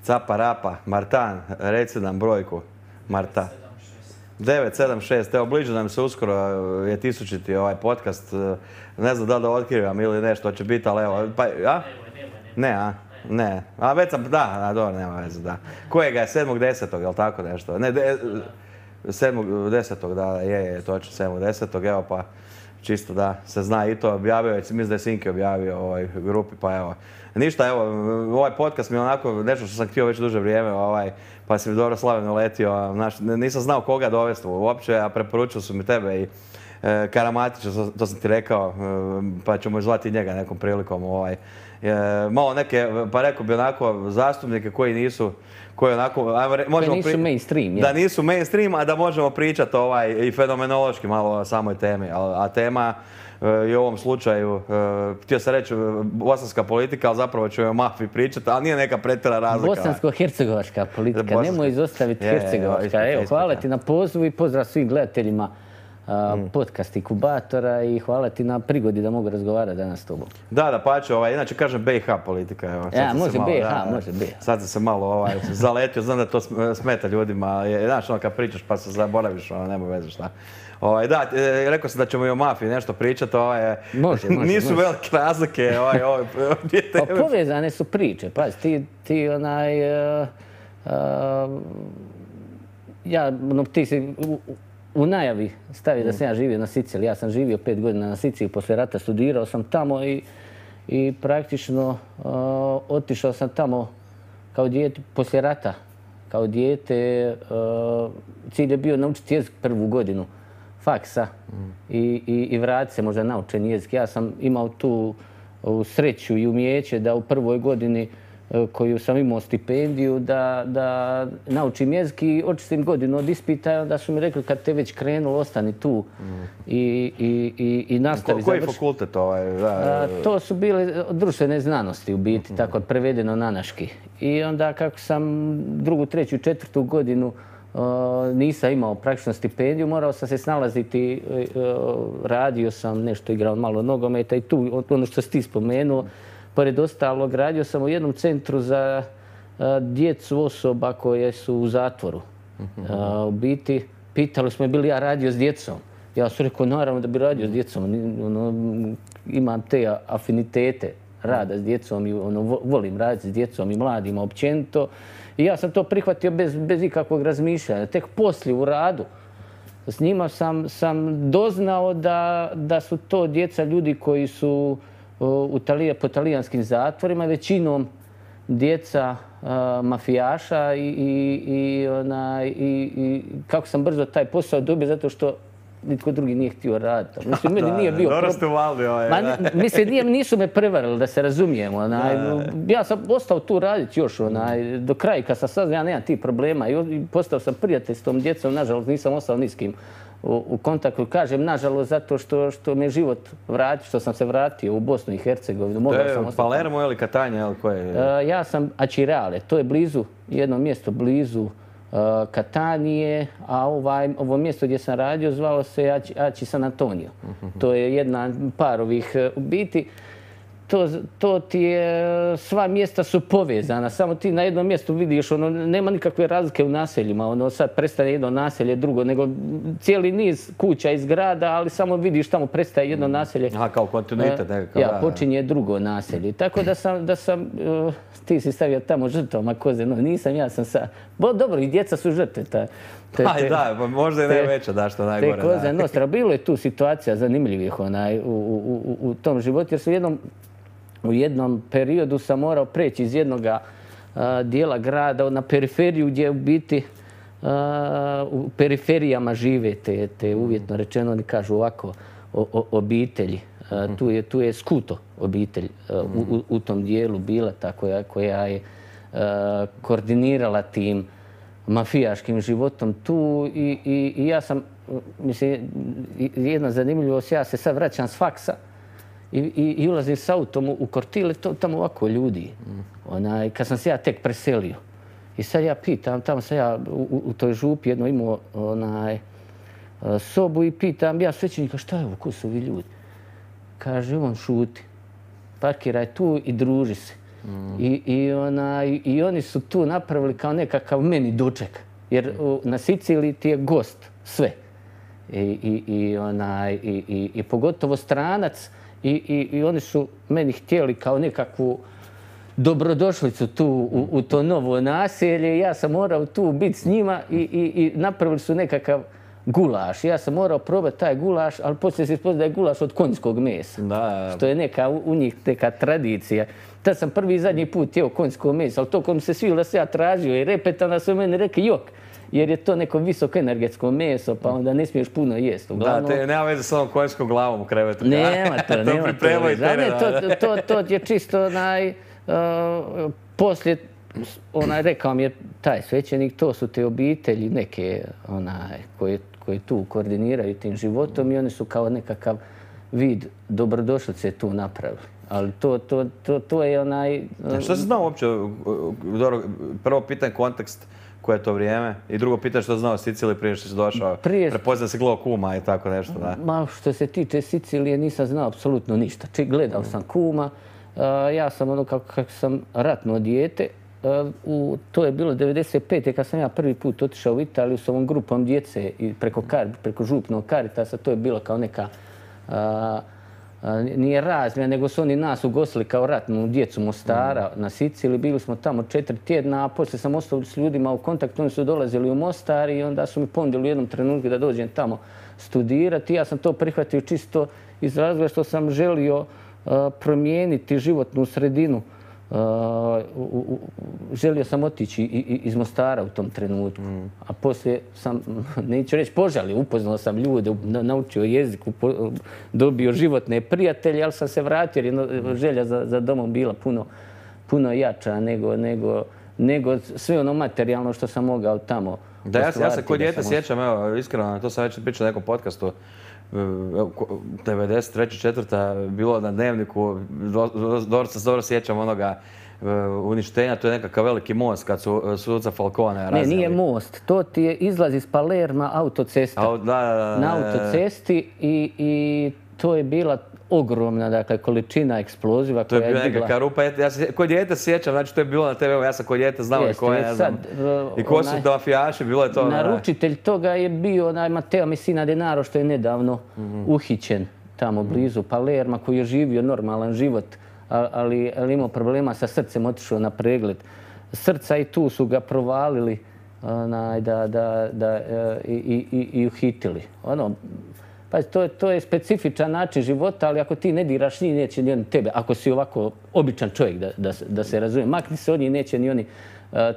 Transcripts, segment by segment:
Capa Rapa, Martan, reci nam brojku. Marta. 976, evo bliže nam se uskoro je 1000. ovaj podcast. Ne znam da li da otkrivam ili nešto će biti, ali evo, pa, a? Ne, a? Ne, a već sam, da, dobro, nema veze, da. Kojega je 7.10. jel tako nešto? Ne, 7.10. da, je, točno 7.10. Evo pa, čisto da se zna i to objavio, mislim da je Sinki objavio u ovoj grupi, pa evo. Ništa, evo, ovaj podcast mi je onako nešto što sam htio već duže vrijeme, pa si mi dobro slavno letio, nisam znao koga dovesti uopće, a preporučili su mi tebe i Karamatića, to sam ti rekao, pa ćemo zvati njega nekom prilikom. Malo neke, pa rekao bi onako, zastupnike koji nisu, koji onako, koji nisu mainstream. Da nisu mainstream, a da možemo pričati i fenomenološki malo o samoj temi. A tema i u ovom slučaju, htio sam reći bosanska politika, ali zapravo ću o mafiji pričati, ali nije neka pretjera razlika. Bosansko-hercegovačka politika, nemoj izostaviti hercegovačka. Evo, hvala ti na pozivu i pozdrav svim gledateljima podcast Inkubatora i hvala ti na prigodi da mogu razgovarati danas s tobom. Da, pače, inače kažem BiH politika. Može BiH. Sad sam se malo zaletio, znam da to smeta ljudima, znaš kad pričaš pa se zaboraviš, nema veze šta. Da, rekao sam da ćemo i o mafiji nešto pričati, nisu velike razlike. Povezane su priče, pazi, ti si u najavi stavio da sam ja živio na Siciliji. Ja sam živio 5 godina na Siciliji, poslije rata studirao sam tamo i praktično otišao sam tamo kao dijete, poslije rata, kao dijete. Cilj je bio naučiti jezik prvu godinu faksa i vratiti se možda naučen jezik. Ja sam imao tu sreću i umijeće da u prvoj godini koju sam imao stipendiju da naučim jezik i očistim godinu od ispita i onda su mi rekli kad te već krenulo ostani tu i nastavi završiti. Koji fakultet To su bile društvene znanosti u biti, tako prevedeno na naški. I onda kako sam drugu, treću, četvrtu godinu nisam imao praktično stipendiju, morao sam se snalaziti, radio sam nešto, igrao malo nogometa i tu ono što si ti spomenuo. Pored ostalog, radio sam u jednom centru za djecu osoba koje su u zatvoru. U biti, pitali smo je bili ja radio s djecom. Ja sam rekao, naravno da bi radio s djecom. Imam te afinitete rada s djecom i volim raditi s djecom i mladima općenito. I ja sam to prihvatio bez ikakvog razmišljanja. Tek poslije u radu s njima sam doznao da su to djeca ljudi koji su po talijanskim zatvorima, većinom djeca mafijaša i kako sam brzo taj posao dobio zato što nitko drugi nije htio raditi. Mislim, meni nije bio dobro ste uvalili Mislim, nisu me prevarili, da se razumijemo. Ja sam ostao tu raditi još do kraja kad sam saznao, ja nemam tih problema i postao sam prijatelj s tom djecom, nažalost nisam ostao ni s kim u kontaktu. Kažem, nažalost, zato što me život vratio, što sam se vratio u Bosnu i Hercegovinu. To je Palermo ili Catania ili koje? Ja sam Acireale, to je blizu, jedno mjesto blizu Katanije, a ovo mjesto gdje sam radio zvalo se Aci San Antonio. To je jedna par ovih u biti. To ti je, sva mjesta su povezana, samo ti na jednom mjestu vidiš, nema nikakve razlike u naseljima, sad prestaje jedno naselje, drugo, nego cijeli niz kuća i zgrada, ali samo vidiš tamo prestaje jedno naselje. Aha, kao kontinuitet nekakav. Ja, počinje drugo naselje. Tako da sam, ti si stavio tamo žrtvama koze, no nisam, ja sam sa... Dobro, i djeca su žrtve. Da, možda i najveća, da, što najgore. Te koze nostra. Bilo je tu situacija zanimljivih u tom životu, jer su u jednom periodu sam morao preći iz jednog dijela grada na periferiju gdje u biti u periferijama žive te uvjetno rečeno, oni kažu ovako, obitelji. Tu je Skuto obitelj u tom dijelu bila ta koja je koordinirala tim mafijaškim životom tu i ja sam, mislim, jedna zanimljivost, ja se sad vraćam s faksa i ulazim s autom u kortile, tamo ovako ljudi. Kad sam se ja tek preselio. I sad ja pitam, tamo sam ja u toj župi jedno imao sobu i pitam ja svećenika šta je ovo, ko su ovi ljudi? Kaže, on šuti. Parkiraj tu i druži se. I oni su tu napravili kao nekakav meni doček. Jer na Siciliji ti je gost sve. I pogotovo stranac. I oni su meni htjeli kao nekakvu dobrodošlicu tu u to novo naselje. Ja sam morao tu biti s njima i napravili su nekakav gulaš. Ja sam morao probati taj gulaš, ali poslije se ispostavilo da je gulaš od konjskog mesa. Da. Što je u njih neka tradicija. Tad sam prvi i zadnji put jeo konjsko meso, ali to kom se svilo da se ja tražio i repetana su meni rekli jok. Jer je to neko visoko energetsko meso, pa onda ne smiješ puno jesti. Uglavnom, da, nema veze s ovom konjskom glavom u krevetu. Nema to, nema to. To je čisto poslije, rekao mi je taj svećenik, to su te obitelji neke koje tu koordiniraju tim životom i oni su kao nekakav vid dobrodošlice tu napravili. Ali to je Što si znao uopće, prvo pitanje kontekst koje je to vrijeme i drugo pitanje što znao o Siciliji prije što si došao, prepoznao si gledao kuma i tako nešto, da? Ma što se tiče Sicilije nisam znao apsolutno ništa. Gledao sam kuma, ja sam kako sam ratno dijete, to je bilo 95. kad sam ja prvi put otišao u Italiju s ovom grupom djece i preko župnog Caritasa, to je bilo kao neka nije razmjena, nego su oni nas ugostili kao ratnu djecu Mostara na Siciliji. Bili smo tamo 4 tjedna, a poslije sam ostao s ljudima u kontaktu. Oni su dolazili u Mostar i onda su mi ponudili u jednom trenutku da dođem tamo studirati. Ja sam to prihvatio čisto iz razloga što sam želio promijeniti životnu sredinu. Želio sam otići iz Mostara u tom trenutku. A poslije sam, neću reći požalio, upoznao sam ljude, naučio jezik, dobio životne prijatelje, ali sam se vratio jer je želja za domom bila puno jača nego sve ono materijalno što sam mogao tamo. Da, ja se kod dijete sjećam, evo, iskreno, to sam već pričao na nekom podcastu, 93. 4. bilo na Dnevniku, dobro sjećam onoga uništenja, to je nekakav veliki most kad su suca Falcone raznijeli. Ne, nije most, to ti je izlaz iz Palerma autocesta. Na autocesti i to je bila ogromna količina eksploziva koja je digla. To je bila nekakva rupa. Ja se kod dijete sjećam, znači to je bilo na TV-u, ja sam kod dijete znao i ko je, ne znam. I ko su to mafijaši, bilo je to. Naručitelj toga je bio Matteo Messina Denaro što je nedavno uhićen tamo blizu Palerma, koji je živio normalan život, ali imao problema sa srcem, otišao na pregled srca i tu su ga provalili i uhitili. Pa to je specifičan način života, ali ako ti ne diraš njih, neće ni oni tebe. Ako si ovako običan čovjek, da se razumije, makni se od njih, neće ni oni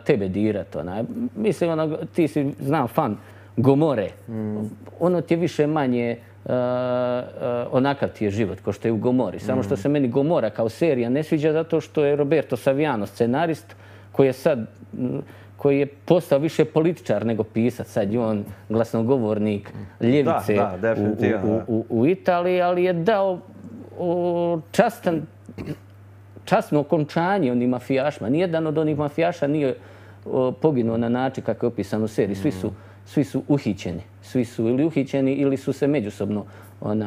tebe dirati. Mislim, ti si, znam, fan Gomore. Ono ti je više manje onakav ti je život, kao što je u Gomori. Samo što se meni Gomora kao serija ne sviđa zato što je Roberto Saviano scenarist koji je postao više političar nego pisac. Sad je on glasnogovornik ljevice u Italiji, ali je dao časno okončanje onim mafijašima. Nijedan od onih mafijaša nije poginuo na način kako je opisan u seriji. Svi su uhićeni. Svi su ili uhićeni ili su se međusobno,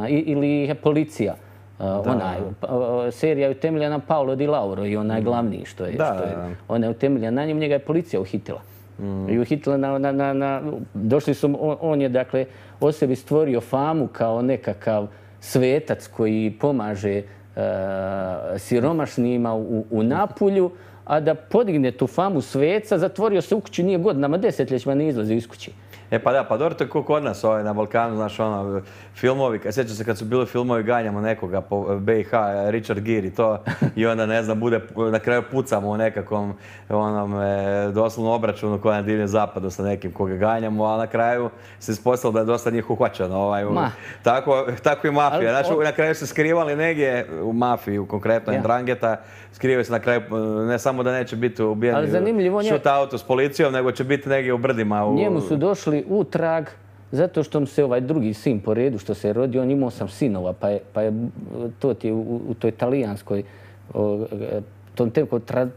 ili je policija. Serija je utemeljena na Paolo Di Lauro i onaj glavni što je. Ona je utemeljena na njemu, njega je policija uhitila. I uhitila došli su, on je dakle o sebi stvorio famu kao nekakav svetac koji pomaže siromašnima u Napulju, a da podigne tu famu sveca, zatvorio se u kući, nije godinama, desetljećima ne izlazi iz kući. Pa da, pa dobro, to je kod nas na Balkanu, znaš, filmovi, sjećam se kad su bili filmovi Ganjamo nekoga po BiH, Richard Gere i to, i onda, ne znam, bude, na kraju pucamo u nekakvom, doslovno obračunu koja je na Divljem zapadu sa nekim koga ganjamo, a na kraju se ispostavilo da je dosta njih uhvaćeno. Tako i mafija. Znači, na kraju se skrivali negdje u mafiji, konkretno Ndrangheta, skrivaju se na kraju, ne samo da neće biti ubijeni shootoutu s policijom, nego će biti negdje u brdima. Njemu su došli u trag zato što mu se ovaj drugi sin po redu što se je rodio, on imao 8 sinova, pa je to ti u toj talijanskoj, tom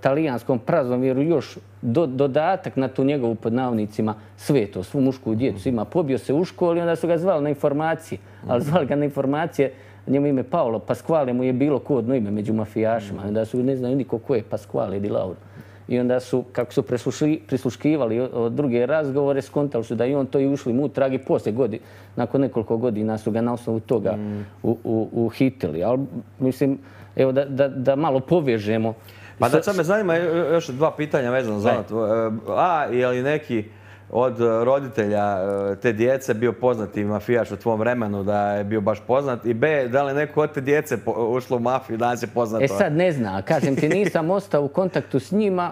talijanskom praznovjeru još dodatak na tu njegovu pod navodnicima sveto, svu mušku djecu ima. Pobio se u školi, onda su ga zvali na informacije, ali zvali ga na informacije njemu ime Paolo Pasquale mu je bilo kodno ime među mafijašima. Onda su ne znaju niko ko je Pasquale di Lauro. I onda su, kako su prisluškivali druge razgovore, skontali su da i on to i ušli mu trag i poslije nakon nekoliko godina su ga na osnovu toga uhitili. Ali mislim, evo da malo povežemo. Pa da sad me zanima još dva pitanja vezano za to. A, je li neki od roditelja te djece bio poznati mafijaš u tvom vremenu, da je bio baš poznat? I B, da li neko od te djece ušlo u mafiju, danas je poznato? Sad ne zna, kažem ti, nisam ostao u kontaktu s njima.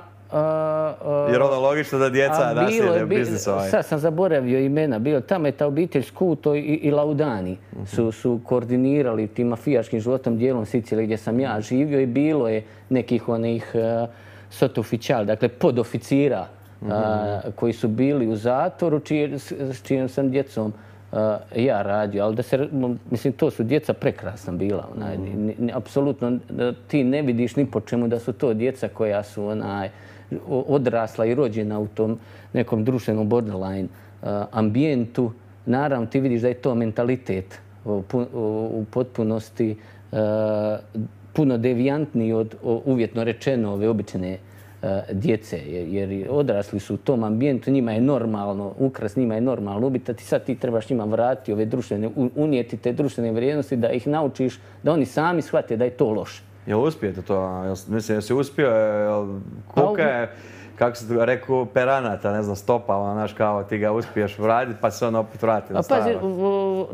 Jer ono logično da djeca naslede biznis ovaj. Sad sam zaboravio imena. Tamo je ta obitelj Scuto i Laudani su koordinirali tim mafijaškim životom dijelom Sicilije gdje sam ja živio i bilo je nekih onih sottufficiali, dakle podoficira koji su bili u zatvoru s čijom sam djecom ja radio. Ali mislim, to su djeca prekrasna bila. Apsolutno ti ne vidiš ni po čemu da su to djeca koja su odrasla i rođena u tom nekom društvenom borderline ambijentu. Naravno, ti vidiš da je to mentalitet u potpunosti puno devijantniji od uvjetno rečeno ove obične djece, jer odrasli su u tom ambijentu, njima je normalno ukras, njima je normalno ubiti, sad ti trebaš njima vratiti ove društvene, unijeti te društvene vrijednosti da ih naučiš, da oni sami shvate da je to loše. Jel uspijete to? Mislim, jesi uspio? Kuka je, kako se rekao, peranata, ne znam, stopa, znaš, kao ti ga uspiješ vratiti pa se on opet vrati na staro. Pazi,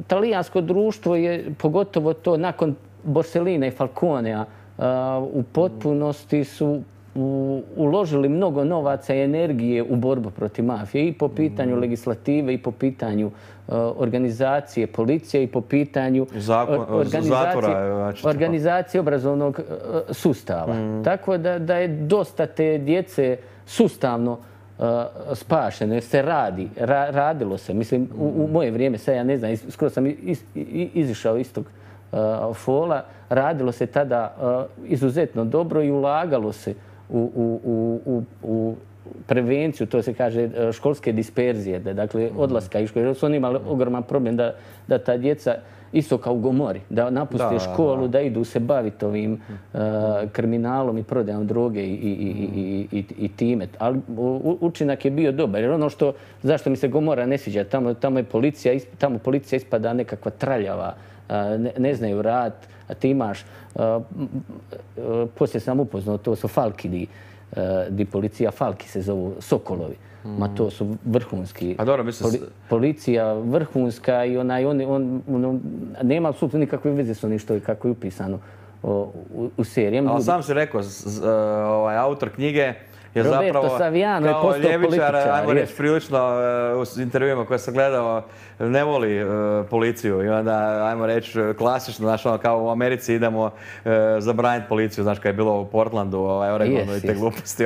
talijansko društvo je, pogotovo to nakon Borsellina i Falconea, u potpunosti su uložili mnogo novaca i energije u borbu protiv mafije i po pitanju legislative i po pitanju organizacije policije i po pitanju organizacije obrazovnog sustava. Tako da je dosta te djece sustavno spašeno jer se radilo se. Mislim, u moje vrijeme, sad ja ne znam, skoro sam izišao iz tog fola, radilo se tada izuzetno dobro i ulagalo se u prevenciju, to se kaže školske disperzije, dakle odlaska iz škole. Jer su oni imali ogroman problem da ta djeca isto kao u Gomori, da napuste školu, da idu se baviti ovim kriminalom i prodajom droge i time. Ali učinak je bio dobar. Jer ono zašto mi se Gomora ne sviđa, tamo policija ispada nekakva traljava, ne znaju rad, a ti imaš, poslije sam upoznao, to su Falki, di policija, Falki se zovu, Sokolovi. Ma to su vrhunski. Pa dobro, mislim... Policija vrhunska i nema apsolutno nikakve veze s onim što je kako je upisano u seriji. Ali sam si rekao, autor knjige je Roberto Saviano je postao političar. Ljevičar, ajmo reći, prilično u intervjuima koje sam gledao, ne voli policiju i onda, ajmo reći, klasično, znaš, kao u Americi idemo zabraniti policiju, znaš, kad je bilo u Portlandu, Oregonu i te gluposti,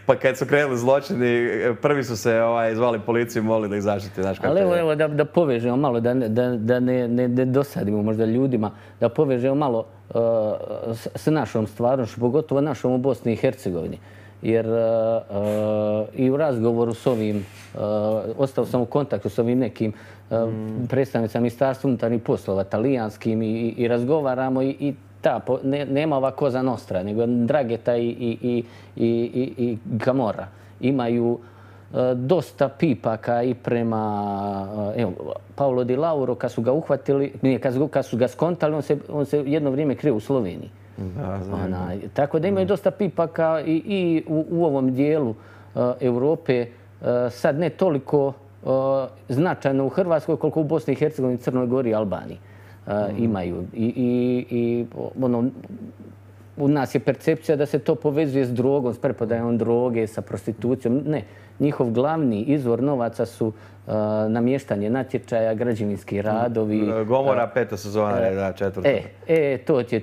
pa kad su krenuli zločini, prvi su se zvali policiju i molili da ih zaštiti, znaš. Ali evo, da povežemo malo, da ne dosadimo možda ljudima, da povežemo malo s našom stvarnošću, pogotovo našom u Bosni i Hercegovini. Jer i u razgovoru s ovim, ostao sam u kontaktu s ovim nekim predstavnicama Ministarstva unutarnjih poslova, talijanskim, i razgovaramo i nema ova Cosa Nostra, nego Drageta i Camorra imaju dosta pipaka i prema Paolo Di Lauro, kad su ga uhvatili, kad su ga skontali, on se jedno vrijeme krio u Sloveniji. Tako da imaju dosta pipaka i u ovom dijelu Europe, sad ne toliko značajno u Hrvatskoj koliko u Bosni i Hercegovini, Crnoj Gori i Albaniji imaju. I u nas je percepcija da se to povezuje s drogom, s preprodajom droge, sa prostitucijom. Ne, njihov glavni izvor novaca su namještanje natječaja, građevinski radovi. Gomora, peta sezona, da, četvrta.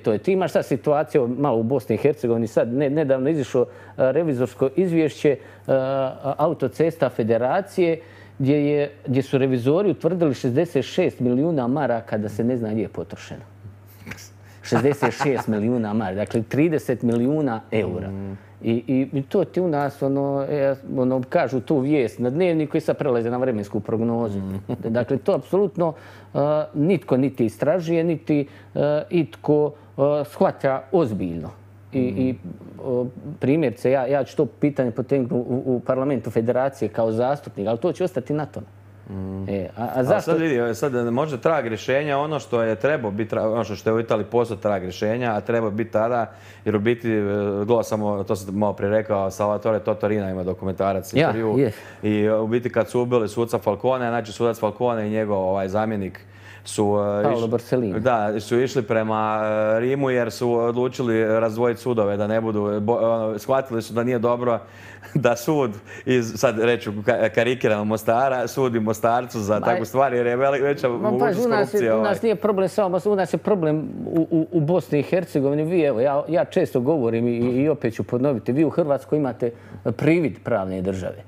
To je. Ti imaš sad situaciju malo u Bosni i Hercegovini, sad nedavno izišlo revizorsko izvješće Autocesta Federacije, gdje su revizori utvrdili 66 milijuna maraka da se ne zna gdje je potrošeno. 66 milijuna maraka, dakle 30 milijuna eura. I to ti u nas, kažu tu vijest na dnevniku i sad prelaze na vremensku prognozu. Dakle, to apsolutno nitko niti istražuje, niti itko shvaća ozbiljno. I primjerce, ja ću to pitanje potegnuti u parlamentu federacije kao zastupnik, ali to će ostati na tome. A zašto? Sad možda trag rješenja, ono što je trebao biti, ono što je u Italiji postao trag rješenja, a treba biti tada, jer u biti, gledao sam, to sam malo prije rekao, Salvatore Totorina ima dokumentarac intervju. I u biti kad su ubili suca Falcone, znači sudac Falcone i njegov zamjenik su išli prema Rimu jer su odlučili razdvojiti sudove, da ne budu, shvatili su da nije dobro da sud sad reću karikirano Mostara, sudi Mostarcu za takvu stvar jer je veća mogućnost korupcije. U nas nije problem samo, u nas je problem u Bosni i Hercegovini. Vi, evo, ja često govorim i opet ću ponoviti, vi u Hrvatskoj imate privid pravne države.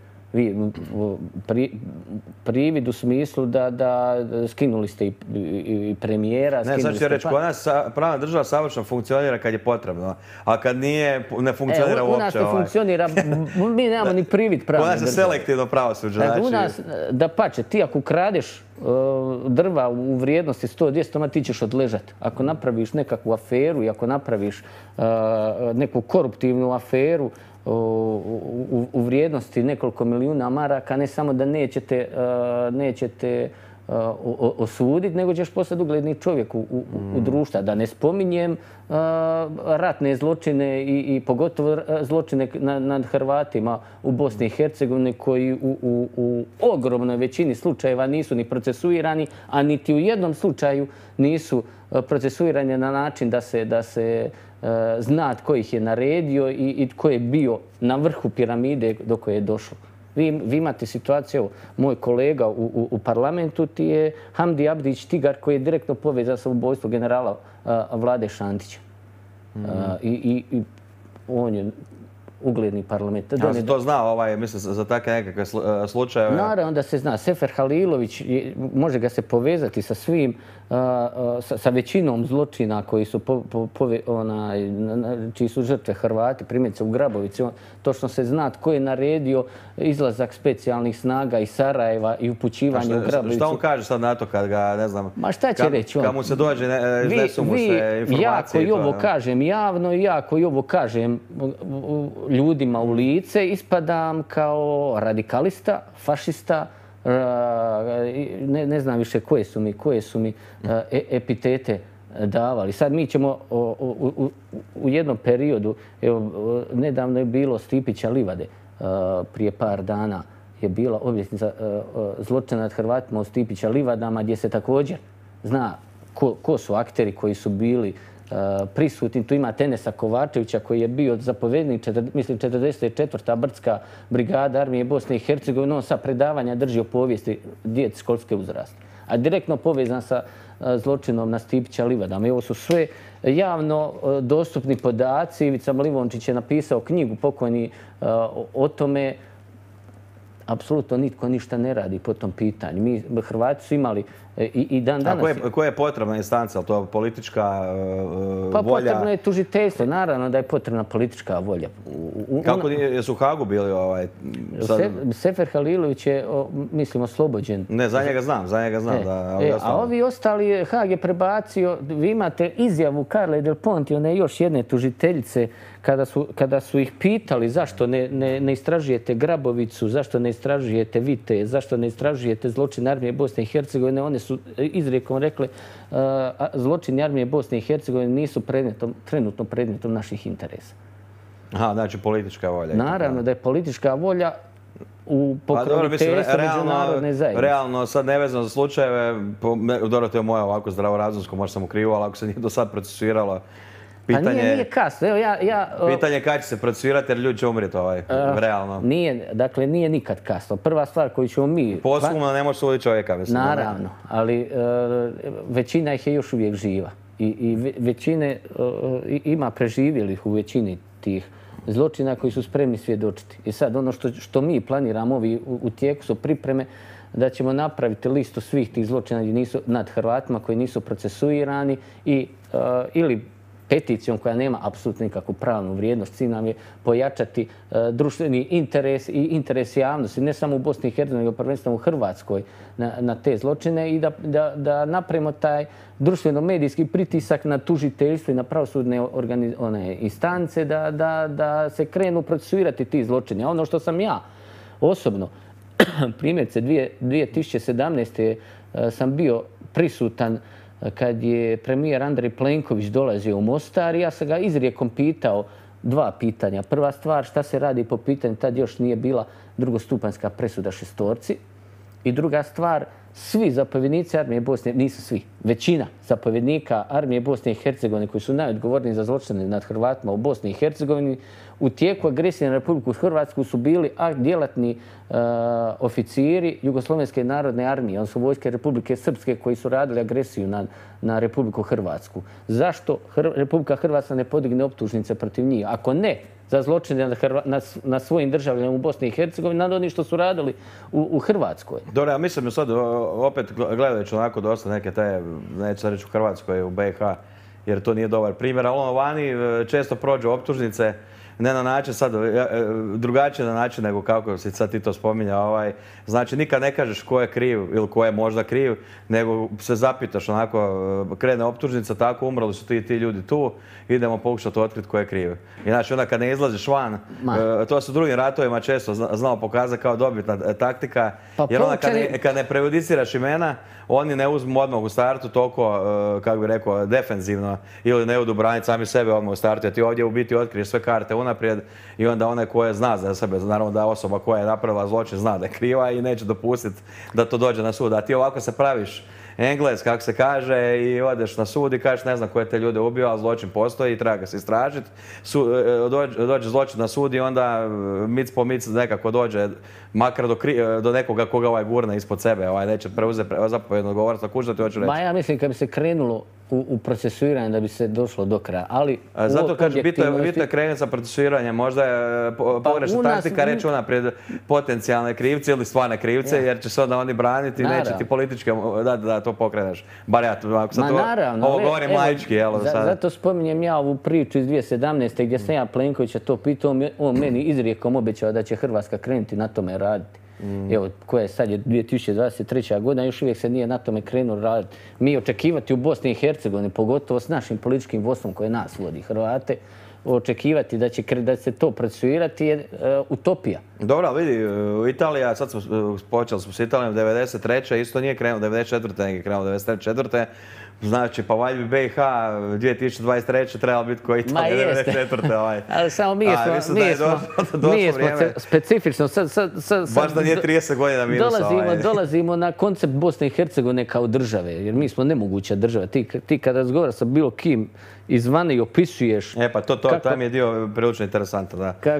Privid u smislu da skinuli ste i premijera. Ne, sad ću reći, kod nas pravna država savršeno funkcionira kad je potrebno, a kad nije, ne funkcionira uopće. U nas ne funkcionira, mi nemamo ni privid pravne države. Kod nas je selektivno pravosuđe. U nas, da pače, ti ako kradeš drva u vrijednosti 100-200, ti ćeš odležati. Ako napraviš nekakvu aferu i ako napraviš neku koruptivnu aferu u vrijednosti nekoliko milijuna maraka, ne samo da nećete osuditi, nego ćeš postati ugledni čovjek u društvu. Da ne spominjem ratne zločine i pogotovo zločine nad Hrvatima u Bosni i Hercegovini koji u ogromnoj većini slučajeva nisu ni procesuirani, a niti u jednom slučaju nisu procesuirani na način da se zna tko ih je naredio i tko je bio na vrhu piramide do koje je došlo. Vi imate situaciju, moj kolega u parlamentu ti je Hamdi Abdić Tigar koji je direktno povezan sa ubojstvom generala Vlade Šantića. I on je ugledni parlament. Ja se to zna, mislim, za takve nekakve slučajeve? Naravno da se zna. Sefer Halilović, može ga se povezati sa svim, sa većinom zločina koji su čiji su žrtve Hrvati, primjerice u Grabovici. Točno se zna tko je naredio izlazak specijalnih snaga iz Sarajeva i upućivanje u Grabovicu. Šta on kaže sad na to kad ga, ne znam, ma šta će reći on? Kad mu se dođe, iznesu mu se informacije? Ja koji ovo kažem javno i ja koji ovo kažem ljudima u lice, ispadam kao radikalista, fašista, ne znam više koje su mi epitete davali. Sad mi ćemo u jednom periodu, evo, nedavno je bilo Stipića Livade, prije par dana je bila obljetnica zločina nad Hrvatima u Stipića Livadama, gdje se također zna ko su akteri koji su bili prisutni. Tu ima Enesa Kovačevića koji je bio zapovjednik, mislim, 44. brdska brigada armije Bosne i Hercegovine. On sa predavanja drži o povijesti djeci školske uzrasta. A direktno povezan sa zločinom na Stipića Livadama. I ovo su sve javno dostupni podaci. Ivica Livončić je napisao knjigu pokojni o tome. Apsolutno nitko ništa ne radi po tom pitanju. Mi, Hrvati, su imali i dan danas... A koja je potrebna instanca? Je to politička volja? Pa potrebno je tužiteljstvo. Naravno da je potrebna politička volja. Kako su u Hagu bili? Sefer Halilović je, mislim, oslobođen. Ne, za njega znam. A ovi ostali, Hag je prebacio, vi imate izjavu Carle Del Ponte, one još jedne tužiteljice, kada su ih pitali zašto ne istražujete Grabovicu, zašto ne istražujete Vite, zašto ne istražujete zločin armije Bosne i Hercegovine, one su izrijekom rekle zločini armije Bosne i Hercegovine nisu trenutno predmetom naših interesa. Aha, znači politička volja. Naravno da je politička volja u pokroviteljstvu međunarodne zajednice. Realno, sad nevezano za slučajeve, dobro, to je moje ovako zdravorazumsko, možda sam ukrivo, ali ako se nije do sad procesuiralo, nije kasno. Pitanje je kada će se procesuirati jer ljudi će umrijeti realno. Dakle, nije nikad kasno. Prva stvar koju ćemo mi... Posumno ne može suditi čovjeka. Naravno, ali većina ih je još uvijek živa. I većine ima preživjelih u većini tih zločina koji su spremni svjedočiti. I sad ono što mi planiramo u tijeku su pripreme da ćemo napraviti listu svih tih zločina nad Hrvatima koji nisu procesuirani ili peticijom koja nema apsolutno nikakvu pravnu vrijednost. Cilj nam je pojačati društveni interes i interes javnosti, ne samo u Bosni i Hercegovini, nego prvenstveno u Hrvatskoj na te zločine i da napravimo taj društveno-medijski pritisak na tužiteljstvo i na pravosudne instance da se krenu procesuirati ti zločini. A ono što sam ja osobno, primjerice 2017. sam bio prisutan kad je premijer Andrej Plenković dolazio u Mostar i ja sam ga izrijekom pitao dva pitanja. Prva stvar, šta se radi po pitanju, tad još nije bila drugostupanjska presuda šestorci. I druga stvar, svi zapovjednici armije Bosne, nisu svi, većina zapovjednika armije Bosne i Hercegovine koji su najodgovorniji za zločine nad Hrvatima u Bosni i Hercegovini u tijeku agresije na Republiku Hrvatsku su bili djelatni oficiri Jugoslovenske narodne armije, odnosno vojske Republike Srpske koji su radili agresiju na Republiku Hrvatsku. Zašto Republika Hrvatska ne podigne optužnice protiv njih? Ako ne za zločine na svojim državljanima u Bosni i Hercegovini, nad onim što su radili u Hrvatskoj. Dobro, ja mislim sad opet gledajući onako dosta neke te, neću reći u Hrvatskoj, u BiH, jer to nije dobar primjer, ali ono vani često prođu optužnice, ne na način sad, drugačije na način nego kako si sad ti to spominja. Znači nikad ne kažeš ko je kriv ili ko je možda kriv, nego se zapitaš onako, krene optužnica, tako umrli su ti ljudi tu, idemo pokušati otkriti ko je kriv. I znači onda kad ne izlaziš van, to se u drugim ratovima često znao pokazati kao dobitna taktika, jer onda kad ne prejudiciraš imena, oni ne uzmu odmah u startu toliko, kako bi rekao, defenzivno ili ne odu braniti sami sebe odmah u startu, jer ti ovdje u biti otkriješ sve karte unaprijed i onda onaj koje zna za sebe, naravno da osoba koja je napravila zločin zna da je kriva i neće dopustiti da to dođe na sud. A ti ovako se praviš Engles, kako se kaže, i odeš na sud i kažeš ne znam ko je te ljude ubio, ali zločin postoji i treba ga se istražiti. Dođe zločin na sud i onda mic po mic nekako dođe makar do nekoga koga gurne ispod sebe, neće preuzeti zapovjednu odgovornost. Kužda ti hoću reći? Ja mislim kad bi se krenulo u procesuiranje da bi se došlo do kraja, ali... Zato kažem, bitno je krenuti sa procesuiranjem. Možda je pogrešna taktika reći unaprijed potencijalne krivce ili stvarne krivce, jer će se onda oni braniti i neće ti politički da to pokreneš. Bar ja, ako sad ovo govorim laički. Zato spominjem ja ovu priču iz 2017. gdje sam ja Plenkovića to pitao, on meni izrijekom obećao da će Hrvatska krenuti na tome raditi. Evo, koja je sad 2023. godina, još uvijek se nije na tome krenulo raditi. Mi očekivati u Bosni i Hercegovini, pogotovo s našim političkim vodstvom koje nas vodi Hrvate, očekivati da će se to procesuirati je utopija. Dobro, vidi, Italija, sad počeli smo s Italijom 93. isto nije krenuo 94. nego je krenuo 94. Znači, pa valjda bi BiH 2023. trebalo biti koji Italija 94. Ali samo mi smo specifično. Baš da nije 30 godina minusa. Dolazimo na koncept Bosne i Hercegovine kao države, jer mi smo nemoguća država. Ti kada razgovaraš sa bilo kim izvana i opisuješ... Pa tam je dio prilično interesantan, da.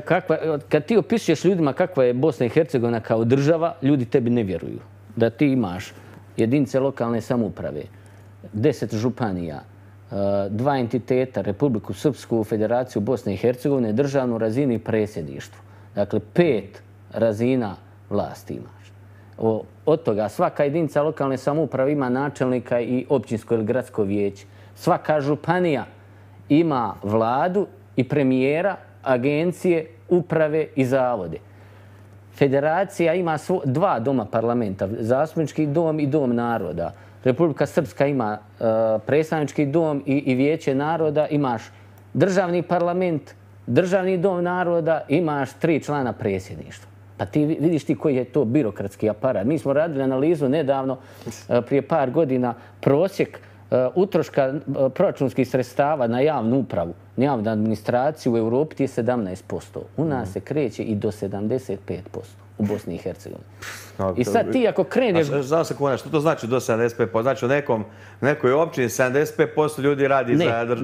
Kad ti opisuješ ljudima kakva je Bosna i Hercegovina kao država, ljudi tebi ne vjeruju. Da ti imaš jedinice lokalne samouprave, 10 županija, 2 entiteta, Republiku Srpsku, Federaciju Bosne i Hercegovine, državnu razinu i predsjedništvo. Dakle, 5 razina vlasti imaš. Od toga svaka jedinica lokalne samouprave ima načelnika i općinsko ili gradsko vijeće. Svaka županija ima vladu i premijera, agencije, uprave i zavode. Federacija ima 2 doma parlamenta, zastupnički dom i dom naroda. Republika Srpska ima predstavnički dom i vijeće naroda, imaš državni parlament, državni dom naroda, imaš 3 člana predsjedništva. Pa ti vidiš ti koji je to birokratski aparat. Mi smo radili analizu nedavno, prije par godina, prosjek utroška proračunskih sredstava na javnu upravu, na javnu administraciju u Europi je 17%. U nas se kreće i do 75% u Bosni i Hercegovini. I sad ti ako kreneš... Znam se kuna, što to znači do 75%? Znači u nekoj općini 75% ljudi radi za javnu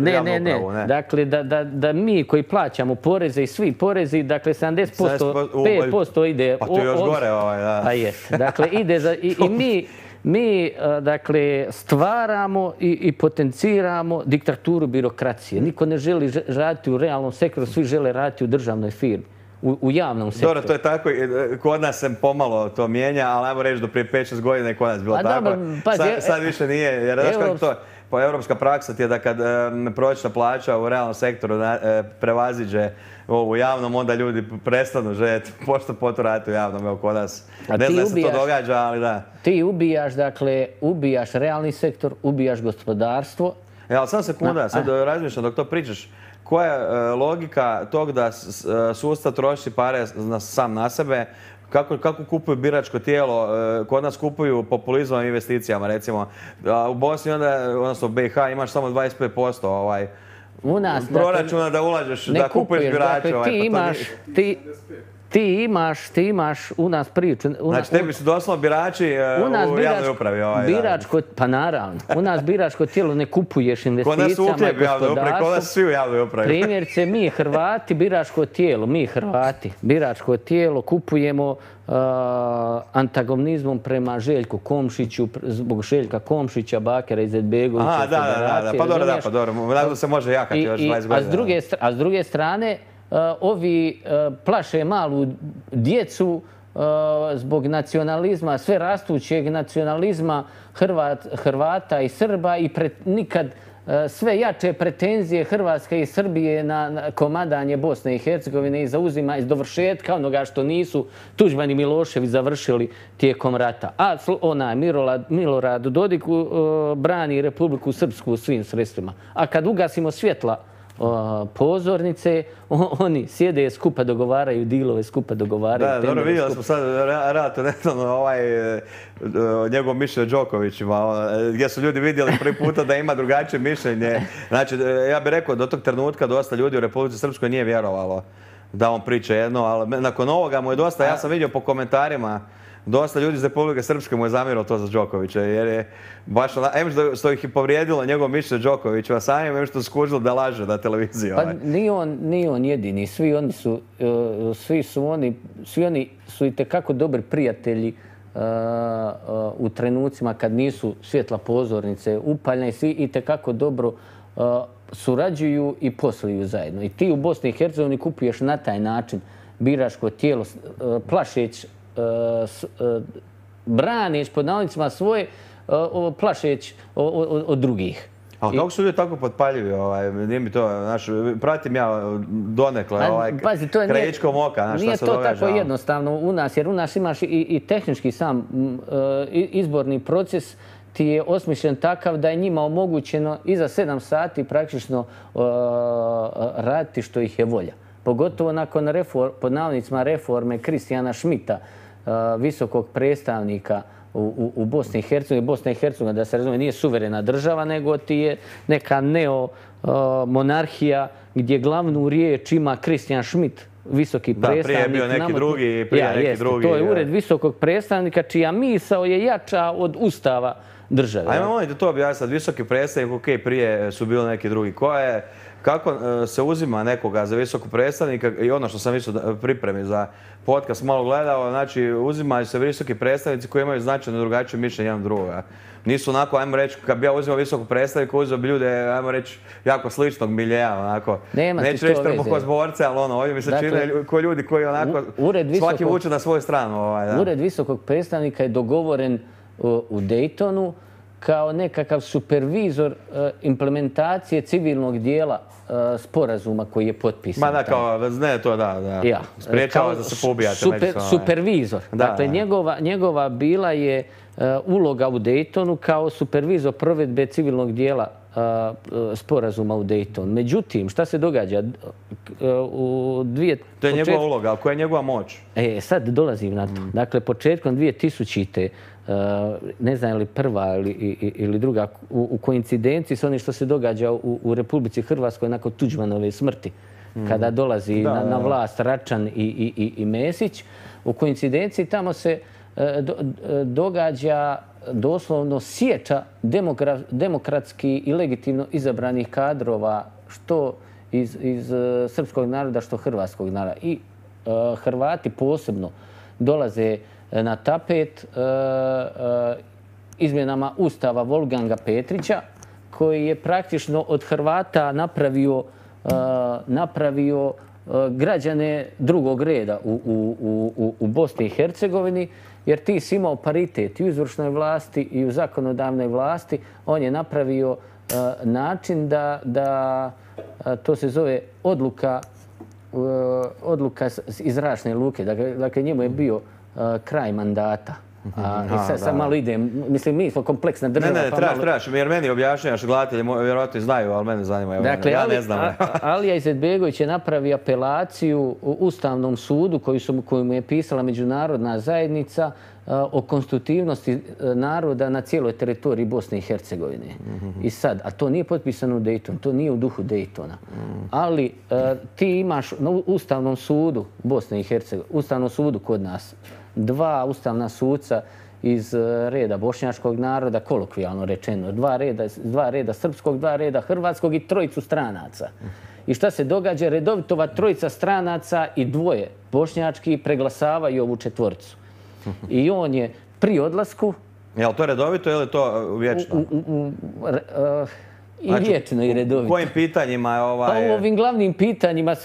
upravu, ne? Dakle, da mi koji plaćamo poreze i svi porezi, dakle 70%, 5% ide... Pa tu još gore, da. Pa jest. Dakle, ide za... I mi, dakle, stvaramo i potenciramo diktaturu birokracije. Niko ne želi raditi u realnom sektoru, svi žele raditi u državnoj firmi, u javnom sektoru. Dobro, to je tako, kod nas se pomalo to mijenja, ali ajmo reći do prije 5-6 godina je kod nas bilo tako. Sad više nije, jer znaš kako to, europska praksa ti je da kad prosječna plaća u realnom sektoru prevaziđe u javnom, onda ljudi prestanu željeti pošto poturati u javnom, evo kod nas. Ne znam se to događa, ali da. Ti ubijaš, dakle, ubijaš realni sektor, ubijaš gospodarstvo. Ali sam sekunda, sad razmišljam dok to pričaš. Koja je logika tog da sustav troši pare sam na sebe? Kako kupuju biračko tijelo? Kod nas kupuju populizmom i investicijama, recimo. U Bosni, odnosno u BiH, imaš samo 25% proračuna da ulažeš, da kupuješ birače. Ti imaš u nas priču. Znači, tebi su doslovno birači u javnoj upravi. Pa naravno. U nas biračko tijelo ne kupuješ investicijama i gospodarstvu. Kod nas svi u javnoj upravi. Primjerice, mi Hrvati, biračko tijelo kupujemo antagonizmom prema Željku Komšiću, zbog Željka Komšića, Bakera Izetbegovića. Aha, da. Pa dobro. Nadam se može jakati još 20 godina. A s druge strane, ovi plaše malu djecu zbog nacionalizma, sve rastućeg nacionalizma Hrvata i Srba i nikad sve jače pretenzije Hrvatske i Srbije na komadanje Bosne i Hercegovine i zauzima iz dovršetka onoga što nisu Tuđman i Milošević završili tijekom rata. A Milorad Dodik brani Republiku Srpsku svim sredstvima. A kad ugasimo svjetla pozornice, oni sjede skupa dogovaraju dilove, skupa dogovaraju. Da, dobro, vidjeli smo sad relativno njegov mišljenje o Đokovićima, gdje su ljudi vidjeli prvi puta da ima drugačije mišljenje. Znači, ja bih rekao, do tog trenutka dosta ljudi u Republici Srpskoj nije vjerovalo da on priča jedno, ali nakon ovoga mu je dosta, ja sam vidio po komentarima, dosta ljudi iz Republike Srpske mu je zamjerilo to za Đokovića, jer je baš što ih je povrijedilo njegov mišljenje Đokovića, a samim što skužilo da laže na televiziji. Pa nije on jedini, svi oni su itekako dobri prijatelji u trenucima kad nisu svjetla pozornice upaljene, svi itekako dobro surađuju i posluju zajedno. I ti u Bosni i Hercegovini kupuješ na taj način biračko tijelo, plašeć, braneć pod navodnicima svoje, plašeć od drugih. A kako su ljudi tako potpaljivi? Nije mi to, pratim ja donekle krajičkom oka. Nije to tako jednostavno u nas, jer u nas imaš i tehnički sam izborni proces ti je osmišljen takav da je njima omogućeno i za 7 sati praktično raditi što ih je volja. Pogotovo nakon pod navodnicima reforme Kristijana Šmita, visokog predstavnika u Bosni i Hercegovini. Bosna i Hercegovina, da se razumije, nije suverena država, nego ti je neka neomonarhija gdje glavnu riječ ima Kristijan Šmit, visoki predstavnik. Da, prije je bio neki drugi, To je ured visokog predstavnika čija misao je jača od ustava države. Ajmo molim da to objasniti. Visoki predstavnik, ok, prije su bili neki drugi. Kako se uzima nekoga za visokog predstavnika i ono što sam isto pripremi za podcast malo gledao, znači uzimaju se visoki predstavnici koji imaju značajno drugačije mišljenje jedan drugoga. Nisu onako, ajmo reći, kad bi ja uzimao visokog predstavnika, uzeo bi ljude, ajmo reći, jako sličnog miljeja, onako. Neću reći trbuhozborce, ali ovdje mi se čine ko ljudi koji onako svaki vuče na svoju stranu. Ured visokog predstavnika je dogovoren u Daytonu kao nekakav supervizor implementacije civilnog dijela sporazuma koji je potpisan. Ma da, kao, ne to da. Spriječava da se poubijate međusobno. Supervizor. Dakle, njegova bila je uloga u Daytonu kao supervizor provedbe civilnog dijela sporazuma u Daytonu. Međutim, šta se događa? To je njegova uloga, ali koja je njegova moć? Sad dolazim na to. Dakle, početkom 2000-te, ne znam je li prva ili druga, u koincidenciji s onim što se događa u Republici Hrvatskoj nakon Tuđmanove smrti, kada dolazi na vlast Račan i Mesić, u koincidenciji tamo se događa doslovno sječa demokratski i legitimno izabranih kadrova, što iz srpskog naroda, što hrvatskog naroda. I Hrvati posebno dolaze na tapet izmjenama Ustava Wolfganga Petrića, koji je praktično od Hrvata napravio građane drugog reda u Bosni i Hercegovini, jer ti si imao paritet i u izvršnoj vlasti i u zakonodavnoj vlasti. On je napravio način da to se zove odluka iz zračne luke. Dakle, njemu je bio kraj mandata. Sad malo idem, mislim, mi smo kompleksna država. Ne, trebaš, jer meni objašnjavaš, gledatelji vjerojatno znaju, ali mene zanima. Dakle, ja ne znam. Alija Izetbegović je napravio apelaciju u Ustavnom sudu koju mu je pisala međunarodna zajednica o konstitutivnosti naroda na cijeloj teritoriji Bosne i Hercegovine. I sad, a to nije potpisano u Daytonu, to nije u duhu Daytona. Ali ti imaš na Ustavnom sudu Bosne i Hercegovine, Ustavnom sudu kod nas, 2 ustavna suca iz reda bošnjačkog naroda, kolokvijalno rečeno, 2 reda srpskog, 2 reda hrvatskog i 3 stranaca. I šta se događa? Redovito ova 3 stranaca i 2 bošnjački preglasavaju ovu 4. I on je pri odlasku... Je li to redovito ili je to vječno? I vječno i redovito. U kojim pitanjima je Pa u ovim glavnim pitanjima,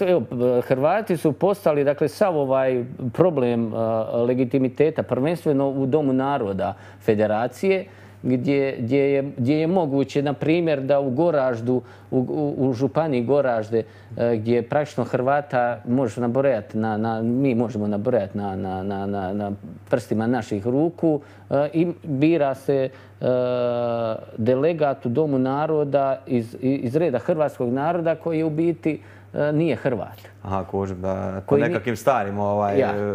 Hrvati su postali, dakle, sav ovaj problem legitimiteta, prvenstveno u Domu naroda Federacije, gdje je moguće, na primjer, da u Goraždu, u županiji Goražde, gdje praktično Hrvata možeš nabrojati, mi možemo nabrojati na prstima naših ruku, i bira se delegat u Domu naroda iz reda hrvatskog naroda koji u biti nije Hrvat. Aha, kužim, da po nekakvim starim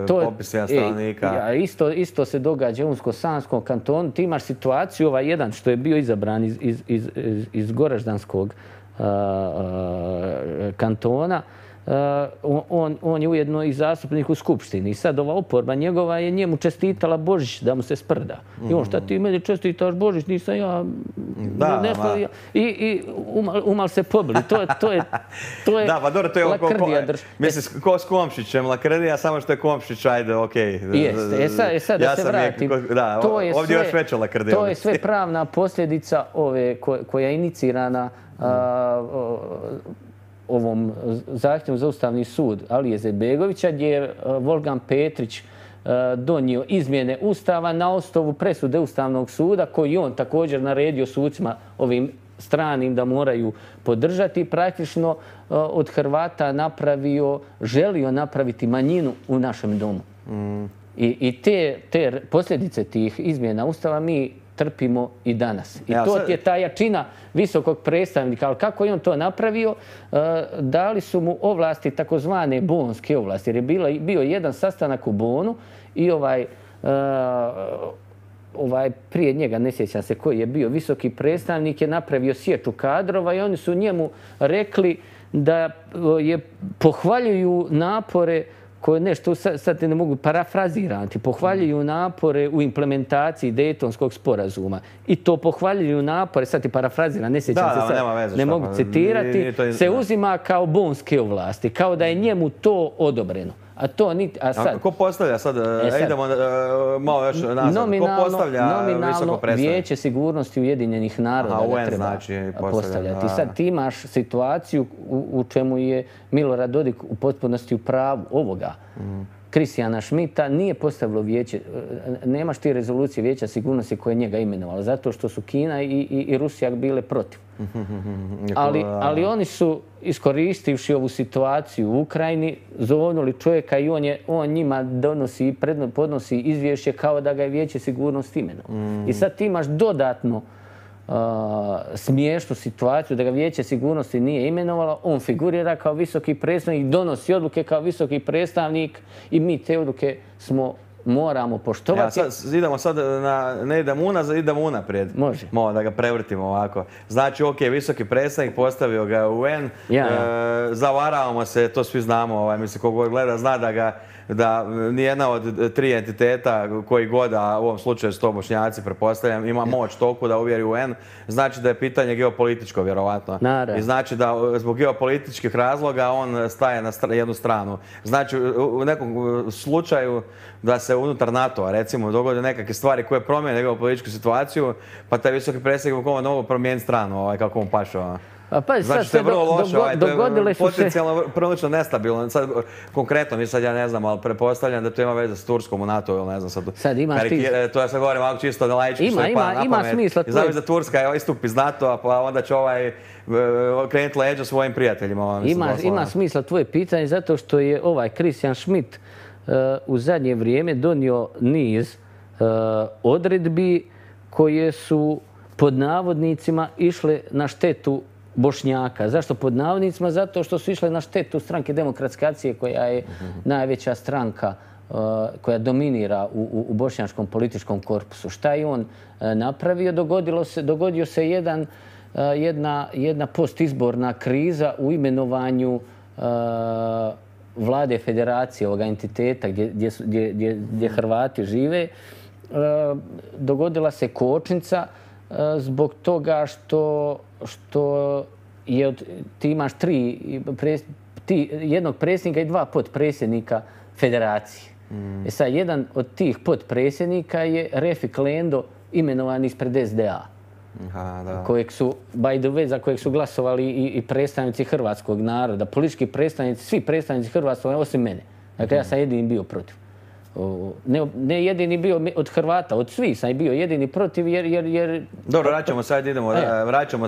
popisima stanovnika. Isto se događa u Unsko-Sanskom kantonu. Ti imaš situaciju, ovaj jedan što je bio izabran iz Goraždanskog kantona, on je ujedno i zastupnik u Skupštini. I sad ova oporba njegova je njemu čestitala Božić da mu se sprda. I on, šta ti meni čestitaš Božić, nisam ja... I umal se pobili. To je da, pa dobro, to je lakrdija. Mislim, ko s Komšićem, lakrdija, samo što je Komšić, ajde, okej. Jeste, sad da se vratim. Da, ovdje još veća lakrdija. To je sve pravna posljedica ove koja je inicirana ovom zahtjevom za Ustavni sud Alije Izetbegovića, gdje je Volgan Petrić donio izmjene Ustava na osnovu presude Ustavnog suda, koji on također naredio sucima ovim stranim da moraju podržati, praktično od Hrvata želio napraviti manjinu u našem domu. I te posljedice tih izmjena Ustava mi trpimo i danas. I to je ta jačina visokog predstavnika. Ali kako je on to napravio? Dali su mu ovlasti, takozvane bonske ovlasti. Jer je bio jedan sastanak u Bonu i prije njega, ne sjećam se koji je bio visoki predstavnik, je napravio sječu kadrova i oni su njemu rekli da pohvaljuju napore koje nešto, sad ne mogu parafrazirati, pohvaljuju napore u implementaciji Dejtonskog sporazuma. I to pohvaljuju napore, sad ti parafraziram, ne sjećam se sad, ne mogu citirati, se uzima kao bonske ovlasti, kao da je njemu to odobreno. A to niti... Ko postavlja sad? Idemo malo još nazad. Ko postavlja visoko predstavnik? Vijeće sigurnosti Ujedinjenih naroda ga treba postavljati. I sad ti imaš situaciju u čemu je Milorad Dodik u potpunosti u pravu ovoga. Kristijana Šmita nije postavilo vijeće, nemaš ti rezolucije Vijeća sigurnosti koje je njega imenovalo, zato što su Kina i Rusija bile protiv. Ali oni su, iskoristivši ovu situaciju u Ukrajini, zovnuli čovjeka i on njima donosi i podnosi izvješće kao da ga je Vijeće sigurnosti imenovalo. I sad ti imaš dodatno smiješnu situaciju da ga Vijeće sigurnosti nije imenovalo, on figurira kao visoki predstavnik, donosi odluke kao visoki predstavnik i mi te odluke moramo poštovati. Idemo sad, ne idemo unazad, idemo unaprijed. Može. Malo da ga prevrtimo ovako. Znači, ok, visoki predstavnik, postavio ga u UN, zavaravamo se, to svi znamo, mislim, kogo gleda zna da nijedna od 3 entiteta koji god, a u ovom slučaju su to Bošnjaci, pretpostavljam, ima moć toliko da uvjeri UN, znači da je pitanje geopolitičko, vjerovatno. I znači da zbog geopolitičkih razloga on staje na jednu stranu. Znači, u nekom slučaju da se unutar NATO-a, recimo, dogode nekakve stvari koje promijene geopolitičku situaciju, pa taj visoki predstavnik mogu promijeniti stranu, kako mu paše. Znači, to je vrlo loše, dogodile su se... Potencijalno prilično nestabilno. Sad, konkretno, sad ja ne znam, ali pretpostavljam da to ima veze s Turskom u NATO, ili ne znam sad... Sad imaš ti... To ja sad govorim malo čisto na laički, što je pa na pamet. Ima smisla. I znam da Turska istupi iz NATO-a, pa onda će krenuti leđa svojim prijateljima. Ima smisla tvoje pitanje, zato što je Christian Schmidt u zadnje vrijeme donio niz odredbi koje su pod navodnicima išle na štetu Bošnjaka. Zašto pod navodnicima? Zato što su išle na štetu Stranke demokratske akcije, koja je najveća stranka koja dominira u bošnjačkom političkom korpusu. Šta je on napravio? Dogodio se jedna postizborna kriza u imenovanju vlade federacije, ovoga entiteta gdje Hrvati žive. Dogodila se kočnica zbog toga što ti imaš jednog predsjednika i dva potpredsjednika federacije. Sad, jedan od tih potpredsjednika je Refik Lendo, imenovan ispred SDA. Kojeg su, by the way, za kojeg su glasovali i predstavnici hrvatskog naroda, politički predstavnici, svi predstavnici hrvatskog naroda, osim mene. Dakle, ja sam jedini bio protiv. Ne jedini bio od Hrvata, od svih sam bio jedini protiv jer... Dobro, vraćamo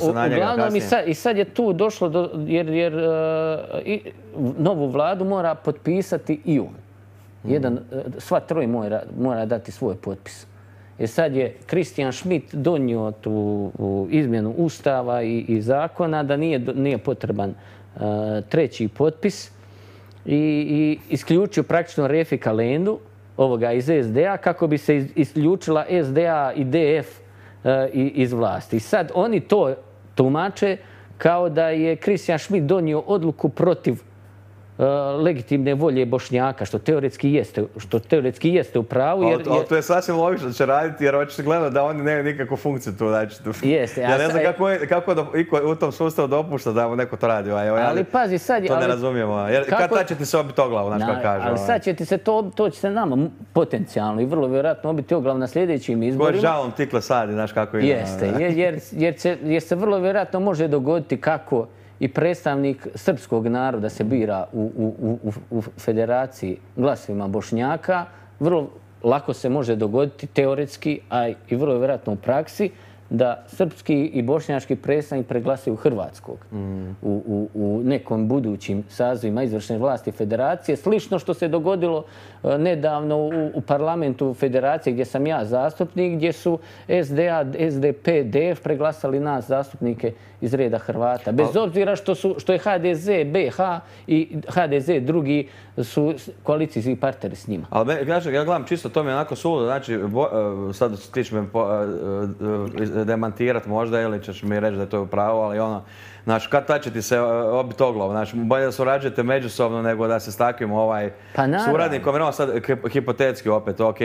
se na njega kasnije. I sad je tu došlo jer novu vladu mora potpisati i on. Sva troje mora dati svoj potpis. Jer sad je Christian Schmidt donio tu izmjenu ustava i zakona da nije potreban treći potpis i isključio praktično Refika Lendu, ovoga iz SDA, kako bi se isključila SDA i DF iz vlasti. I sad oni to tumače kao da je Christian Schmidt donio odluku protiv legitimne volje Bošnjaka, što teoretski jeste u pravu. Ali to je sasvim logično da će raditi, jer očigledno da oni nemaju nikakvu funkciju tu. Ja ne znam kako u tom sustavu dopušta da neko to radi. Ali pazi sad... To ne razumijemo. Kad će ti se obiti o glavu, znaš kako kaže. Ali sad će ti se to će se nama potencijalno i vrlo vjerojatno obiti o glavu na sljedećim izborima. Koji žalom tikle sadi, znaš kako ide. Jeste, jer se vrlo vjerojatno može dogoditi kako i predstavnik srpskog naroda se bira u federaciji glasovima Bošnjaka, vrlo lako se može dogoditi teoretski, a i vrlo vjerojatno u praksi, da srpski i bošnjački predstavnik preglasaju Hrvatskog u nekom budućim sazivima izvršne vlasti federacije. Slično što se dogodilo nedavno u parlamentu federacije gdje sam ja zastupnik, gdje su SDA, SDP, DF preglasali nas zastupnike iz reda Hrvata. Bez obzira što je HDZ, BH i HDZ drugi su koalicijski partneri s njima. Ali ja gledam čisto, to mi je onako suludo. Znači, sad ti ćeš me demantirati možda ili ćeš mi reći da je to pravo, ali ono, znači, kad će ti se obiti o glavu? Znači, bolje da surađujete međusobno nego da se s takvim suradnikom. Jer sad, hipotetski opet, ok,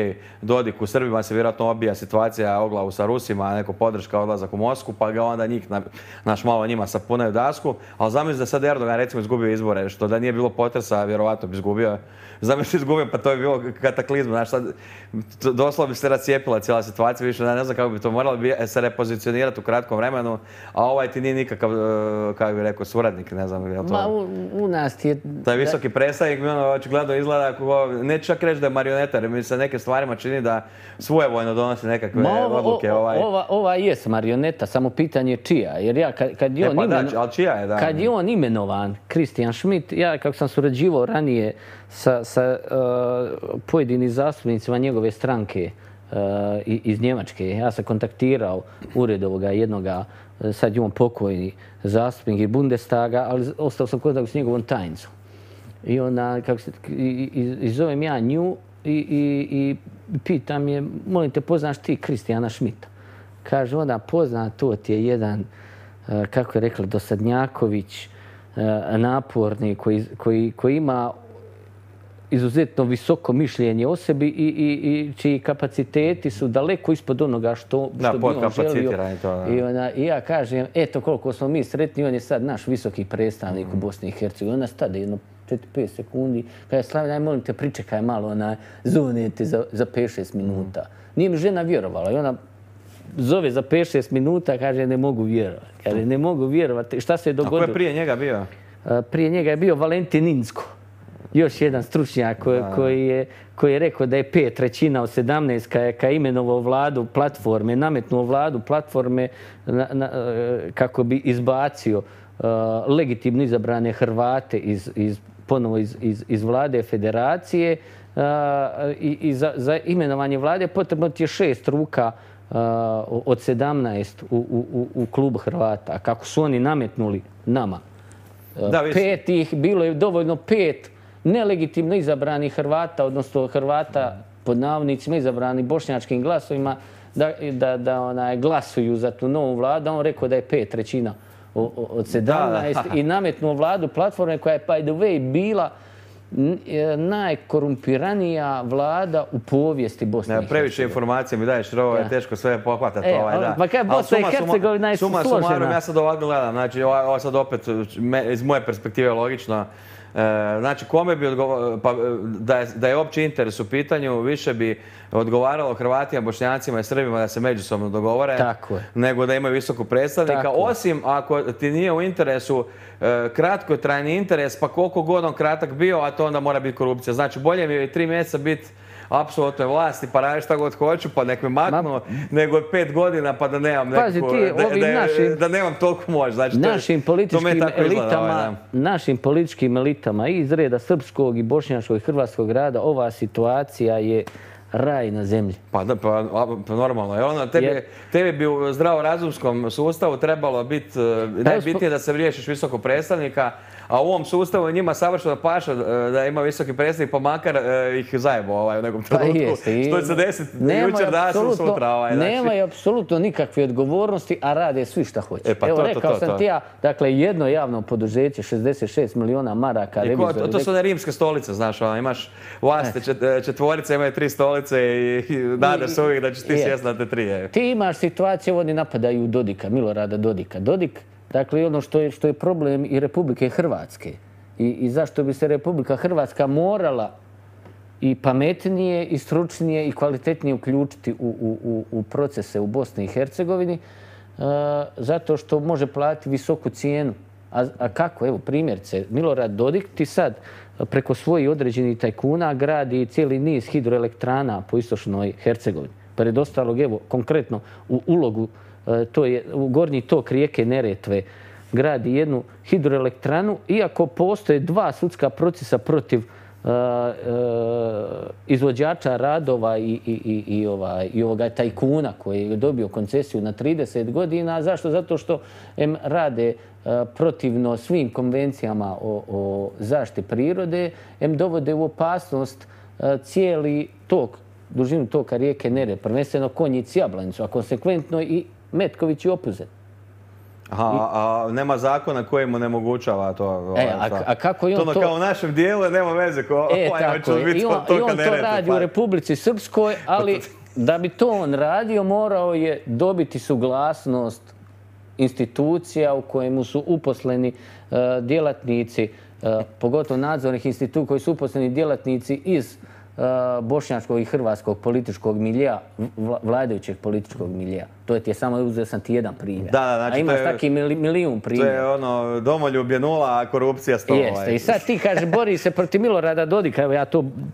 Dodik u Srbima se vjerojatno obija situacija o glavu sa Rusima, neko podrška odlazak u Moskvu, pa ga onda njih, naš malo njima sapunaju dasku. Ali zamisli da sad Erdogan recimo izgubio izbore, što da nije bilo potresa, vjerovatno bi izgubio. Zamisli izgubio, pa to bi bilo kataklizma. Znači, sad, doslovno bi se rascijepila cijela situacija, više ne znam kako bi to moralo se repozicionirati u kratkom vremenu, a ovaj ti nije nikakav, kako bih rekao, suradnik, ne znam. U nas ti je... Taj visoki predstavnik mi očigledno izgleda, neću čak reći da je marioneta, jer mi se nekim stvarima čini da svojevoljno donosi nekakve odluke. Ova jest marioneta, samo pitanje čija. Jer ja, kad je on imenovan, Christian Schmidt, ja kako sam surađivao ranije sa pojedinim zastupnicima njegove stranke iz Njemačke, ja sam kontaktirao ured ovoga jednoga, sad je on pokojni zastupnik iz Bundestaga, ali ostao sam kontakt s njegovom tajnicom. I onda, i zovem ja nju i pitam je, molim te, poznaš ti Christiana Schmidta? Kaže ona, pozna, to ti je jedan, kako je rekla, dosadnjaković, naporni, koji ima izuzetno visoko mišljenje o sebi i čiji kapaciteti su daleko ispod onoga što bi on želio. I ja kažem, eto koliko smo mi sretni, on je sad naš visoki predstavnik u Bosni i Hercegovini. Ona stade jedno 4-5 sekundi. Kaže, Slavljaj, molim te, pričekaj malo, zovnite za 5-6 minuta. Nije mi žena vjerovala i ona zove za 5-6 minuta, kaže ne mogu vjerovati. Kaže ne mogu vjerovati. Šta se je dogodilo? A ko je prije njega bio? Prije njega je bio Valentin Inzko. Još jedan stručnjak koji je rekao da je 5/3 od 17 kad je imenovao vladu platforme, nametnuo vladu platforme kako bi izbacio legitimno izabrane Hrvate ponovo iz vlade federacije i za imenovanje vlade potrebno ti je 6 ruka od 17 u klubu Hrvata. A kako su oni nametnuli nama? 5 ih, bilo je dovoljno 5 nelegitimno izabranih Hrvata, odnosno Hrvata pod navodnicima izabrani bošnjačkim glasovima, da glasuju za tu novu vladu. On rekao da je 5/3 od 17 i nametnuo vladu platforme koja je, by the way, bila najkorumpiranija vlada u povijesti Bosne i Hercegovine. Previše informacija mi daješ, ovo je teško sve pohvatati. Pa kaj Bosna i Hercegovina je složena. Ja sad ovako gledam, znači ovo sad opet iz moje perspektive logično. Znači, kome bi da je opći interes u pitanju, više bi odgovaralo Hrvatima, Bošnjacima i Srbima da se međusobno dogovore, nego da imaju visokog predstavnika. Osim ako ti nije u interesu kratkotrajni interes, pa koliko god on kratak bio, a to onda mora biti korupcija. Znači, bolje mi je 3 mjeseca biti apsolutnoj vlasti, pa raditi šta god hoću, pa nek me maknu, nego 5 godina pa da nemam da nemam toliko moć. Znači, našim političkim elitama i iz reda srpskog i bošnjačkog i hrvatskog rada ova situacija je raj na zemlji. Pa normalno. Tebi bi u zdravorazumskom sustavu trebalo biti najbitnije da se riješiš visokog predstavnika, a u ovom sustavu njima savršeno paša da ima visoki predstavnik, pa makar ih zajebo u nekom trenutku. Što će se desiti jučer, danas ili sutra. Nemaju apsolutno nikakve odgovornosti, a rade svi šta hoće. Evo, rekao sam ti ja, dakle, jedno javno poduzeće, 66 miliona maraka. To su one rimske stolice, znaš, imaš vlasti četvorice, imaju 3 stolice i nadaš se uvijek da ćeš ti sjest na te 3. Ti imaš situaciju, oni napadaju Dodika, Milorada Dodika. Dodik, dakle, ono što je problem i Republike Hrvatske i zašto bi se Republika Hrvatska morala i pametnije, i stručnije, i kvalitetnije uključiti u procese u Bosni i Hercegovini, zato što može platiti visoku cijenu. A kako? Evo, primjerice, Milorad Dodik ti sad preko svojih određenih tajkuna gradi cijeli niz hidroelektrana po istočnoj Hercegovini. Pred ostalog, evo, konkretno u Ulogu, to je u gornji tok rijeke Neretve, gradi jednu hidroelektranu, iako postoje 2 sudska procesa protiv izvođača radova i ovoga tajkuna koji je dobio koncesiju na 30 godina. Zašto? Zato što rade protivno svim konvencijama o zaštiti prirode, dovode u opasnost cijeli tok, dužinu toka rijeke Neretve, prvenstveno Konjic i Jablanicu, a konsekventno i Metković i Opuzet. A nema zakona koji mu nemogućava to? A kako je on to... Kao u našem dijelu nema veze. I on to radi u Republici Srpskoj, ali da bi to on radio morao je dobiti suglasnost institucija u kojemu su uposleni djelatnici, pogotovo nadzornih instituta koji su uposleni djelatnici iz bošnjačkog i hrvatskog političkog milija, vladajućeg političkog milija. To je samo, uzeo sam ti jedan primjer. A imaš taki milijun primjera. To je ono, domoljublje 0, a korupcija 100. Jeste. I sad ti kaže, bori se protiv Milorada Dodika. Evo ja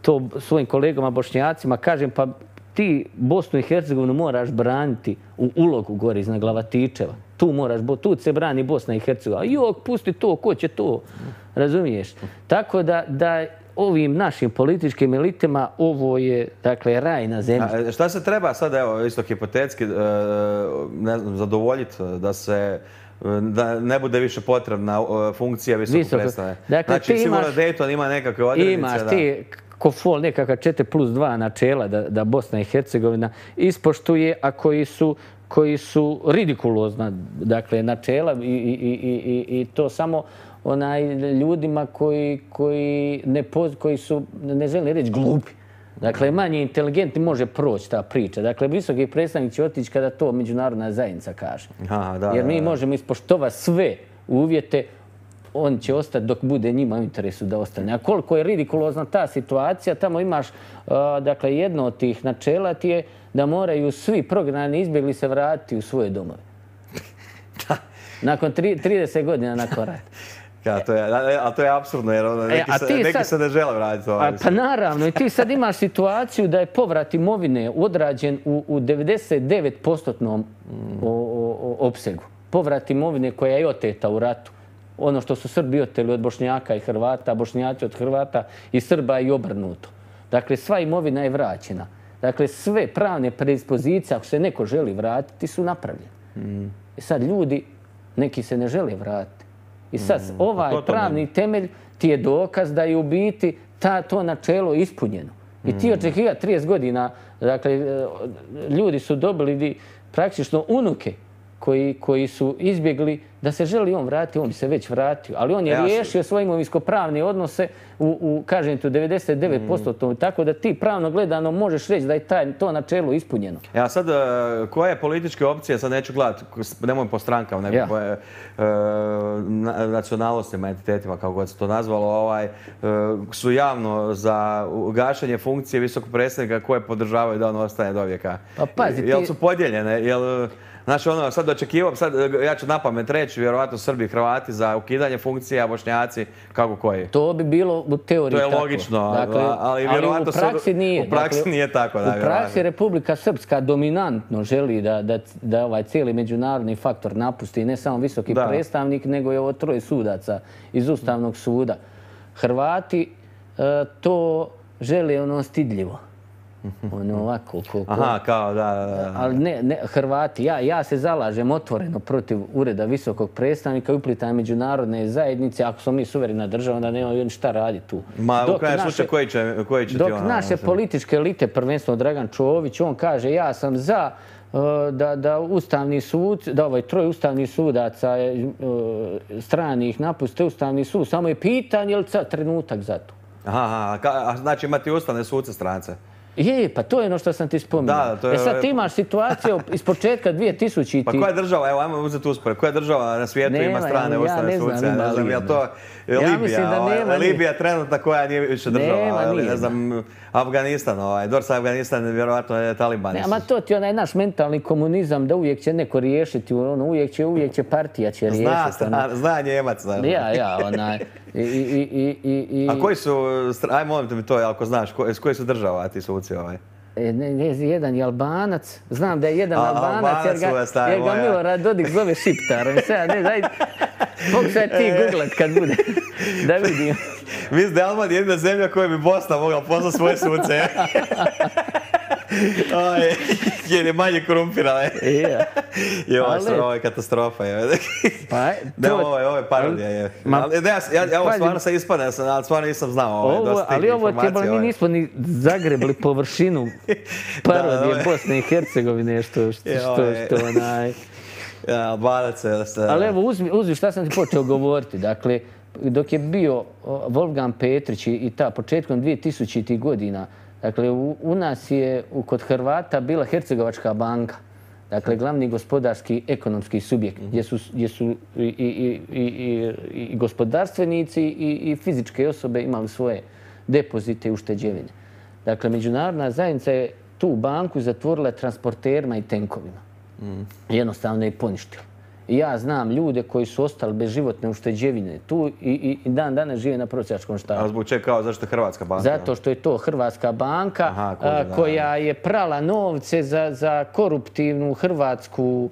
to svojim kolegama bošnjacima kažem, pa ti Bosnu i Hercegovinu moraš braniti u Ulogu gore iznad Glavatičeva. Tu se brani Bosna i Hercegovina. Jok, pusti to, ko će to? Razumiješ? Tako da ovim našim političkim elitama ovo je, dakle, raj na zemlji. Šta se treba sad, evo, isto hipotetski, zadovoljiti da ne bude više potrebna funkcija visokog predstavnika? Znači, sigurno Dayton ima nekakve odrednice. Imaš ti ko fol nekakva 4+2 načela da Bosna i Hercegovina ispoštuje, a koji su ridikulozna, dakle, načela i to samo ljudima koji su, ne želim reći, glupi. Dakle, manje inteligentni može proći ta priča. Dakle, visoki predstavnik će otići kada to međunarodna zajednica kaže. Jer mi možemo ispoštovati sve uvjete on će ostati dok bude njima u interesu da ostane. A koliko je ridikulozna ta situacija, tamo imaš, dakle, jedno od tih načela ti je da moraju svi prognani izbjegli se vratiti u svoje domove. Nakon 30 godina nakon rata. Ali to je apsurdno jer neki se ne žele vratiti. Pa naravno, i ti sad imaš situaciju da je povrat imovine odrađen u 99% opsegu. Povrat imovine koja je oteta u ratu. Ono što su Srbi oteli od Bošnjaka i Hrvata, Bošnjaci od Hrvata i Srba i obrnuto. Dakle, sva imovina je vraćena. Dakle, sve pravne predispozicije, ako se neko želi vratiti, su napravljene. I sad ljudi, neki se ne žele vratiti. I sad ovaj pravni temelj ti je dokaz da je u biti to načelo ispunjeno. I ti očekiva 30 godina, dakle, ljudi su dobili praktično unuke koji su izbjegli da se želi on vratiti, on bi se već vratio. Ali on je riješio svoje imovinsko-pravne odnose kažem ti, u 99%. Tako da ti pravno gledano možeš reći da je to načelo ispunjeno. Ja sad, koje političke opcije, sad neću gledati, nemoj po strankama, nego nacionalnostima, entitetima, kako god se to nazvalo, su javno za gašenje funkcije visokog predsjednika koje podržavaju da on ostane do vijeka. Pa pazi, jel su podijeljene? Znači, sad očekivao, sad ja ću napamet reći, vjerovatno Srbi i Hrvati za ukidanje funkcija, Bošnjaci, kako koji? To bi bilo u teoriji tako. To je logično, ali vjerovatno u praksi nije. U praksi nije tako. U praksi Republika Srpska dominantno želi da ovaj cijeli međunarodni faktor napusti ne samo visoki predstavnik, nego i ovo 3 sudaca iz Ustavnog suda. Hrvati to žele ono stidljivo. Ono ovako. Aha, kao da. Ali ne, Hrvati, ja se zalažem otvoreno protiv ureda visokog predstavnika i uplitanja međunarodne zajednice. Ako smo mi suverena država, onda nema šta raditi tu. Ma, u krajem slučaju, koji će ti dok naše političke elite, prvenstveno Dragan Čović, on kaže ja sam za da Ustavni sud, da 3 ustavnih sudaca stranih napuste Ustavni sud. Samo je pitanje, je li sad trenutak za to? Aha, znači imati ustavne sudce strance. Pa to je ono što sam ti spominjao. Sad ti imaš situaciju iz početka 2000. Pa koja država, evo ajmo uzeti uspore, koja država na svijetu ima strane ustavne suce? Ja ne znam, je li to Libija? Libija trenutna koja nije više država, ne znam, Afganistan, Afganistan vjerovatno je Taliban. Ma to ti je onaj naš mentalni komunizam da uvijek će neko riješiti, uvijek će partija će riješiti. Zna Njemac. onaj. A koji su, aj molim mi to, ako znaš, koji su država ti suci ovaj? Jedan je Albanac. Znam da je jedan Albanac jer ga Milorad Dodik zove Šiptarom. Pokušaj ti googlat kad bude. Da vidim. Mislim da je Alban jedina zemlja koja bi Bosna mogla poslati svoje suce. Jer je manje korumpirala. Ovo je katastrofa. Ovo je parodija. Ovo stvarno sam ispadne, ali stvarno nisam znao dosta tih informacija. Ali mi nismo ni zagrebli površinu parodije Bosne i Hercegovine, što onaj... Albanac je... Ali evo, uzmi šta sam ti počeo govoriti. Dakle, dok je bio Wolfgang Petrić i početkom 2000. godina, dakle, u nas je kod Hrvata bila Hercegovačka banka. Dakle, glavni gospodarski ekonomski subjekt gdje su i gospodarstvenici i fizičke osobe imali svoje depozite i ušteđevine. Dakle, međunarodna zajednica je tu banku zatvorila transporterima i tenkovima. Jednostavno je poništila. I ja znam ljude koji su ostali bez životne ušteđevine tu i dan danas žive na prosjačkom štabu. A zbog čega kao zašto je Hrvatska banka? Zato što je to Hrvatska banka koja je prala novce za koruptivnu hrvatsku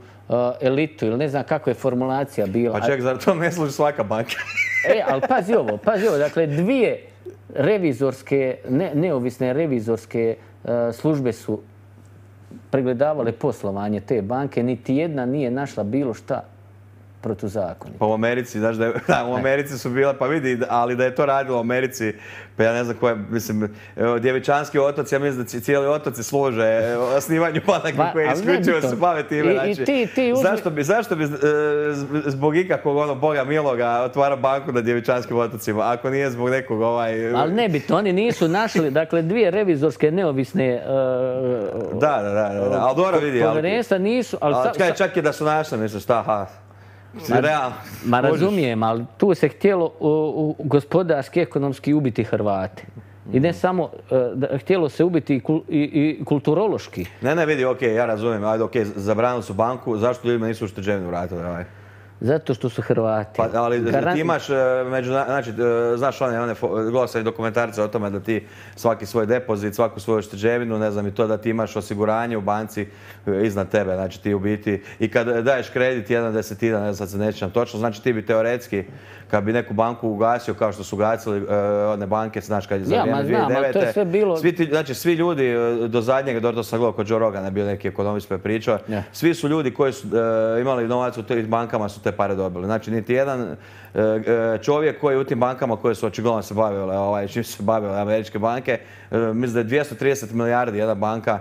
elitu ili ne znam kako je formulacija bila. Pa ček, zar to ne služi svaka banka? Ali pazi ovo. Dakle, 2 revizorske, neovisne revizorske službe su pregledavale poslovanje te banke, niti jedna nije našla bilo šta protuzakonito. Pa u Americi, znaš u Americi su bile, pa vidi, ali da je to radilo u Americi, pa ja ne znam koje, mislim, Djevičanski otoci, ja mislim da cijeli otoci služe osnivanju banaka koje isključivo se bave time. Zašto bi zbog ikakvog Boga miloga otvarao banku na Djevičanskim otocima, ako nije zbog nekog Ali nebitno, oni nisu našli, dakle, 2 revizorske neovisne ali dobro vidi. Povjerenstva nisu... Čak je da su našli, misliš, šta, realno. Ma razumijem, ali tu se htjelo gospodarski, ekonomski ubiti Hrvate. I ne samo, htjelo se ubiti i kulturološki. Ne, vidi, okej, ja razumijem, ajde, okej, zabranili su banku, zašto ljudima nisu ušteđevinu vratili? Zato što su Hrvati. Pa, ali ti imaš, znači, znaš one gledao sam i dokumentarce o tome da ti svaki svoj depozit, svaku svoju ušteđevinu, ne znam i to da ti imaš osiguranje u banci iznad tebe, znači ti u biti, i kad daješ kredit 1/10, ne znam, sad se ne sjećam točno, znači ti bi teoretski, kad bi neku banku ugasio kao što su ugasili one banke, znaš, kad je za vrijeme 2009. To je sve bilo... Znači, svi ljudi do zadnjega, to sam gledao kod Joe Rogana, bio neki ekonomist pa je pričao, svi su ljudi koji su imali novac u tim bankama su te pare dobili. Znači, niti jedan čovjek koji je u tim bankama koje su očigledno se bavile, čim su se bavile američke banke, mislim da je 230 milijardi jedna banka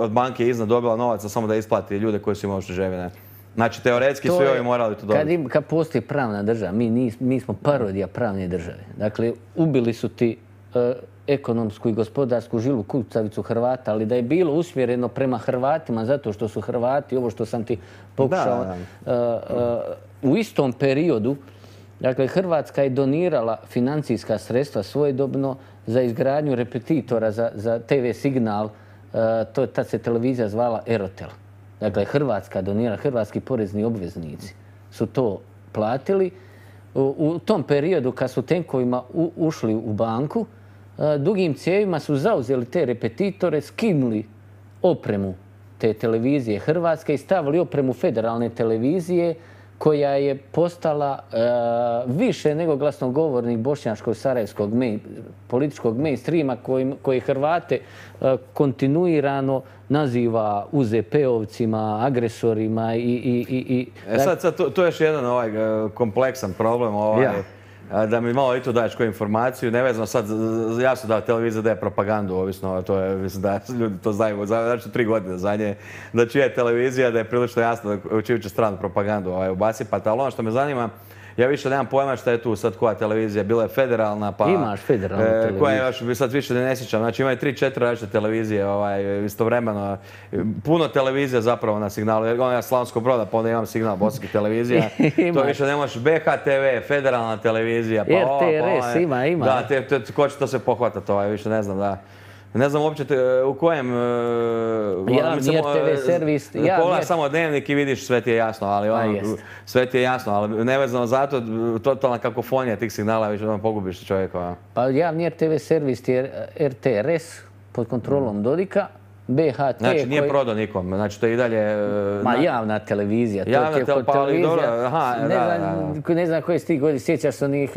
od banke iznad dobila novaca samo da isplati ljude koji su imali ušteđevine. Znači, teoretski svi ovi morali to dobiti. Kad postoji pravna država, mi smo parodija pravne države. Dakle, ubili su ti ekonomsku i gospodarsku žilu kucavicu Hrvata, ali da je bilo usmjereno prema Hrvatima zato što su Hrvati, ovo što sam ti pokušao, u istom periodu, dakle, Hrvatska je donirala financijska sredstva svojedobno za izgradnju repetitora za TV signal, tad se televizija zvala Erotel. Dakle, Hrvatska donira, hrvatski porezni obveznici su to platili. U tom periodu kad su tenkovima ušli u banku, dugim cijevima su zauzeli te repetitore, skinuli opremu te televizije Hrvatske i stavili opremu federalne televizije koja je postala više nego glasnogovornik bošnjačkog sarajevskog političkog mainstreama koji Hrvate kontinuirano naziva UZP-ovcima, agresorima i... Sad, to je još jedan kompleksan problem, da mi malo i to daješ koju informaciju, nevezano sad, jasno da televizija daje propagandu, ovisno, to je, mislim da ljudi to znaju, znači 3 godine zadnje, da čija je televizija, da je prilično jasno u čiju će stranu propagandu ubacipati, ali ono što me zanima, ja više nemam pojma šta je tu sad koja televizija, bila je federalna, pa... Imaš federalnu televiziju. Koja je još, sad više ne sjećam, znači imaju 3-4 različite televizije istovremeno. Puno televizija zapravo na signalu, jer ja Slavonskog Broda, pa onda imam signal bosanskih televizija. To više ne možeš BHTV, federalna televizija, pa RTRS ima. Da, ko će to se pohvatati, više ne znam, da. Ne znam uopće u kojem... Javni RTV servis... Pogledaj samo Dnevnik i vidiš sve ti je jasno, ali nevezano zato totalna kakofonija tih signala, više pogubiš čovjeka. Pa javni RTV servis je RTRS pod kontrolom Dodika, BHT... Znači nije prodao nikom, znači to je i dalje... Ma javna televizija, to je kod televizija... Ne znam koje si ti godini, sjećaš se onih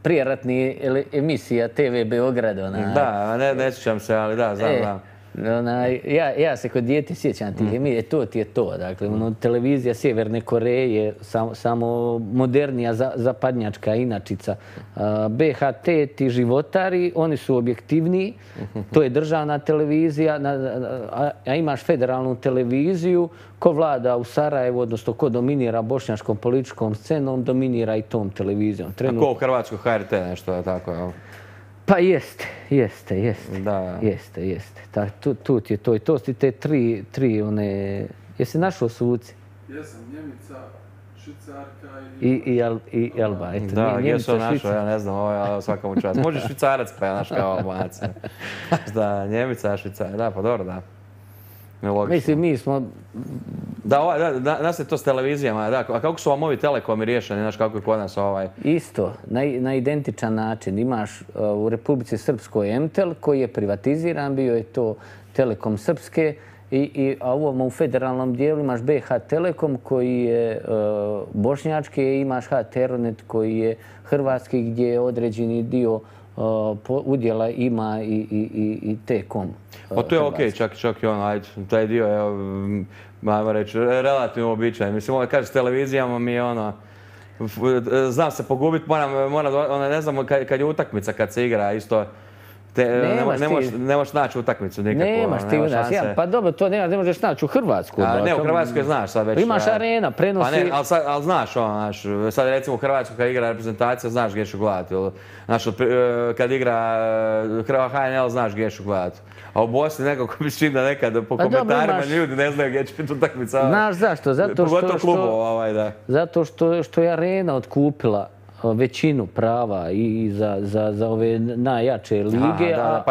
prijeratnih emisija TV Beograda. Da, ne sjećam se, ali da, znam. Ja se kod dijete sjećam tih emisija, to ti je to. Dakle, televizija Sjeverne Koreje, samo modernija zapadnjačka inačica. BHT, ti životari, oni su objektivniji, to je državna televizija, a imaš federalnu televiziju, ko vlada u Sarajevu, odnosno ko dominira bošnjačkom političkom scenom, dominira i tom televizijom. A ko u Hrvatskoj HRT nešto tako? Pa jeste. Da. Jeste. Tu ti je to i to su te tri one... Jesi našao suci? Jesam, Njemica, Švicarka i Alba. Da, gdje su našao, ja ne znam, svaka mu čast. Može Švicarac pa ja naš kao Albanac. Da, Njemica, Švicarka, da, pa dobro, da. Mislim, mi smo... Da se to s televizijama, da, a kako su vam ovi telekomi riješeni, znaš kako je kod nas Isto, na identičan način. Imaš u Republici Srpskoj MTEL koji je privatiziran, bio je to Telekom Srpske, a u federalnom dijelu imaš BH Telekom koji je bošnjački, i imaš HTRnet koji je hrvatski gdje određeni dio udjela ima i T-Com. Pa to je okej, čak i ajde, taj dio je, ajmo reći, relativno običajan. Mislim, kaže s televizijama mi je znam se pogubiti, moram, ne znam, kad je utakmica, kad se igra, isto, Ne možeš naći utakmicu nikakvu. Nemaš ti šanse. Pa dobro, to ne možeš naći u Hrvatsku. Ne, u Hrvatskoj znaš sad već. Imaš arena, prenosi... Pa ne, ali znaš, sad recimo u Hrvatskoj kad igra reprezentacija, znaš gdje ću gledati. Znaš, kad igra HNL, znaš gdje ću gledati. A u Bosni nekako mi čini da nekad po komentarima ljudi ne znaju gdje će biti utakmica. Znaš zašto? Zato što je arena otkupila većinu prava i za ove najjače lige, a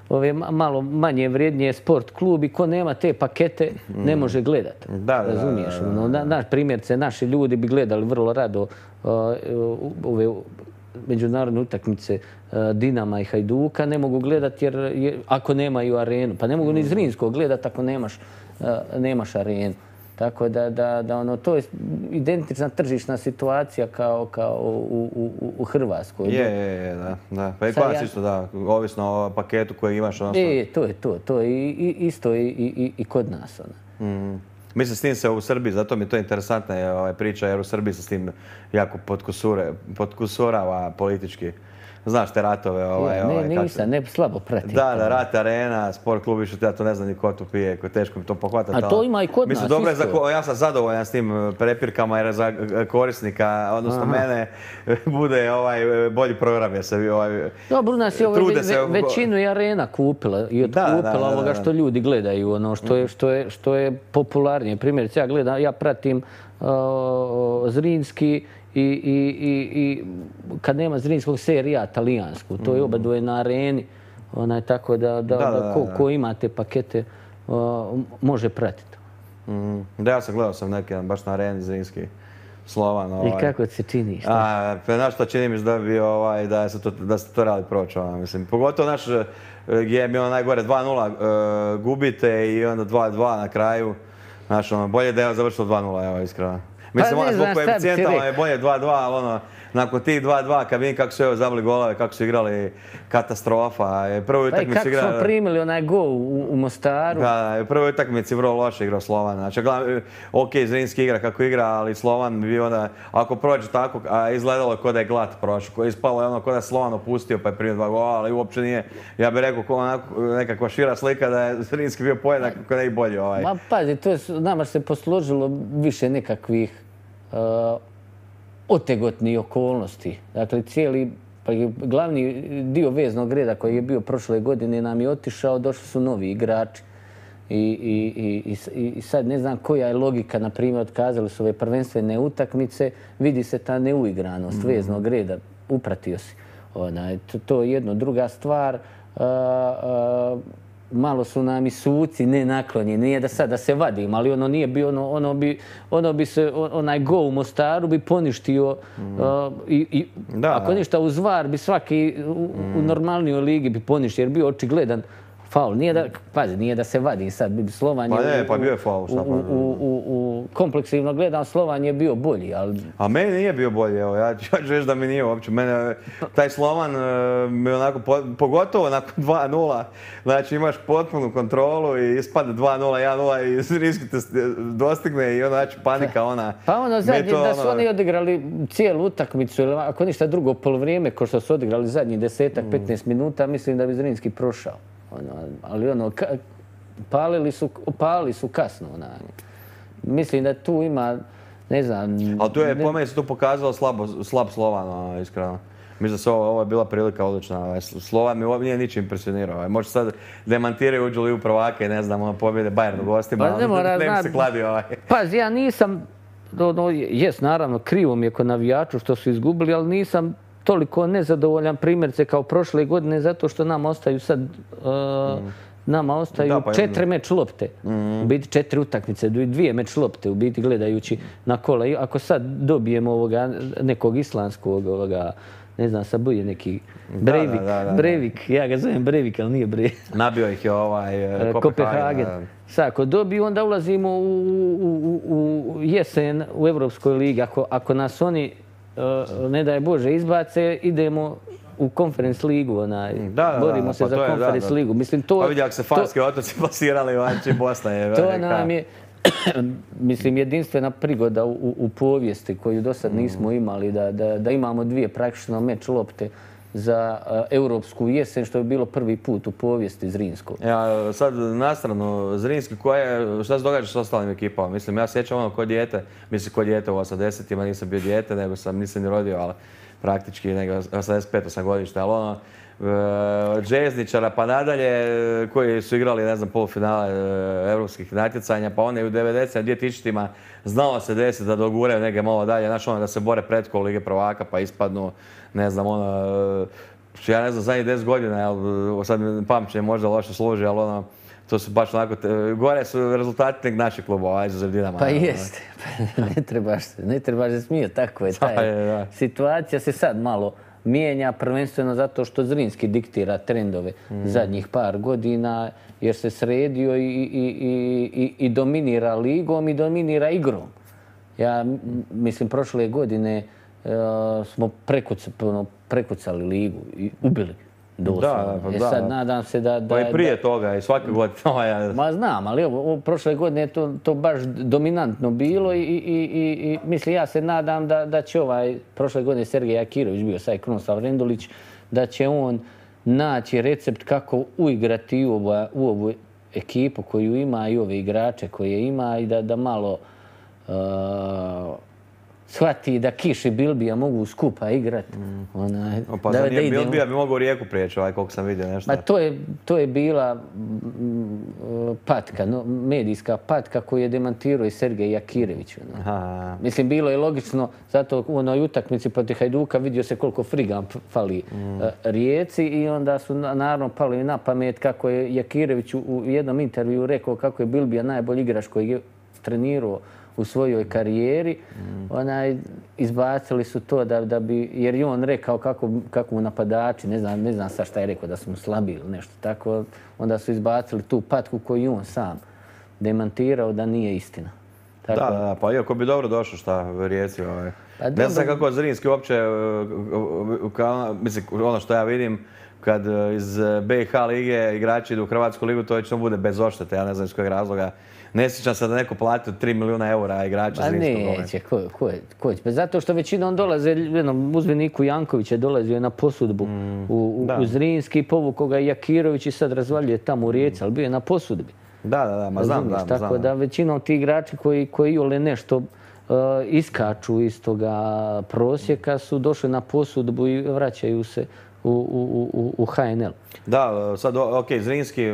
ove malo manje vrijednije sport klubi, ko nema te pakete ne može gledati. Razumiješ? Primjerce, naši ljudi bi gledali vrlo rado ove međunarodne utakmice Dinama i Hajduka, ne mogu gledati jer ako nemaju arenu. Pa ne mogu ni Zrinskog gledati ako nemaš arenu. Tako da to je identična tržišna situacija kao u Hrvatskoj. Da. Pa i kod nas isto, da, ovisno o paketu koji imaš. To je to. To je isto i kod nas. Mislim, s tim se u Srbiji, zato mi je to interesantna priča, jer u Srbiji se s tim jako potkusurava politički. Znaš te ratove. Ne slabo pratim. Da, rat arena, sport klub, ja to ne znam ni ko tu pije, teško mi to pohvatati. A to ima i kod nas isto. Ja sam zadovoljan s tim prepirkama jer za korisnika, odnosno mene, bude bolji program. Dobro, u nas je većinu i arena kupila i otkupila ovoga što ljudi gledaju, što je popularnije. Primjerice, ja pratim Zrinski i kad nema Zrinskog serija talijansku, to je obadoje na areni, tako da ko ima te pakete može pratiti. Da, ja sam gledao neke baš na areni Zrinski, Slovan. I kako se čini? Znaš što čini mi se da ste to radi proći. Pogotovo naš gdje mi je najgore 2-0 gubite i onda 2-2 na kraju. Bolje da je završilo 2-0, iskreno. Mislim, zbog koeficijentama je bolje 2-2, ali nakon tih 2-2, kad vidim kako su zabili golove, kako su igrali, katastrofa. Kako smo primili onaj gol u Mostaru. Da, u prvoj utakmici vrlo loše igrao Slovan. Znači, ok, Zrinski igra kako igra, ali Slovan bi onda, ako prođe tako, izgledalo kao da je glat prošao. Ispalo je ono kao da je Slovan opustio pa je primio 2 gola, ali uopće nije, ja bih rekao, nekakva šira slika da je Zrinski bio pojedak, kao da je i bolji. Ma pazi, nama se posložilo više nekakvih otegotnih okolnosti. Dakle, glavni dio veznog reda koji je bio prošle godine nam je otišao, došli su novi igrači. I sad ne znam koja je logika, na primjer, otkazali su ove prvenstvene utakmice, vidi se ta neuigranost veznog reda, upratio si. To je jedno. Druga stvar, malo su nam i suci nenaklonjeni, nije da sad da se vadim, ali ono nije bio, ono bi se, onaj go u Mostaru bi poništio i ako ništa uz VAR bi svaki u normalnijoj ligi bi poništio jer bio očigledan faul. Nije da se vadi sad, Slovan je... Pa bio je faul. Kompleksivno gledam, Slovan je bio bolji, ali... A meni nije bio bolji, evo, ja ću reći da mi nije uopće. Taj Slovan mi onako, pogotovo nakon 2-0, znači imaš potpunu kontrolu i ispada 2-0, 1-0 i Zrinski te dostigne i onda znači panika ona... Pa ono zadnje, da su oni odigrali cijelu utakmicu, ili ako ništa drugo polovrijeme, ko što su odigrali zadnjih 10-15 minuta, mislim da bi Zrinski prošao. Ali palili su kasno. Mislim da tu ima, ne znam... Ali tu je, po meni se tu pokazalo slab Slovan, iskreno. Mislim da se ovo je bila prilika odlična. Slovan mi nije ničim impresionirao. Možda sad demantiraju, uđu li u prvake, ne znam, pobjede Bayern u gostima, ne bi se kladio. Pazi, ja nisam, jes naravno, krivo mi je kod navijaču što su izgubili, ali nisam toliko nezadovoljan primjerce kao prošle godine zato što nam ostaju sad nama ostaju 4 meč lopte. U biti 4 utakmice, 2 meč lopte u biti gledajući na kola. Ako sad dobijemo nekog islandskog, ne znam, sad bude neki Breivik, ja ga zovem Breivik, ali nije Breivik. Nabio ih je Kopenhagen. Sad, ako dobiju, onda ulazimo u jesen u Evropskoj ligi. Ako nas oni, ne daj Bože, izbace, idemo u Conference ligu, borimo se za Conference ligu. Pa vidi, ako se Farski otoci plasirali, vanči Bosna je velika. To nam je, mislim, jedinstvena prigoda u povijesti koju do sad nismo imali, da imamo 2 praktično meč lopte za europsku jesen, što je bilo prvi put u povijesti Zrinskog. Ja, sad nastrano, Zrinski, šta se događa s ostalim ekipama? Mislim, ja sjećam ono ko dijete, u 80-ima nisam bio dijete, nego nisam ni rodio, ali praktički, nego 85 godište, ali ono, od željezničara pa nadalje, koji su igrali, ne znam, polufinale europskih natjecanja, pa one u 90-ima, 2000-ima znalo se desiti da doguraju neke malo dalje, znači ono da se bore pretkolo Lige prvaka pa ispadnu, ne znam, ono, ja ne znam, zadnjih 10 godina, sad pamćenje možda loše služi, ali ono, to su baš onako, gore su rezultati nek naših klubova, izuzev Dinama. Pa jeste, ne trebaš se smijeti, tako je taj. Situacija se sad malo mijenja, prvenstveno zato što Zrinski diktira trendove zadnjih par godina, jer se sredio i dominira ligom i dominira igrom. Ja mislim, prošle godine smo prekucali ligu i ubili doslovno. Sad nadam se da... Pa i prije toga i svake godine. Ma znam, ali evo, prošle godine je to baš dominantno bilo i mislim, ja se nadam da će prošle godine Sergej Jakirović bio sad Krunoslav Rendulić, da će on naći recept kako uigrati u ovu ekipu koju ima i ove igrače koje ima i da malo shvati da Kiš i Bilbija mogu skupa igrati. Pa za nije Bilbija bi mogao Rijeku prijeći, koliko sam vidio nešto. To je bila patka, medijska patka koju je demantirao i Sergej Jakirević. Mislim, bilo je logično, zato u onoj utakmici protiv Hajduka vidio se koliko friga fali Rijeci i onda su naravno pali na pamet kako je Jakirević u jednom intervju rekao kako je Bilbija najbolji igrač koji je trenirao u svojoj karijeri. Izbacili su to da bi, jer je on rekao kako mu napadači, ne znam sad šta je rekao, da su mu slabi ili nešto tako, onda su izbacili tu patku koju on sam demantirao da nije istina. Da, pa iako bi dobro došlo šta Rijeci. Ne znam kako Zrinski uopće, mislim, ono što ja vidim, kad iz BiH lige igrači idu u Hrvatsku ligu, to već bude bez odštete, ja ne znam iz kojeg razloga. Ne sjećam se da neko platio 3 milijuna eura igrača Zrinskog. Neće, ko će? Zato što većinom dolaze, uzmi Niku Jankovića, dolazio je na posudbu u Zrinski, povukao ga Jakirović i sad razvaljuje tamo u Rijeci, ali bio je na posudbi. Da, ma znam. Tako da većinom ti igrači koji ole nešto iskaču iz toga prosjeka su došli na posudbu i vraćaju se u HNL. Da, sad, Zrinski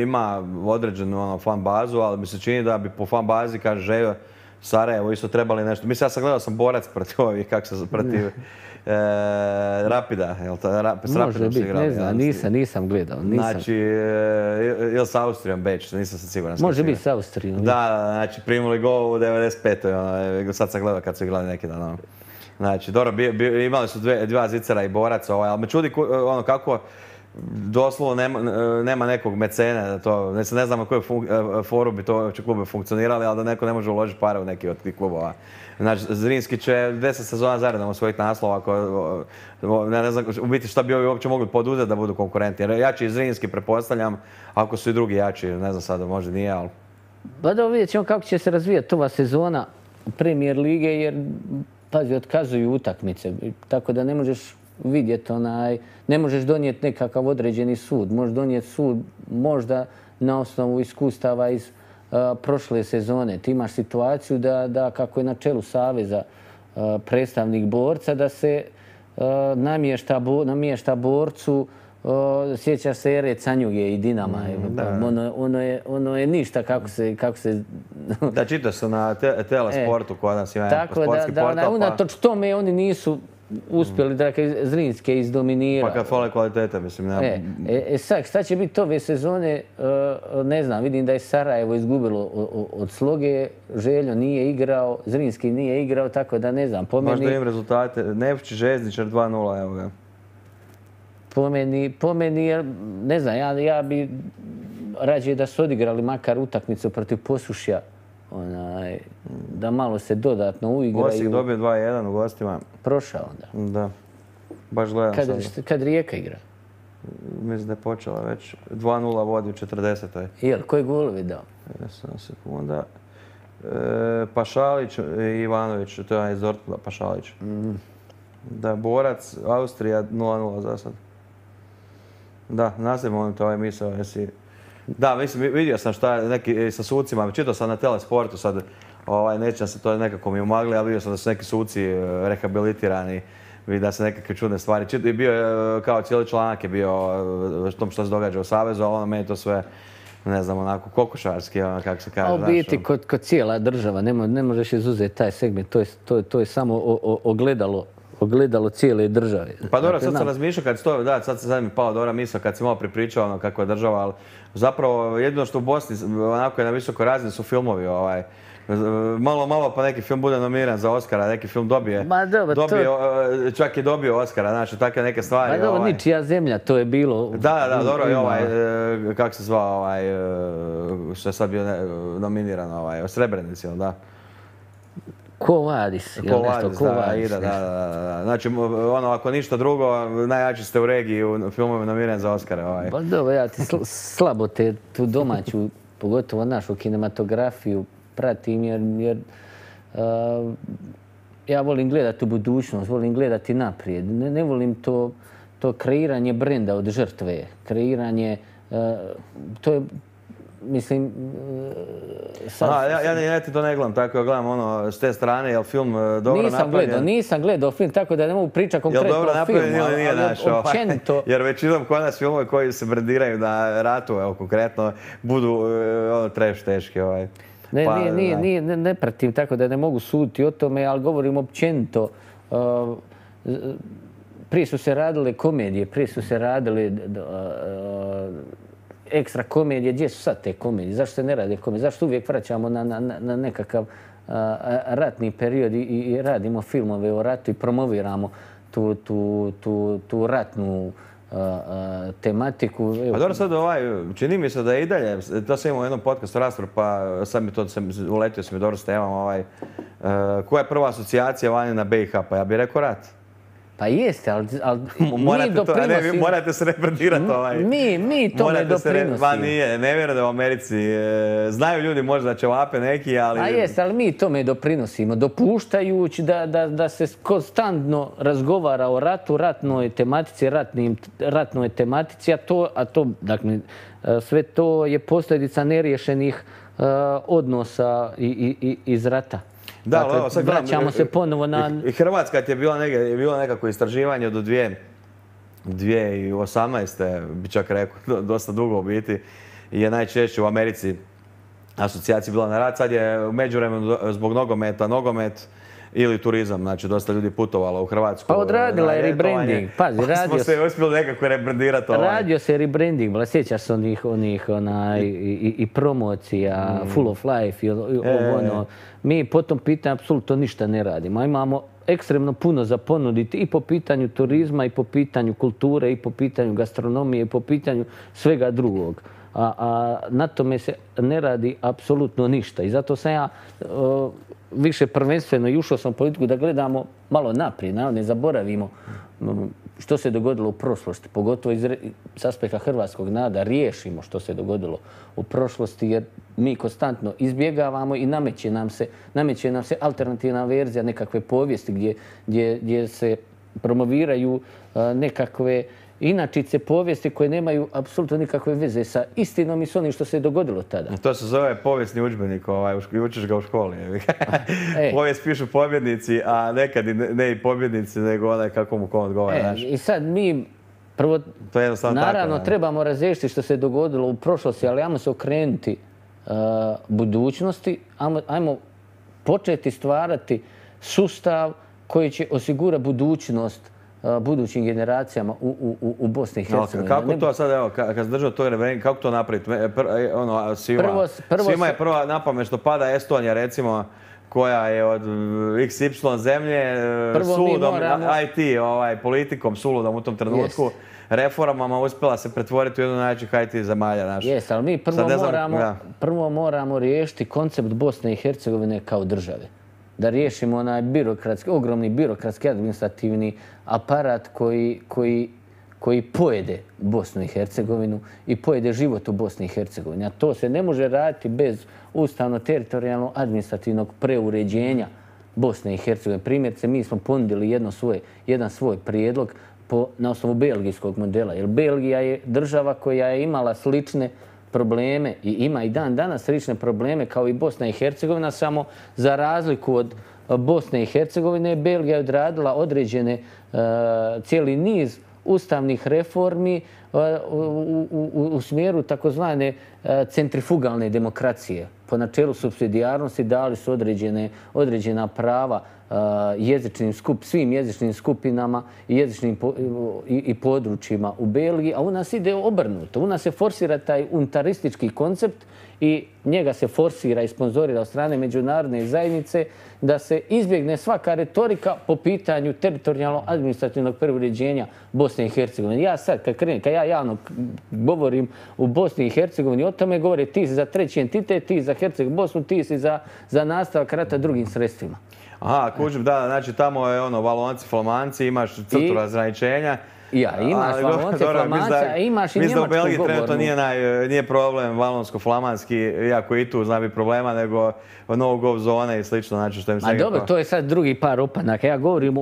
ima određenu fan bazu, ali mi se čini da bi po fan bazi, kaže Žejo, Sarajevo isto trebali nešto. Mislim, ja sam gledao Borac protiv Rapida. Može biti, ne znam, nisam gledao. Znači, ili s Austrijom Beč, nisam se siguran. Može biti s Austrijom. Da, znači, primili gol u 95. Sad sam gledao kad su igrali neki dan. Znači, dobro, imali su dva Zicara i Borac, ali me čudi kako doslovno nema nekog mecene da to, ne znam na kojoj foru bi to klubi funkcionirali, ali da neko ne može uložiti pare u neki od tih klubova. Znači, Zrinski će 10 sezona zaredom osvojiti naslov, ako, ne znam u biti šta bi ovi uopće mogli poduzeti da budu konkurenti. Jer jači Zrinski, pretpostavljam, ako su i drugi jači, ne znam sada, možda nije, ali... Pa da vidjet ćemo kako će se razvijati ova sezona Premier lige, jer pazi, otkazuju utakmice, tako da ne možeš vidjeti ne možeš donijeti nekakav određeni sud. Možeš donijeti sud možda na osnovu iskustava iz prošle sezone. Ti imaš situaciju da kako je na čelu Saveza predstavnik borca, da se namješta borcu, sjećaš se ere Canjuge i Dinama. Ono je ništa kako se... Da, čitaš se na Telesportu kod nas ima sportski portal. Tako da unatoč tome oni nisu uspjeli da Zrinske izdominirati. Pa kad fale kvalitete, mislim. Sad, šta će biti ove sezone, ne znam, vidim da je Sarajevo izgubilo od Sloge, Željo nije igrao, Zrinski nije igrao, tako da ne znam. Možda imam rezultate, Nevčić, Željezničar 2-0, evo ga. Po meni, ne znam, ja bi rađe da su odigrali makar utakmicu protiv Posušja, da malo se dodatno uigraju. Osijek dobio 2-1 u gostima. Prošao onda. Da. Baš gledam sada. Kad Rijeka igra? Mislim da je počela već. 2-0 vodi u 40. Jel, koji golovi dao? Sekunda. Pašalić i Ivanović, to je iz Dortmunda, Pašalić. Da, Borac, Austrija 0-0 za sad. Da, nastavimo on to ovaj misao, jesi... Da, mislim, vidio sam šta je neki sa sucima, čitao sam na Telesportu sad, nećem se to nekako mi umagli, ali vidio sam da su neki suci rehabilitirani, da se nekakve čudne stvari. I bio je, kao cijeli članak je bio o tom što se događa u Savezu, ali meni to sve, ne znam, onako kokošarski, kako se kaže. A u biti, kod cijela država, ne možeš izuzeti taj segment, to je samo ogledalo cijele države. Pa dobro, sad sam razmišljao kad to, da, sad mi je pala dobra misao kad si malo pripričao kako je država, ali zapravo jedino što u Bosni onako je na visokoj razini su filmovi. Malo pa neki film bude nominiran za Oscara, neki film dobije, čak je dobio Oscara, znači takve neke stvari. Pa dobro, ničija zemlja, to je bilo... Da, dobro i kako se zvao, što je sad bio nominiran, Srebrenici, da. Quo Vadis, ili nešto, Quo Vadis. Da. Znači, ako ništa drugo, najjači ste u regiji u filmovima nominiran za Oscara. Pa dobro, ja ti slabo tu domaću, pogotovo našu kinematografiju, pratim jer ja volim gledati u budućnost, volim gledati naprijed. Ne volim to kreiranje brenda od žrtve, kreiranje, to je, mislim... Ja ti to ne gledam, tako ja gledam s te strane, je li film dobro napravljen? Nisam gledao film, tako da ne mogu pričati konkretno o filmu. Jel dobro napravljen ili nije naš? Jer većinom kod nas filmove koji se brandiraju na ratu, konkretno, budu trash teški. Ne pratim, tako da ne mogu suditi o tome, ali govorim općenito. Prije su se radile komedije, prije su se radile ekstra komedije. Gdje su sad te komedije? Zašto se ne rade komedije? Zašto uvijek vraćamo na nekakav ratni period i radimo filmove o ratu i promoviramo tu ratnu tematiku? A dobro, sad čini mi se da je i dalje, to sam imao u jednom podcastu raspravu, pa sad mi to uletio sam mi dobro s temom, koja je prva asocijacija vani na BiH? Pa ja bih rekao rat. Pa jeste, ali mi doprinosimo... Morate se rebrandirati Mi tome doprinosimo. Nije, ne vjerujem da u Americi znaju ljudi možda da će vape neki, ali... A jeste, ali mi tome doprinosimo, dopuštajući da se konstantno razgovara o ratu, ratnoj tematici, a to, dakle, sve to je posljedica neriješenih odnosa iz rata. Da, ali sad vraćamo se ponovo na... I Hrvatska ti je bilo nekako istraživanje do 2018. bi čak rekao, dosta dugo u biti, je najčešće u Americi asocijacija bila na rat. Sad je u međuvremenu zbog nogomet ili turizam, znači dosta ljudi putovalo u Hrvatsku. Pa odradila je rebranding. Pazi, smo se uspjeli nekako rebrandirati. Radio se rebranding, sjećaš se onih i promocija, Full of Life i ono. Mi po tom pitanju apsolutno ništa ne radimo. Imamo ekstremno puno za ponuditi i po pitanju turizma, i po pitanju kulture, i po pitanju gastronomije, i po pitanju svega drugog. A na tome se ne radi apsolutno ništa. I zato sam ja više prvenstveno i ušao sam u politiku da gledamo malo naprijed, ne zaboravimo što se dogodilo u prošlosti, pogotovo s aspekta hrvatskog naroda, riješimo što se dogodilo u prošlosti, jer mi konstantno izbjegavamo i nameće nam se alternativna verzija nekakve povijesti gdje se promoviraju nekakve inačice povijesti koje nemaju apsolutno nikakve veze sa istinom i s onim što se dogodilo tada. To se zove povijesni udžbenik, učiš ga u školi. Povijest pišu pobjednici, a nekad ne i pobjednici, nego onaj kako mu kom odgovara. I sad mi prvo, naravno, trebamo razriješiti što se dogodilo u prošlosti, ali ajmo se okrenuti budućnosti, ajmo početi stvarati sustav koji će osigurati budućnost budućim generacijama u Bosni i Hercegovini. Kako to sad, evo, kad se držao to referendum, kako to napraviti? Svima je prva napamet što pada Estonija, recimo, koja je od XY zemlje suludom IT, politikom suludom u tom trenutku, reformama uspjela se pretvoriti u jednu najjačih IT zemalja. Jes, ali mi prvo moramo riješiti koncept Bosne i Hercegovine kao države. Da riješimo onaj ogromni birokratski administrativni aparat koji pojede Bosnu i Hercegovinu i pojede život u Bosni i Hercegovini. A to se ne može raditi bez ustavno-teritorijalno administrativnog preuređenja Bosne i Hercegovine. Primjerice, mi smo ponudili jedan svoj prijedlog na osnovu belgijskog modela. Jer Belgija je država koja je imala slične probleme i ima i dan danas slične probleme kao i Bosna i Hercegovina, samo za razliku od Bosne i Hercegovine, Belgija je odradila određene cijeli niz ustavnih reformi u smjeru takozvane centrifugalne demokracije. Po načelu supsidijarnosti dali su određena prava svim jezičnim skupinama i područjima u Belgiji, a u nas ide obrnuto. U nas se forsira taj unitaristički koncept i njega se forsira i sponzorira od strane međunarodne zajednice da se izbjegne svaka retorika po pitanju teritorijalno-administrativnog preuređenja Bosne i Hercegovine. Ja sad, kad ja javno govorim u Bosni i Hercegovini, o tome govore ti si za treći entitet, ti si za Bosnu, ti si za nastavak rata drugim sredstvima. Aha, kužim, da, znači tamo je Valonci, Flamanci, imaš crtu razgraničenja. Imaš Valonce, Flamanci, a imaš i njemačkog govornu. Mislim da u Belgiji trenutno nije problem valonsko-flamanski, iako i tu zna biti problema, nego no-go zone i slično. Znači što im se dobro, to je sad drugi par opanaka. Ja govorim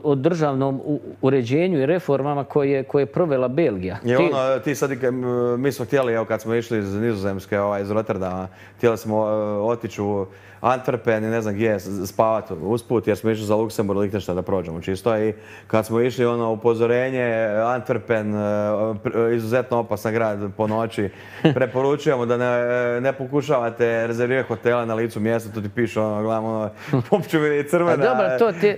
o državnom uređenju i reformama koje je provela Belgija. Ti sad, mi smo htjeli, evo kad smo išli iz Nizozemske, iz Rotterdama, htjeli smo otići u Antwerpen i ne znam gdje spavati usput jer smo išli za Luksemburg, Lichtenstein da prođemo čisto i kad smo išli upozorenje Antwerpen, izuzetno opasan grad po noći, preporučujemo da ne pokušavate rezervirati hotele na licu mjesta, tu ti piše gledam uopće mi je crvena,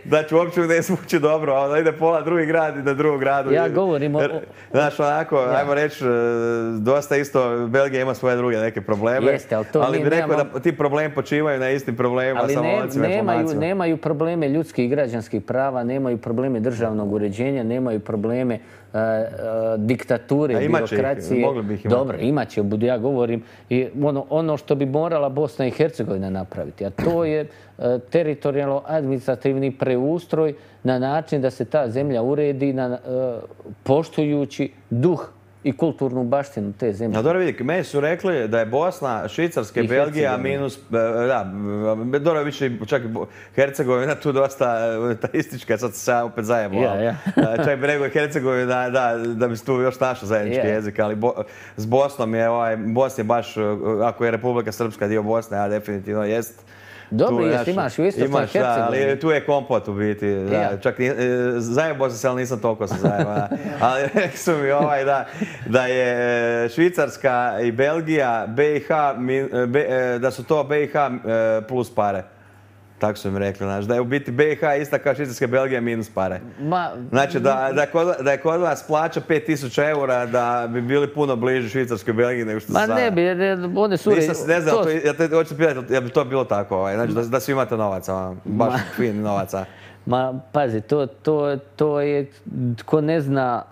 da ću uopće mi ne smući dobro, da ide pola drugi grad i na drugom gradu. Ja govorim o... Znaš, onako, ajmo reći, dosta isto, Belgija ima svoje druge neke probleme, ali bi rekao da ti problemi počivaju na istim problemima sa Valonacima i Flamanacima. Nemaju probleme ljudskih i građanskih prava, nemaju probleme državnog uređenja, nemaju probleme diktature, birokracije. Mogli bi ih imati. Dobro, imat će, ja govorim, ono što bi morala Bosna i Hercegovina napraviti, a to je teritorijalno-administrativni preustroj na način da se ta zemlja uredi poštujući duh i kulturnu baštinu te zemlje. Dobro vidi, meni su rekli da je Bosna, Švicarska i Belgija minus, da, dobro više čak i Hercegovina tu dosta unitaristička, sad se ja opet zajebao. Čak bi rekao Hercegovina da bi se tu još našao zajednički jezik, ali s Bosnom je, Bosna je baš, ako je Republika Srpska dio Bosne, a definitivno jest. Dobro, imaš u istočnoj Hercegovini. Ali tu je kompot u biti. Čak zajebao sam se, ali nisam toliko se zajebao. Ali rekli su mi da je Švicarska i Belgija, BiH, da su to BiH plus pare. Tako su im rekli, znači da je u biti BiH ista kao Švicarska, Belgija minus pare. Znači da je kod vas plaća 5.000 eura da bi bili puno bliži Švicarskoj i Belgiji nego što su sada. Ma ne bi, one su... Ne znam, ja te hoću pitati, je bi to bilo tako, znači da svi imate novaca, baš fin novaca. Ma, pazi, to je, ko ne zna,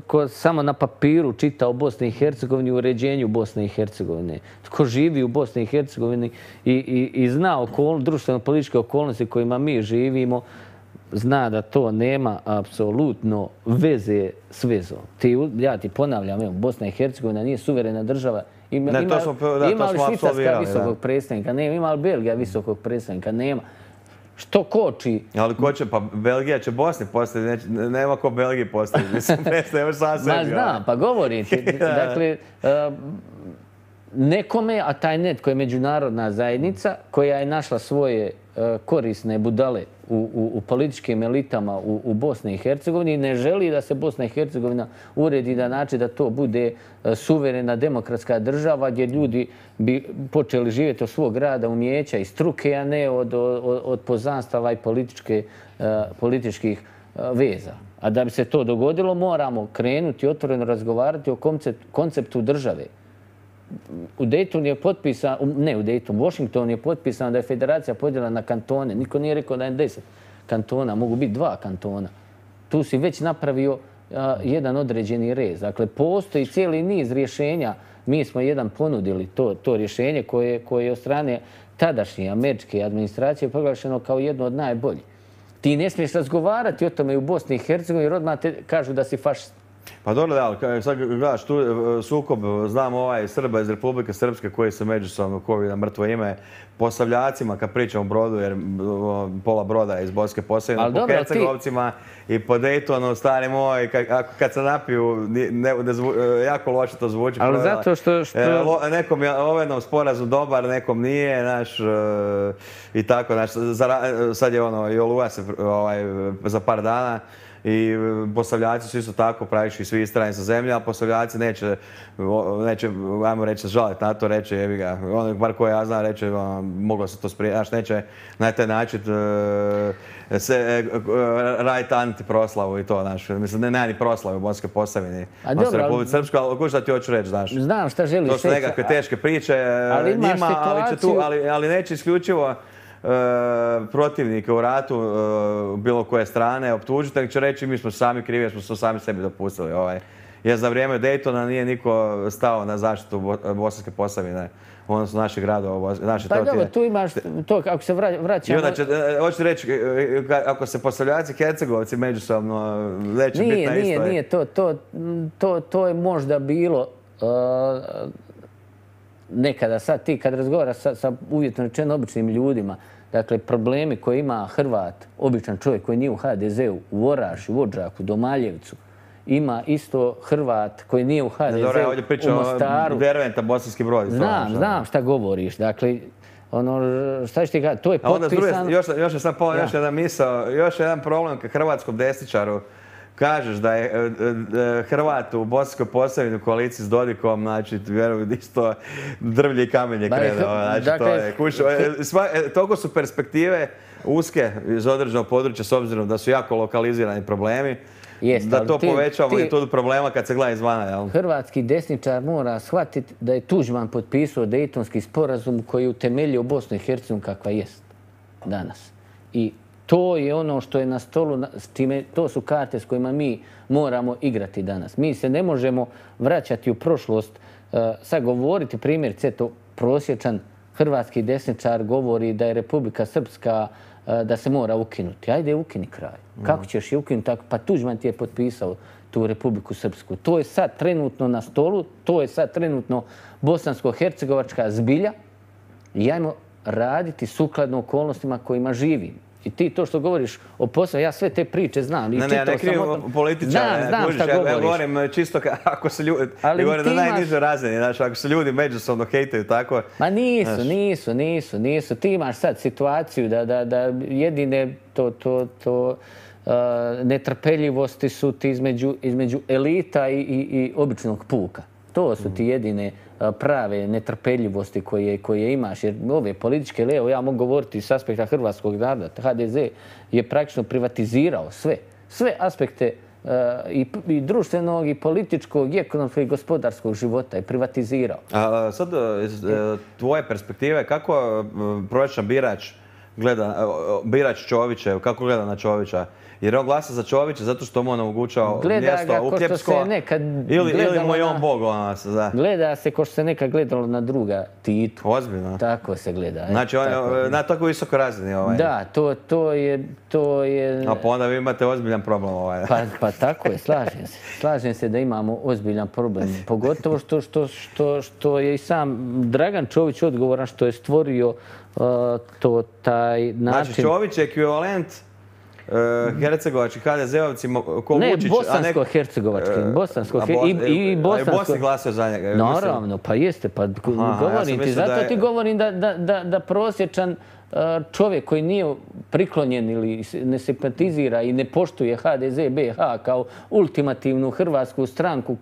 ko samo na papiru čita o Bosni i Hercegovini, u uređenju Bosne i Hercegovine, ko živi u Bosni i Hercegovini i zna društveno-političke okolnosti kojima mi živimo, zna da to nema apsolutno veze s vezom. Ja ti ponavljam, Bosna i Hercegovina nije suverena država. Ima li Švicarska visokog predstavnika? Nema. Ima li Belgija visokog predstavnika? Nema. Što koči? Ali ko će, pa Belgija će Bosni postaviti, nema ko Belgiji postaviti, mislim, nemaš sam sebi. Ma znam, pa govorim ti. Dakle, nekome, a taj netko je međunarodna zajednica koja je našla svoje korisne budale u političkim elitama u Bosni i Hercegovini, ne želi da se Bosna i Hercegovina uredi na način da to bude suverena demokratska država gdje ljudi bi počeli živjeti od svog rada, umijeća i struke, a ne od poznanstava i političkih veza. A da bi se to dogodilo, moramo krenuti otvoreno razgovarati o konceptu države. U Daytonu je potpisan, ne u Daytonu, u Washingtonu je potpisano da je federacija podijeljena na kantone. Niko nije rekao da je 10 kantona, mogu biti 2 kantona. Tu si već napravio jedan određeni rez. Dakle, postoji cijeli niz rješenja. Mi smo jedan ponudili to rješenje koje je od strane tadašnje američke administracije proglašeno kao jedno od najboljih. Ti ne smiješ razgovarati o tome u Bosni i Hercegovini jer odmah te kažu da si fašist. Pa dobro, da, ali sad gledaš tu sukob, znam Srba iz Republike Srpske koji se međusobno kovi na mrtvo ime, Posavljacima, kad pričam o Brodu, jer pola Broda je iz Bosanske Posavine, po Hercegovcima i po Daytonu, stari moj, kad se napiju, jako loše to zvuči. Ali zato što... Nekom je ovaj sporazum dobar, nekom nije, znaš, i tako, znaš, sad je i Oluja se za par dana, i Posavljaci su isto tako praktički svi istrani sa zemlje, a Posavljaci neće, ajmo reći, žaliti na to, reći, jebi ga, ono bar koje ja znam, reći, moglo se to sprijeti, znaš, neće na taj način raditi antiproslavu i to, znaš, mislim, nema ni proslave u Bosanskoj Posavini, u Republici Srpskoj, ali ko šta ti hoću reći, znaš. Znam šta želiš reći. To su nekakve teške priče njima, ali neće isključivo protivnike u ratu bilo koje strane optužiti, nego će reći mi smo sami krivi jer smo to sami sebi dopustili. Jer za vrijeme Daytona nije niko stao na zaštitu Bosanske Posavine, odnosno naših gradova. Pa dobro, tu imaš to, ako se vraćamo... Hoću reći, ako se Posavljaci i Hercegovci međusobno neće biti na istoj... Nije, to je možda bilo nekada, sad ti kad razgovaraš sa uvjetno rečeno običnim ljudima, dakle, problemi koje ima Hrvat, običan čovjek koji nije u HDZ-u, u Orašju, u Odžaku, Domaljevcu, ima isto Hrvat koji nije u HDZ-u, u Mostaru. Derventa, Bosanski Brod. Znam šta govoriš. Dakle, šta ću ti gledati, to je potpisano... Još jedan misao, još jedan problem ka hrvatskom desničaru. Kažeš da je Hrvat u Bosanskoj Posavini u koaliciji s Dodikom, znači, vjerujem, isto drvlje i kamenje krenuo. Znači, to je kućo. Toliko su perspektive uske iz određenog područja, s obzirom da su jako lokalizirani problemi, da to poveća magnitudu problema kad se gleda izvana. Hrvatski desničar mora shvatiti da je Tuđman potpisao Dejtonski sporazum koji je utemeljio Bosnu i Hercegovinu kakva jest danas. I to je ono što je na stolu, to su karte s kojima mi moramo igrati danas. Mi se ne možemo vraćati u prošlost, sad govoriti primjer, to prosječan hrvatski desničar govori da je Republika Srpska, da se mora ukinuti. Ajde, ukini kraj. Kako ćeš je ukinuti? Pa Tuđman ti je potpisao tu Republiku Srpsku. To je sad trenutno na stolu, to je sad trenutno bosansko-hercegovačka zbilja i ajmo raditi sukladno okolnostima kojima živimo. I ti to što govoriš o poslu, ja sve te priče znam. Ne krivim političara. Znam šta govoriš. Ja govorim čisto ako se ljudi, govorim na najnižoj razini, znači ako se ljudi međusobno hejtaju tako. Ma nisu. Ti imaš sad situaciju da jedine netrpeljivosti su ti između elita i običnog puka. To su ti jedine prave netrpeljivosti koje imaš. Jer ove političke, evo ja mogu govoriti s aspekta hrvatskog naroda. HDZ je praktično privatizirao sve aspekte i društvenog, i političkog, i ekonomskog, i gospodarskog života je privatizirao. A sad, iz tvoje perspektive, kako prosječan birač Čovića, kako gleda na Čovića? Jer on glasa za Čovića zato što mu on omogućao mjesto uhljebsko ili mu je on bog? Gleda se ko što se nekad gledalo na druga Titu. Ozbiljno? Tako se gleda. Znači on je na tako visokoj razini? Da, to je... A pa onda vi imate ozbiljan problem. Pa tako je, slažem se. Slažem se da imamo ozbiljan problem. Pogotovo što je i sam Dragan Čović odgovoran što je stvorio taj način... Znači Čović je ekvivalent hercegovački HDZ-ovci ko Vučić... Ne, bosansko-hercegovački. I Bosni glasio za njega. Naravno, pa jeste. Pa govorim ti, zato ti govorim da prosječan čovjek koji nije priklonjen ili ne simpatizira i ne poštuje HDZ BiH kao ultimativnu hrvatsku stranku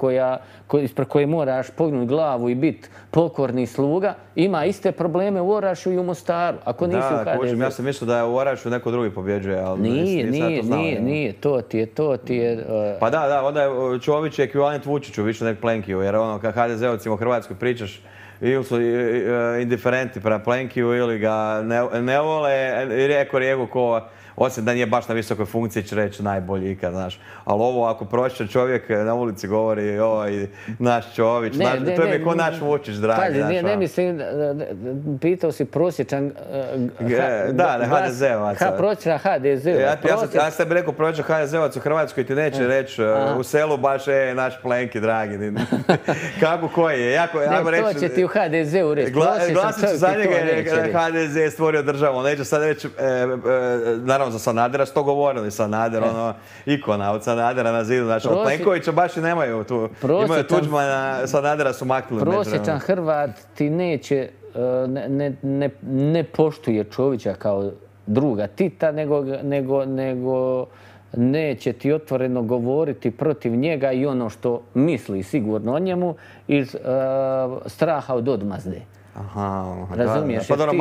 ispred koje moraš pognuti glavu i biti pokorni sluga, ima iste probleme u Orašju i u Mostaru, ako nisi u HDZ. Ja sam mislio da je u Orašju neko drugi pobjeđuje, ali nije, to ti je... Pa da, onda je Čović ekvivalent Vučiću, više nek Plenkiju, jer ono kad HDZ-ovcima u Hrvatskoj pričaš ili su indiferenti prema Plenkiju ili ga ne vole i reko ko osim da nije baš na visokoj funkciji, će reći najbolji ikad, znaš. Ali ovo, ako prosječan čovjek na ulici govori, oj, naš Čović, to je mi ko naš Vučić, dragi. Pazi, ne mislim, pitao si prosječan HDZ-ovac. Prosječan HDZ-ovac. Ja sam rekao prosječan HDZ-ovac u Hrvatskoj, ti neće reći u selu baš, naš Plenki, dragi. Kako koji je? To će ti u HDZ-u reći. Glasit ću za njega jer HDZ je stvorio državu. Neću sad reći, naravno za Sanadera su to govorili. Sanader, ikona od Sanadera na zidu. Znači, od Plenkovića baš i nemaju tu. Imaju Tuđmana, Sanadera su maknuli. Prosječan Hrvat ti neće, ne poštuje Čovića kao druga Tita, nego neće ti otvoreno govoriti protiv njega i ono što misli sigurno o njemu iz straha od odmazde. Razumiješ? Pa dobro,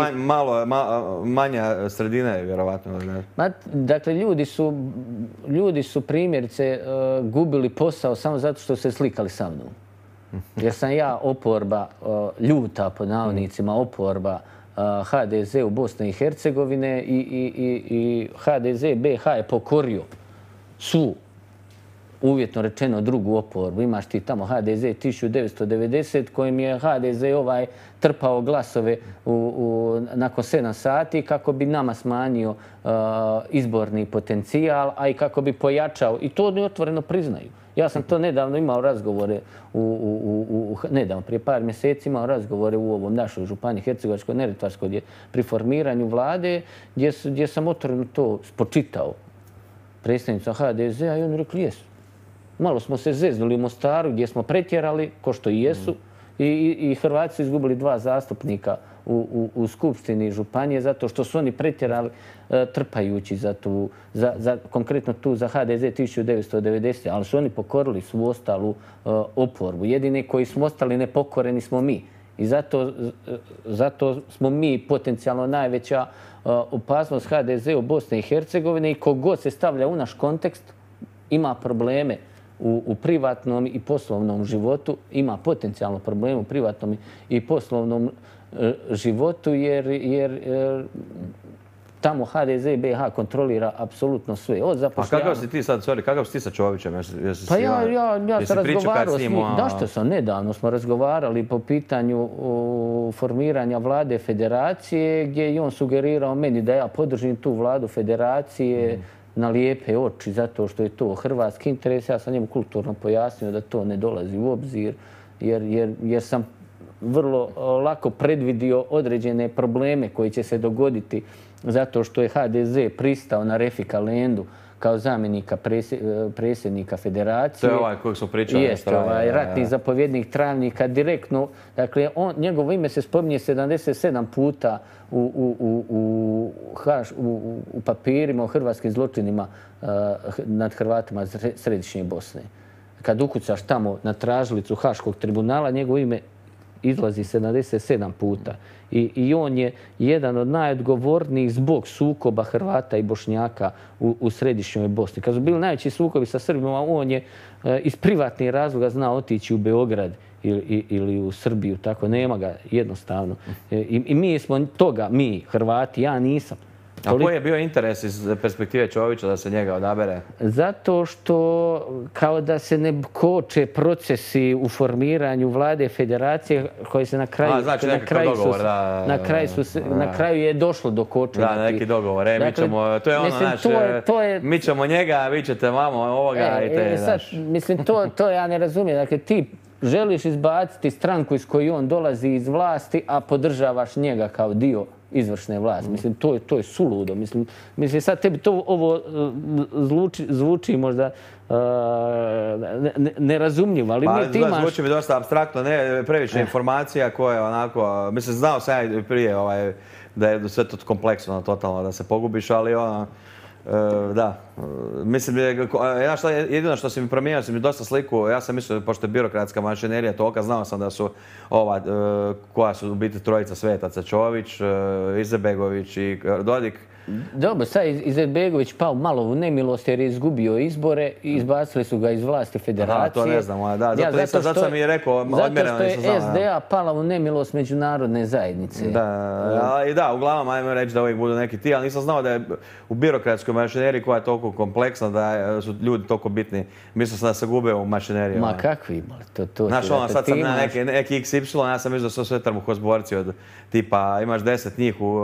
manja sredina je vjerovatno. Dakle, ljudi su primjerice gubili posao samo zato što se slikali sa mnom. Jer sam ja oporba, ljuta pod navodnicima, oporba HDZ u Bosne i Hercegovine i HDZ BiH je pokorio svu, uvjetno rečeno, drugu oporbu. Imaš ti tamo HDZ 1990 kojim je HDZ trpao glasove nakon 7 sati kako bi nama smanjio izborni potencijal, a i kako bi pojačao. I to oni otvoreno priznaju. Ja sam to nedavno imao razgovore, nedavno, prije par mjeseci imao razgovore u ovom našoj županiji Hercegovačko-Neretvanskoj pri formiranju vlade gdje sam otvoreno to spočitao predstavnicima HDZ-a i oni rekli jesu. Malo smo se zeznuli u Mostaru gdje smo pretjerali, ko što i jesu, i Hrvati su izgubili 2 zastupnika u Skupštini županije zato što su oni pretjerali trpajući konkretno tu za HDZ 1990. Ali su oni pokorili svu ostalu oporbu. Jedini koji smo ostali nepokoreni smo mi. I zato smo mi potencijalno najveća opasnost HDZ u Bosni i Hercegovini i kogod se stavlja u naš kontekst ima probleme u privatnom i poslovnom životu, ima potencijalno probleme u privatnom i poslovnom životu jer tamo HDZ i BiH kontrolira apsolutno sve. A kakav si ti sad, kakav si ti sa Čovićem? Pa ja sam razgovarao s njim. Da što sam, nedavno smo razgovarali po pitanju formiranja vlade federacije gdje je on sugerirao meni da ja podržim tu vladu federacije na lijepe oči zato što je to hrvatski interes. Ja sam njemu kulturno pojasnio da to ne dolazi u obzir jer sam vrlo lako predvidio određene probleme koji će se dogoditi zato što je HDZ pristao na Refika Lendu kao zamjenika predsjednika federacije. To je kojeg smo pričali. Jeste, ratni zapovjednik Travnika direktno. Dakle, njegovo ime se spominje 77 puta u papirima o hrvatskim zločinima nad Hrvatima Središnje Bosne. Kad ukucaš tamo na tražilicu Haškog tribunala, njegovo ime izlazi 77 puta. I on je jedan od najodgovornijih zbog sukoba Hrvata i Bošnjaka u Središnjoj Bosni. Kad su bili najveći sukobi sa Srbima, on je iz privatnih razloga znao otići u Beograd ili u Srbiju. Tako, nema ga jednostavno. I mi smo toga, mi Hrvati, ja nisam. A koji je bio interes iz perspektive Čovića da se njega odabere? Zato što kao da se ne koče procesi u formiranju vlade federacije koji se na kraju... Znači nekakav dogovor, da. Na kraju je došlo do kočenja. Da, neki dogovor. To je ono naš... Mi ćemo njega, a vi ćete vamo ovoga i te, znaš. Mislim, to ja ne razumijem. Dakle, ti želiš izbaciti stranku iz koje on dolazi iz vlasti, a podržavaš njega kao dio izvršne vlasti. Mislim, to je suludo. Mislim, sad tebi to ovo zvuči možda nerazumljivo, ali ti imaš... Zvuči mi dosta apstraktno, ne previše informacija koje onako... Mislim, znao sam ja prije da je sve to kompleksno, totalno, da se pogubiš, ali da, Mislim, jedino što si mi promijenio, si mi dosta sliku, ja sam mislio, pošto je birokratska mašinerija tolika, znao sam da su koja su u biti trojica svetaca, Čović, Izetbegović i Dodik. Dobro, sad Izetbegović pao malo u nemilost jer je izgubio izbore i izbacili su ga iz vlasti federacije. To ne znam, da. Zato sam i rekao, odmjereno nisam znao. Zato što je SDA pala u nemilost međunarodne zajednice. Da, uglavnom, ajmo reći da uvijek budu neki ti, ali nisam znao da je u birokratskoj mašineriji koja je toliko kompleksna, da su ljudi toliko bitni. Mislio sam da se gube u mašineriju. Ma kakvi, znaš, sad sam na neki XY, ja sam mislio da su sve trbuhozborci od tipa imaš 10 njih u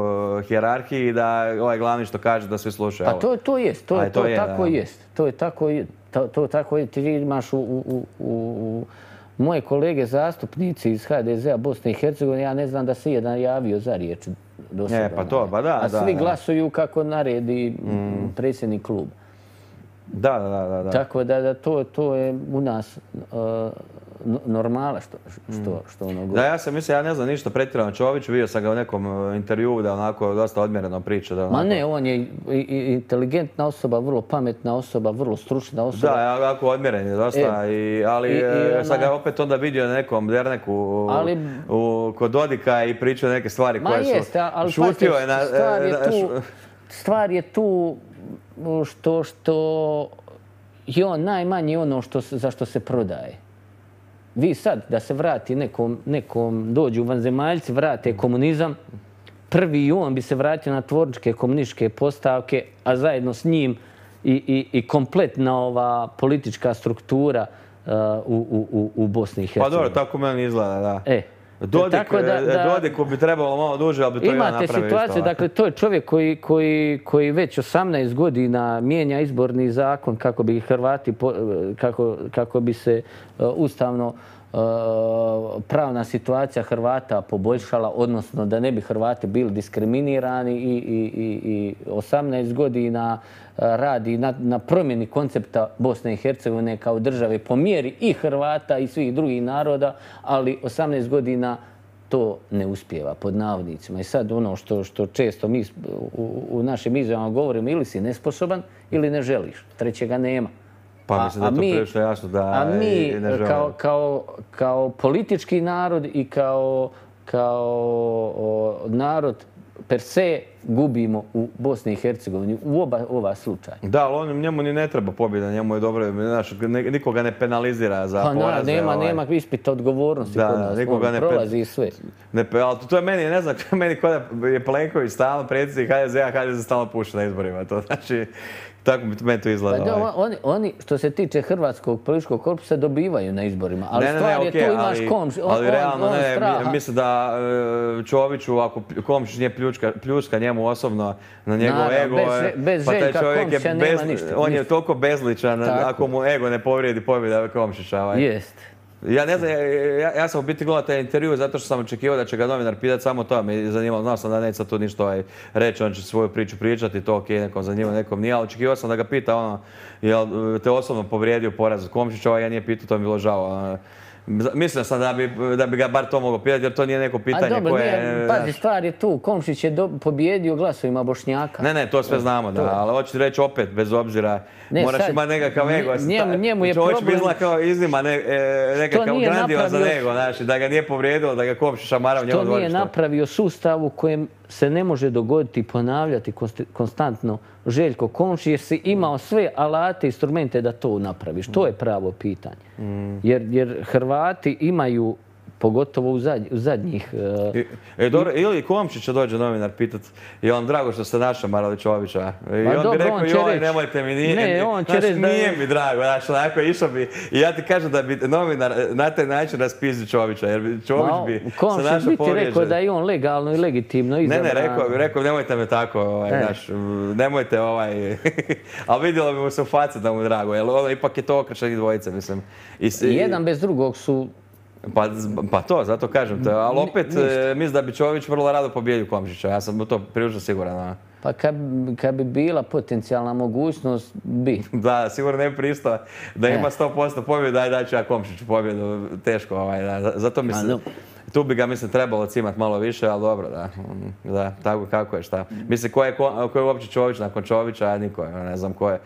hijerarhiji, da ovaj glavni što kaže da svi slušaju. Pa to jest, to tako jest. To je tako jest. Ti imaš moje kolege zastupnici iz HDZ-a Bosne i Hercegovine, ja ne znam da se jedan javio za riječ do sada. A svi glasuju kako naredi predsjednik kluba. Da. Tako da to je u nas normala što ono govori. Da, ja sam mislio, ja ne znam ništa pretjerano Čoviću, vidio sam ga u nekom intervjuu da onako dosta odmjereno priča. Ma ne, on je inteligentna osoba, vrlo pametna osoba, vrlo stručna osoba. Da, onako odmjeren je dosta, ali sam ga opet onda vidio na nekom derneku kod Dodika i pričao neke stvari koje su... Šutio je na... Stvar je tu što je on najmanje ono za što se prodaje. Vi sad, da se vrati nekom dođu vanzemaljci, vrate komunizam, prvi on bi se vratio na tvorničke komunističke postavke, a zajedno s njim i kompletna ova politička struktura u Bosni i Hercegovini. Pa dobro, tako meni izgleda, da. Dodiku bi trebalo malo duže, ali bi to i on napravio isto. Imate situaciju, dakle, to je čovjek koji već 18 godina mijenja izborni zakon kako bi Hrvati, kako bi se ustavno pravna situacija Hrvata poboljšala, odnosno da ne bi Hrvati bili diskriminirani i 18 godina radi na promjeni koncepta Bosne i Hercegovine kao države po mjeri i Hrvata i svih drugih naroda, ali 18 godina to ne uspijeva, pod navodnicima. I sad ono što često mi u našim izjavama govorimo, ili si nesposoban ili ne želiš, trećega nema. Pa mislim da je to prilično jasno da i ne želimo. A mi kao politički narod i kao narod per se gubimo u Bosni i Hercegovini u ova slučaja. Da, ali njemu ni ne treba pobjeda, njemu je dobro, nikoga ne penalizira za poraze. Nema ispita odgovornosti kod nas, on prolazi sve. Ali to je meni, ne znam, meni kod je Plenković stalno predsjednik HDZ-a, HDZ stalno puša na izborima. To znači, tako bi meni to izgleda. Oni, što se tiče hrvatskog političkog korpusa, dobivaju na izborima. Ali stvar je, tu imaš Komšić, on straha. Mislim da Čoviću, ako Komšić nije pljuska njemu osobno na njegov ego, pa taj čovjek je on je toliko bezličan, ako mu ego ne povrijedi pobjeda Komšića. Jest. Ja ne znam, ja sam u biti gledao taj intervju zato što sam očekivao da će ga novinar pitati samo to, me zanimalo, znao sam da neće sad tu ništa reći, on će svoju priču pričati, to ok, nekom zanimljivo, nekom nije, ali očekivao sam da ga pita ono, jel te osobno povrijedio poraz Komšića, ja nije pitao, to mi bilo žao. Mislio sam da bi ga bar to mogao pitati, jer to nije neko pitanje koje... Pazi, stvar je tu, Komšić je pobjedio glasovima Bošnjaka. Ne, to sve znamo, da, ali hoću reći opet, bez obzira, moraš imati nekakav ego. Njemu je problem... Čovječ bi izgleda kao iznima nekakav grandiozan ego, da ga nije povrijedilo, da ga Komšić šamara u njemu dvorištu. To nije napravio sustav u kojem se ne može dogoditi i ponavljati konstantno Željko Komšić, jer si imao sve alate, instrumente da to napraviš. To je pravo pitanje. Jer Hrvati imaju, pogotovo u zadnjih... Dobro, ili Komšića dođe novinar pitat, je vam drago što ste našao Maralićovića? I on bi rekao, joj, nemojte mi, nije mi drago, onako išao bi. I ja ti kažem da bi novinar na taj način raspizdio Čovića, jer Čović bi se našao povrijeđen. Komšić bi ti rekao da je on legalno i legitimno izabran. Ne, rekao, nemojte me tako, nemojte ali vidjelo bi mu se u faci da mu je drago, jer ipak je to okršenih dvojice, mislim. Jedan bez drugog su... Pa to, zato kažem te, ali opet mislim da bi Čović vrlo rado pobjedio Komšića, ja sam u to prilično siguran. Pa kad bi bila potencijalna mogućnost, bi. Da, sigurno ne bi pristao da ima 100% pobjeda, daj ću ja Komšiću pobjedu, teško, zato mislim. Tu bi ga, mislim, trebalo cimat malo više, ali dobro, da, tako kako je, šta. Mislim, ko je uopće Čović nakon Čovića, niko je, ne znam ko je.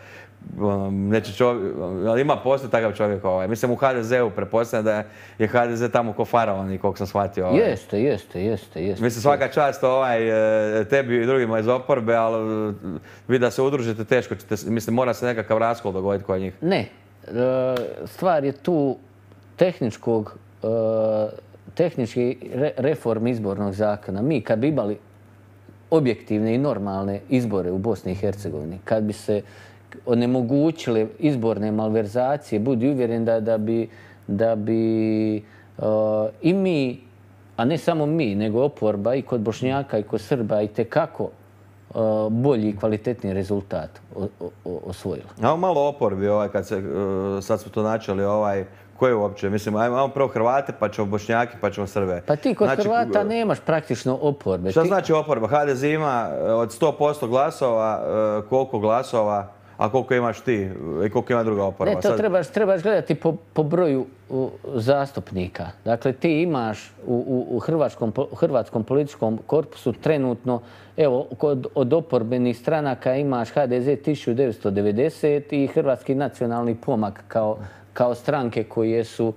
Neće čovjek, ali ima postoji takav čovjek. Mislim, u HDZ-u pretpostavljam da je HDZ tamo ko faraon i koliko sam shvatio. Jeste. Mislim, svaka čast tebi i drugima iz oporbe, ali vi da se udružite teško ćete, mislim, mora se nekakav raskol dogoditi kod njih. Ne, stvar je tu tehnički reform izbornog zakona. Mi kad bi imali objektivne i normalne izbore u Bosni i Hercegovini, kad bi se onemogućile izborne malverzacije, budi uvjeren da bi i mi, a ne samo mi, nego oporba i kod Bošnjaka i kod Srba itekako bolji i kvalitetni rezultat osvojila. Ajmo malo oporbi, sad smo to načeli, ko je uopće? Mislim, ajmo prvo Hrvate, pa ćemo Bošnjaki, pa ćemo Srbe. Pa ti kod Hrvata nemaš praktično oporbe. Šta znači oporba? HDZ ima od 100% glasova, koliko glasova, a koliko imaš ti i koliko ima druga oporba? Ne, to trebaš gledati po broju zastupnika. Dakle, ti imaš u hrvatskom političkom korpusu trenutno, evo, od oporbenih stranaka imaš HDZ 1990 i Hrvatski nacionalni pomak kao stranke koje su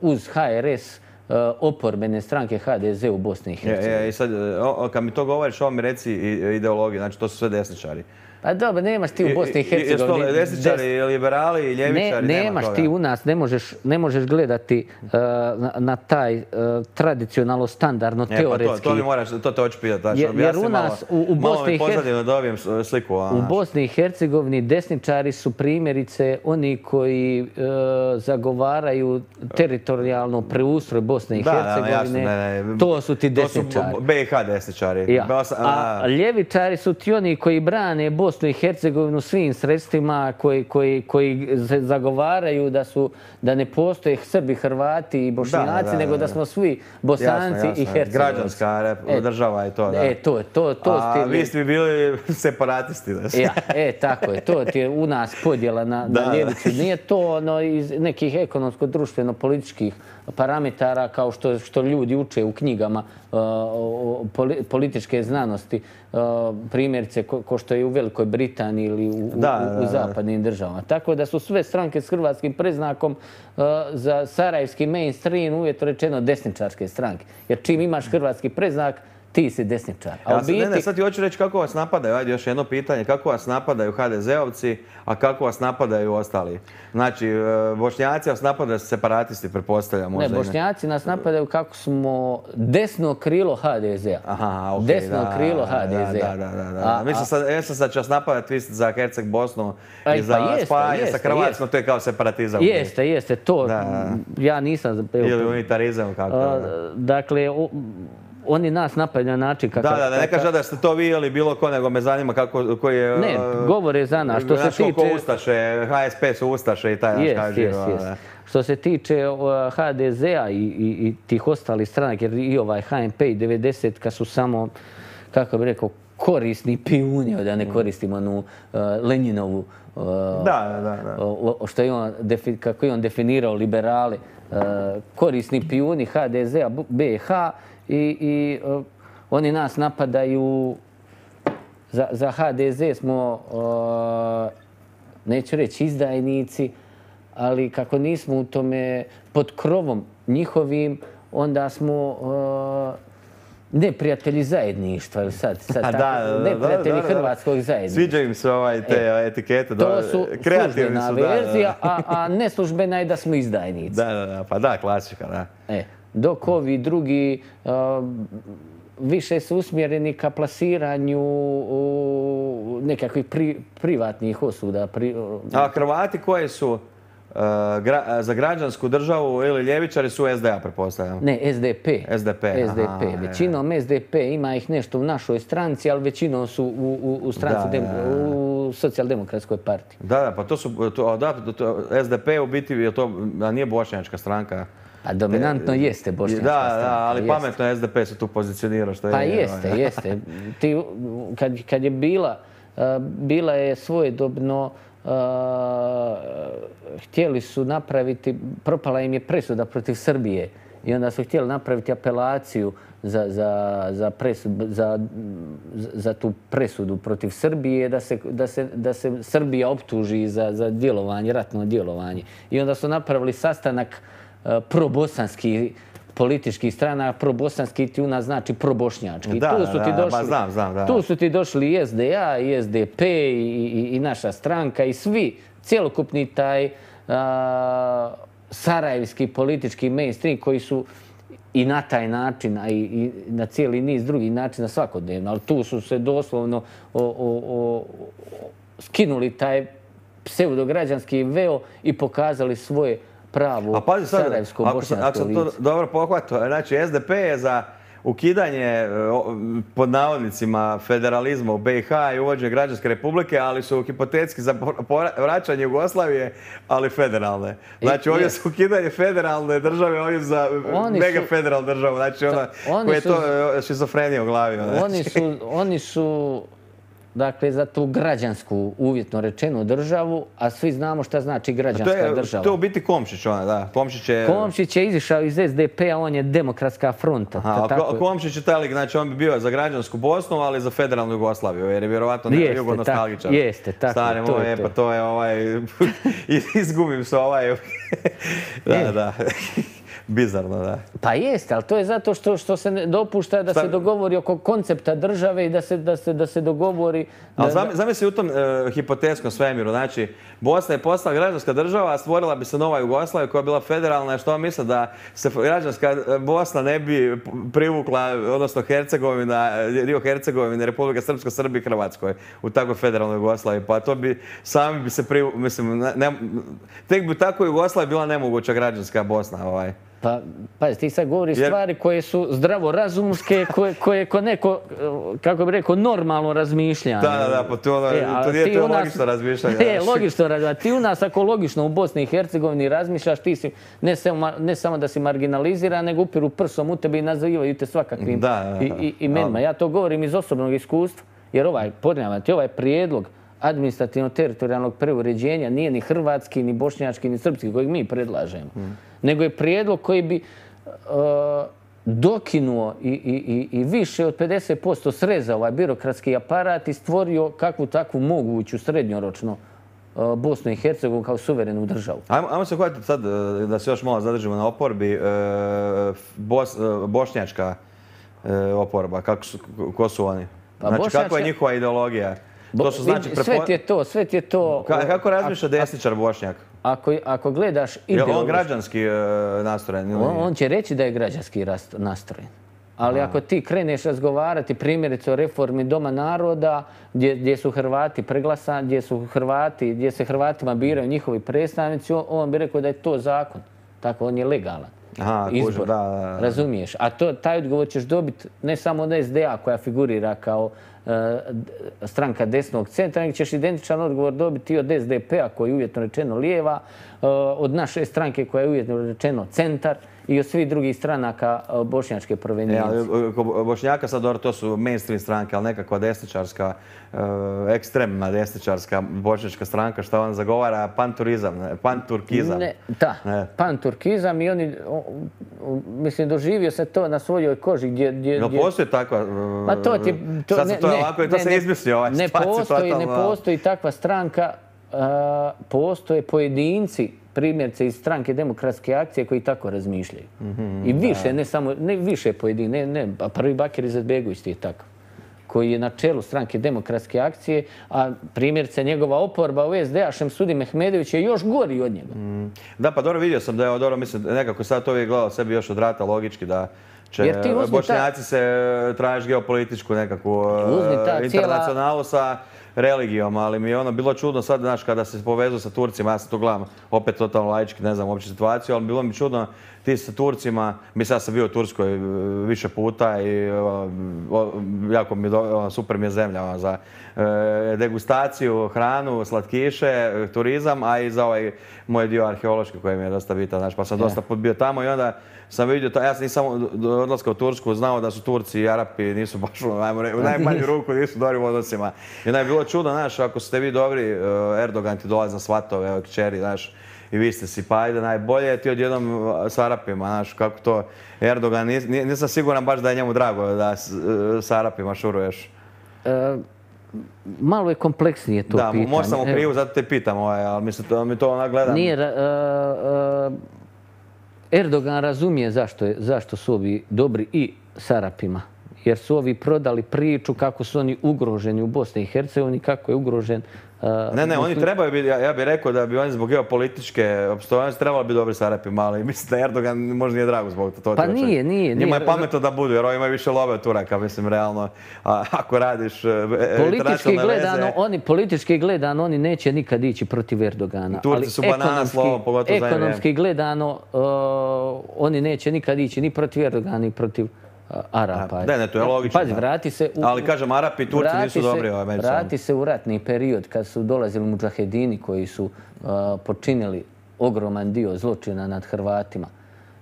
uz HRS oporbene stranke HDZ u Bosni i Hercegovini. I sad, kad mi to govoriš, ovo mi reci ideologiju, znači to su sve desničari. Pa dobro, nemaš ti u Bosni i Hercegovini... Jesu to desničari, ljeberali, ljevičari, nemaš ti u nas, ne možeš gledati na taj tradicionalno, standardno, teoretski... To mi moraš, to te hoću pitati, jer u nas u Bosni i Hercegovini dobijem sliku. U Bosni i Hercegovini desničari su primjerice oni koji zagovaraju teritorijalno preustroj Bosne i Hercegovine. To su ti desničari. To su BiH desničari. A ljevičari su ti oni koji brane Bosnu i Hercegovinu svim sredstvima, koji zagovaraju da ne postoje Srbi, Hrvati i Bošnjaci, nego da smo svi Bosanci i Hercegovci. Građanska država je to, da. A vi ste bili separatisti. Tako je. To ti je u nas podjela na ljevicu. Nije to iz nekih ekonomsko-društveno-političkih parametara kao što ljudi uče u knjigama političke znanosti, primjerice ko što je u Velikoj Britaniji ili u zapadnim državama. Tako da su sve stranke s hrvatskim predznakom za sarajevski mainstream uvjetno rečeno desničarske stranke. Jer čim imaš hrvatski predznak, ti si desničar. Sad ti hoću reći kako vas napadaju, ajde još jedno pitanje, kako vas napadaju HDZ-ovci, a kako vas napadaju ostali? Znači, Bošnjaci vas napadaju separatisti, pretpostavljam možda. Ne, Bošnjaci nas napadaju kako smo desno krilo HDZ-a. Aha, okej, desno krilo HDZ-a. Da. Mislim sad će vas napadati za Herceg Bosnu i za spajanje sa Hrvatskom, to je kao separatizam. Jeste, to ja nisam... Ili unitarizam, kako? Dakle, oni nas napadaju na način kakav... Da, ne kaže da ste to vi ili bilo ko, nego me zanima koji je... Ne, govore za nas. Što se tiče... Ko Ustaše, HSP su Ustaše i taj naš kaže. Što se tiče HDZ-a i tih ostalih stranak, jer i ovaj HNP i 90-ka su samo, kako bih rekao, korisni pijuni, da ne koristimo onu Lenjinovu... Što je on, kako je on definirao liberale, korisni pijuni HDZ-a BiH, i oni nas napadaju. Za HDZ smo, neću reći izdajnici, ali kako nismo u tome pod krovom njihovim, onda smo neprijatelji zajedništva, ili sad neprijatelji hrvatskog zajedništva. Sviđaju im se te etikete, to su službena verzija, a neslužbena je da smo izdajnici. Pa da, klasika, da. Dok ovi drugi više su usmjereni ka plasiranju nekakvih privatnih osuda. A Hrvati koji su za građansku državu ili ljevičari su SDA, pretpostavljam? Ne, SDP. Većinom SDP, ima ih nešto u našoj stranci, ali većinom su u stranci, u socijaldemokratskoj partiji. Pa to su, SDP u biti, nije bošnjačka stranka. A dominantno jeste bošnjačka stranka. Da, ali pametno SDP se tu pozicionira što je. Pa jeste. Kad je bila je svojedobno, htjeli su napraviti, propala im je presuda protiv Srbije i onda su htjeli napraviti apelaciju za tu presudu protiv Srbije, da se Srbija optuži za djelovanje, ratno djelovanje. I onda su napravili sastanak probosanski političkih strana, probosanski ti u nas znači probošnjački. Tu su ti došli i SDA, i SDP, i naša stranka, i svi, cjelokupni taj sarajevski politički mainstream koji su i na taj način, a i na cijeli niz drugih načina svakodnevno, ali tu su se doslovno skinuli taj pseudograđanski veo i pokazali svoje pravo sarajevsko-bošnjačko lice. Ako sam to dobro pohvatao, znači SDP je za ukidanje, pod navodnicima, federalizma u BiH i uvođenje građanske republike, ali su hipotetski za vraćanje Jugoslavije, ali federalne. Znači, ovdje su ukidanje federalne države, ovdje za megafederalnu državu. Znači, ona koja je to šizofrenija u glavi. Oni su dakle, za tu građansku, uvjetno rečenu, državu, a svi znamo šta znači građanska država. To je u biti Komšić, ona, da. Komšić je izišao iz SDP-a, on je demokratska fronta. Komšić je taj lik, znači on bi bio za građansku Bosnu, ali za federalnu Jugoslaviju, jer je vjerovatno jugonostalgičar. Jeste, tako, to je izgubim se da. Bizarno, da. Pa jeste, ali to je zato što se ne dopušta da se dogovori oko koncepta države i da se dogovori... Ali zamisli u tom hipotetskom svemiru, znači Bosna je postala građanska država, a stvorila bi se nova Jugoslavija koja je bila federalna, što misle da se građanska Bosna ne bi privukla, odnosno Hercegovina, dio Hercegovine, Republika Srpska, Srbiji i Hrvatskoj u takvoj federalnoj Jugoslaviji, pa to bi sami bi se mislim, tek bi tako Jugoslavija bila nemoguća građanska Bosna, Pa, pazi, ti sad govoriš stvari koje su zdravorazumske, koje ko neko, kako bi rekao, normalno razmišljanje. Da, pa to nije to logično razmišljanje. Ne, logično razmišljanje. Ti u nas, ako logično u Bosni i Hercegovini razmišljaš, ti si ne samo da si marginaliziran, nego upiru prsom u tebe i nazivaju te svakakvim imenima. Ja to govorim iz osobnog iskustva, jer ovaj prijedlog administrativno-teritorijalnog preuređenja nije ni hrvatski, ni bošnjački, ni srpski, kojeg mi predlažemo. Nego je prijedlog koji bi dokinuo i više od 50% srezao ovaj birokratski aparat i stvorio kakvu takvu moguću srednjoročno Bosnu i Hercegovinu kao suverenu državu. Ajmo se hvatiti sad da se još malo zadržimo na oporbi. Bošnjačka oporba, ko su oni? Znači, kakva je njihova ideologija? Sve ti je to... Kako razmišlja desničar Bošnjak? Ako gledaš ideološki... Je on građanski nastrojen? On će reći da je građanski nastrojen. Ali ako ti kreneš razgovarati primjerice o reformi Doma naroda, gdje su Hrvati preglasani, gdje se Hrvatima biraju njihovi predstavnici, on bi rekao da je to zakon. Tako, on je legalan. Izbor, razumiješ? A taj odgovor ćeš dobiti ne samo od SDA koja figurira kao stranka desnog centra, nego ćeš identičan odgovor dobiti i od SDP-a koji je uvjetno rečeno lijeva, od naše stranke koja je uvjetno rečeno centar i od svih drugih stranaka bošnjačke provenijencije. Bošnjaka sad, to su mainstream stranke, ali nekakva desničarska, ekstremna desničarska bošnjačka stranka, što on zagovara panturkizam. Da, panturkizam i oni, mislim, doživio se to na svojoj koži gdje... No postoji takva... To se izmislio. Ne postoji takva stranka, postoje pojedinci, primjerce iz stranke Demokratske akcije koji tako razmišljaju. I više, ne više pojedini, pa prvi Bakir Izetbegović ti je tako, koji je na čelu stranke Demokratske akcije, a primjerce njegova oporba u SDA, Šemsudin Mehmedović, je još gori od njega. Da, pa dobro, vidio sam da je dobro, mislim, nekako sad to uvijek gledao sebi još od rata logički da će Bošnjaci se tražiš geopolitičku nekakvu internacionalu sa religijom, ali mi je ono bilo čudno sad, znaš, kada se povezu sa Turcima, ja sam to gledam opet totalno laički, ne znam uopće situaciju, ali bilo mi čudno ti sa Turcima, mislim ja sam bio u Turskoj više puta i jako mi super mi je zemlja za degustaciju, hranu, slatkiše, turizam, a i za ovaj moj dio arheološki koji mi je dosta bitan, znaš, pa sam dosta put bio tamo i onda sam vidio, ja sam nisam do odlaska u Tursku znao da su Turci i Arapi nisu baš u najmanju ruku, nisu dobri u odnosima. I onda je bilo čudno, znaš, ako ste vi dobri, Erdogan ti dolazi na svatove, kćeri, znaš, i vi ste si, pa ajde najbolje, ti odjednom s Arapima, znaš, kako to Erdogan, nisam siguran baš da je njemu drago da s Arapima šuruješ. Malo je kompleksnije to pitanje. Da, možda sam u krivu, zato te pitam, ali mi to ona gledam. Erdogan razumije zašto su ovi dobri i s Arapima. Jer su ovi prodali priču kako su oni ugroženi u Bosni i Hercegovini, kako je ugrožen... Ne, oni trebaju biti, ja bih rekao da bi oni zbog geopolitičke opstojnosti trebali biti dobri s Arapima, ali mislim da Erdogan možda nije drago zbog to. Pa nije. Njima je pametno da budu, jer oni imaju više love od Turaka, mislim, realno. Ako radiš politički gledano, oni neće nikad ići protiv Erdogana. Turci su banana slovo, pogotovo za ekonomski gledano, oni neće nikad ići ni protiv Erdogana, ni protiv Arapa. Ne, to je logično. Pazi, vrati se... Ali kažem, Arapi i Turci nisu dobri međusobno. Vrati se u ratni period kad su dolazili mudžahedini koji su počinili ogroman dio zločina nad Hrvatima.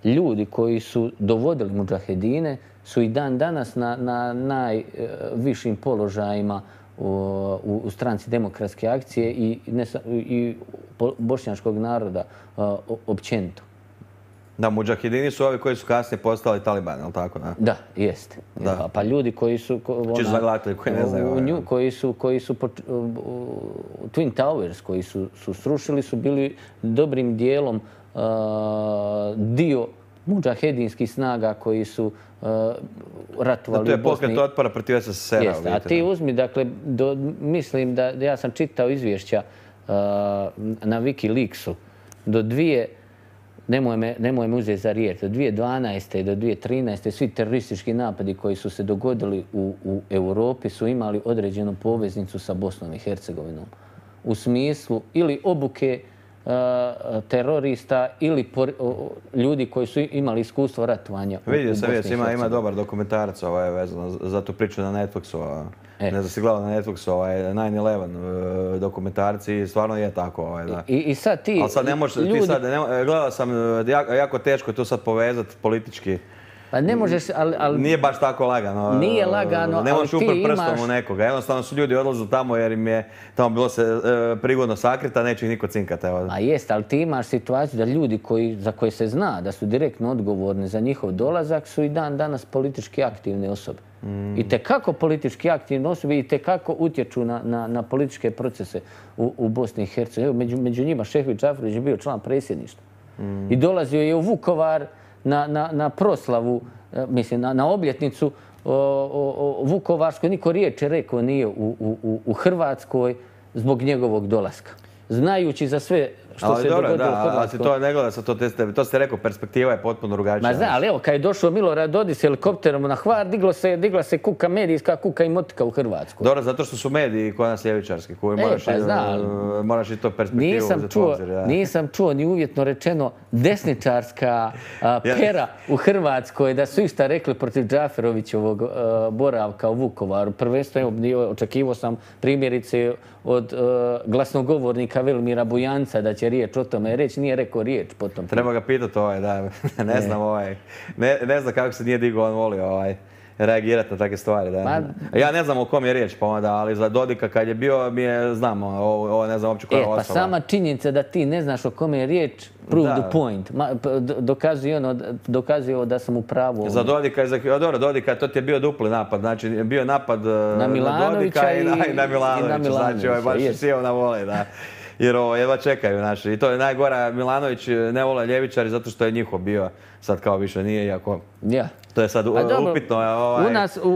Ljudi koji su dovodili mudžahedine su i dan danas na najvišim položajima u stranci Demokratske akcije i bošnjačkog naroda općenito. Da, mudžahedini su ovi koji su kasnije postali talibani, ali tako? Da, jeste. Pa ljudi koji su... Čisto zagledatelji koji ne znaju. Koji su Twin Towers koji su srušili su bili dobrim dijelom dio mudžahedinskih snaga koji su ratovali u Bosni. To je pokret otpora protiv SSSR-a. A ti uzmi, dakle, mislim da ja sam čitao izvješća na Wikileaksu do nemoj me uzeti za riječ, do 2012. i do 2013. svi teroristički napadi koji su se dogodili u Europi su imali određenu poveznicu sa Bosnom i Hercegovinom. U smislu ili obuke terorista ili ljudi koji su imali iskustvo ratovanja u Bosni i Hercegovini. Ima dobar dokumentarac vezano za tu priču na Netflixu. Ne znam si gledao na Netflixu 9/11 dokumentarci i stvarno je tako. I sad ti... Ali sad ne možeš, gledao sam, jako teško je to sad povezati politički. Pa ne možeš, ali... Nije baš tako lagano. Nije lagano, ali ti imaš... Ne možeš uprt prstom u nekoga. Jednostavno su ljudi odlazili tamo jer im je tamo bilo se prigodno sakrita, neće ih niko cinkati. A jest, ali ti imaš situaciju da ljudi za koje se zna da su direktno odgovorni za njihov dolazak su i dan danas politički aktivne osobe. I tekako politički aktivne osobe i tekako utječu na političke procese u Bosni i Hercegovini. Među njima Šefić Džaferović je bio član predsjedništva. I dolazio je u Vukovar na proslavu, mislim, na obljetnicu Vukovarskoj. Niko riječi rekao nije u Hrvatskoj zbog njegovog dolaska. Znajući za sve što se dogodilo u Hrvatskoj. Ali to ne gleda sa to ste rekao, perspektiva je potpuno drugačija. Ma zna, ali evo, kad je došao Milorad Dodik s helikopterom na Hvar, digla se kuka, medijska kuka i motika u Hrvatskoj. Dobro, zato što su mediji kod nas ljevičarski, koji moraš i to perspektivu uzeti u obzir. Nisam čuo ni uvjetno rečeno desničarska pera u Hrvatskoj da su išta rekli protiv Džaferovićevog boravka u Vukovaru. Prvenstveno očekivao sam primjerice od glasnogovornika Velimira Bujanca da će riječ o tome reći, nije rekao riječ po tom. Treba ga pitati da, ne znam ne znam kako se nije digao, on voli reagirati na takve stvari. Ja ne znam o kom je riječ pa onda, ali za Dodika kad je bio mi je, znam, ovo ne znam uopće koja je osoba. Pa sama činjenica da ti ne znaš o kome je riječ, prove the point. Dokazuje da sam u pravu. Za Dodika, dobro, Dodika, to ti je bio dupli napad, znači bio je napad na Dodika i na Milanovića, znači baš sjeo na vole, da. Jer jedva čekaju naši. I to je najgora, Milanović ne vole ljevičari zato što je njihov bio. Sad kao više nije, iako to je sad upitno.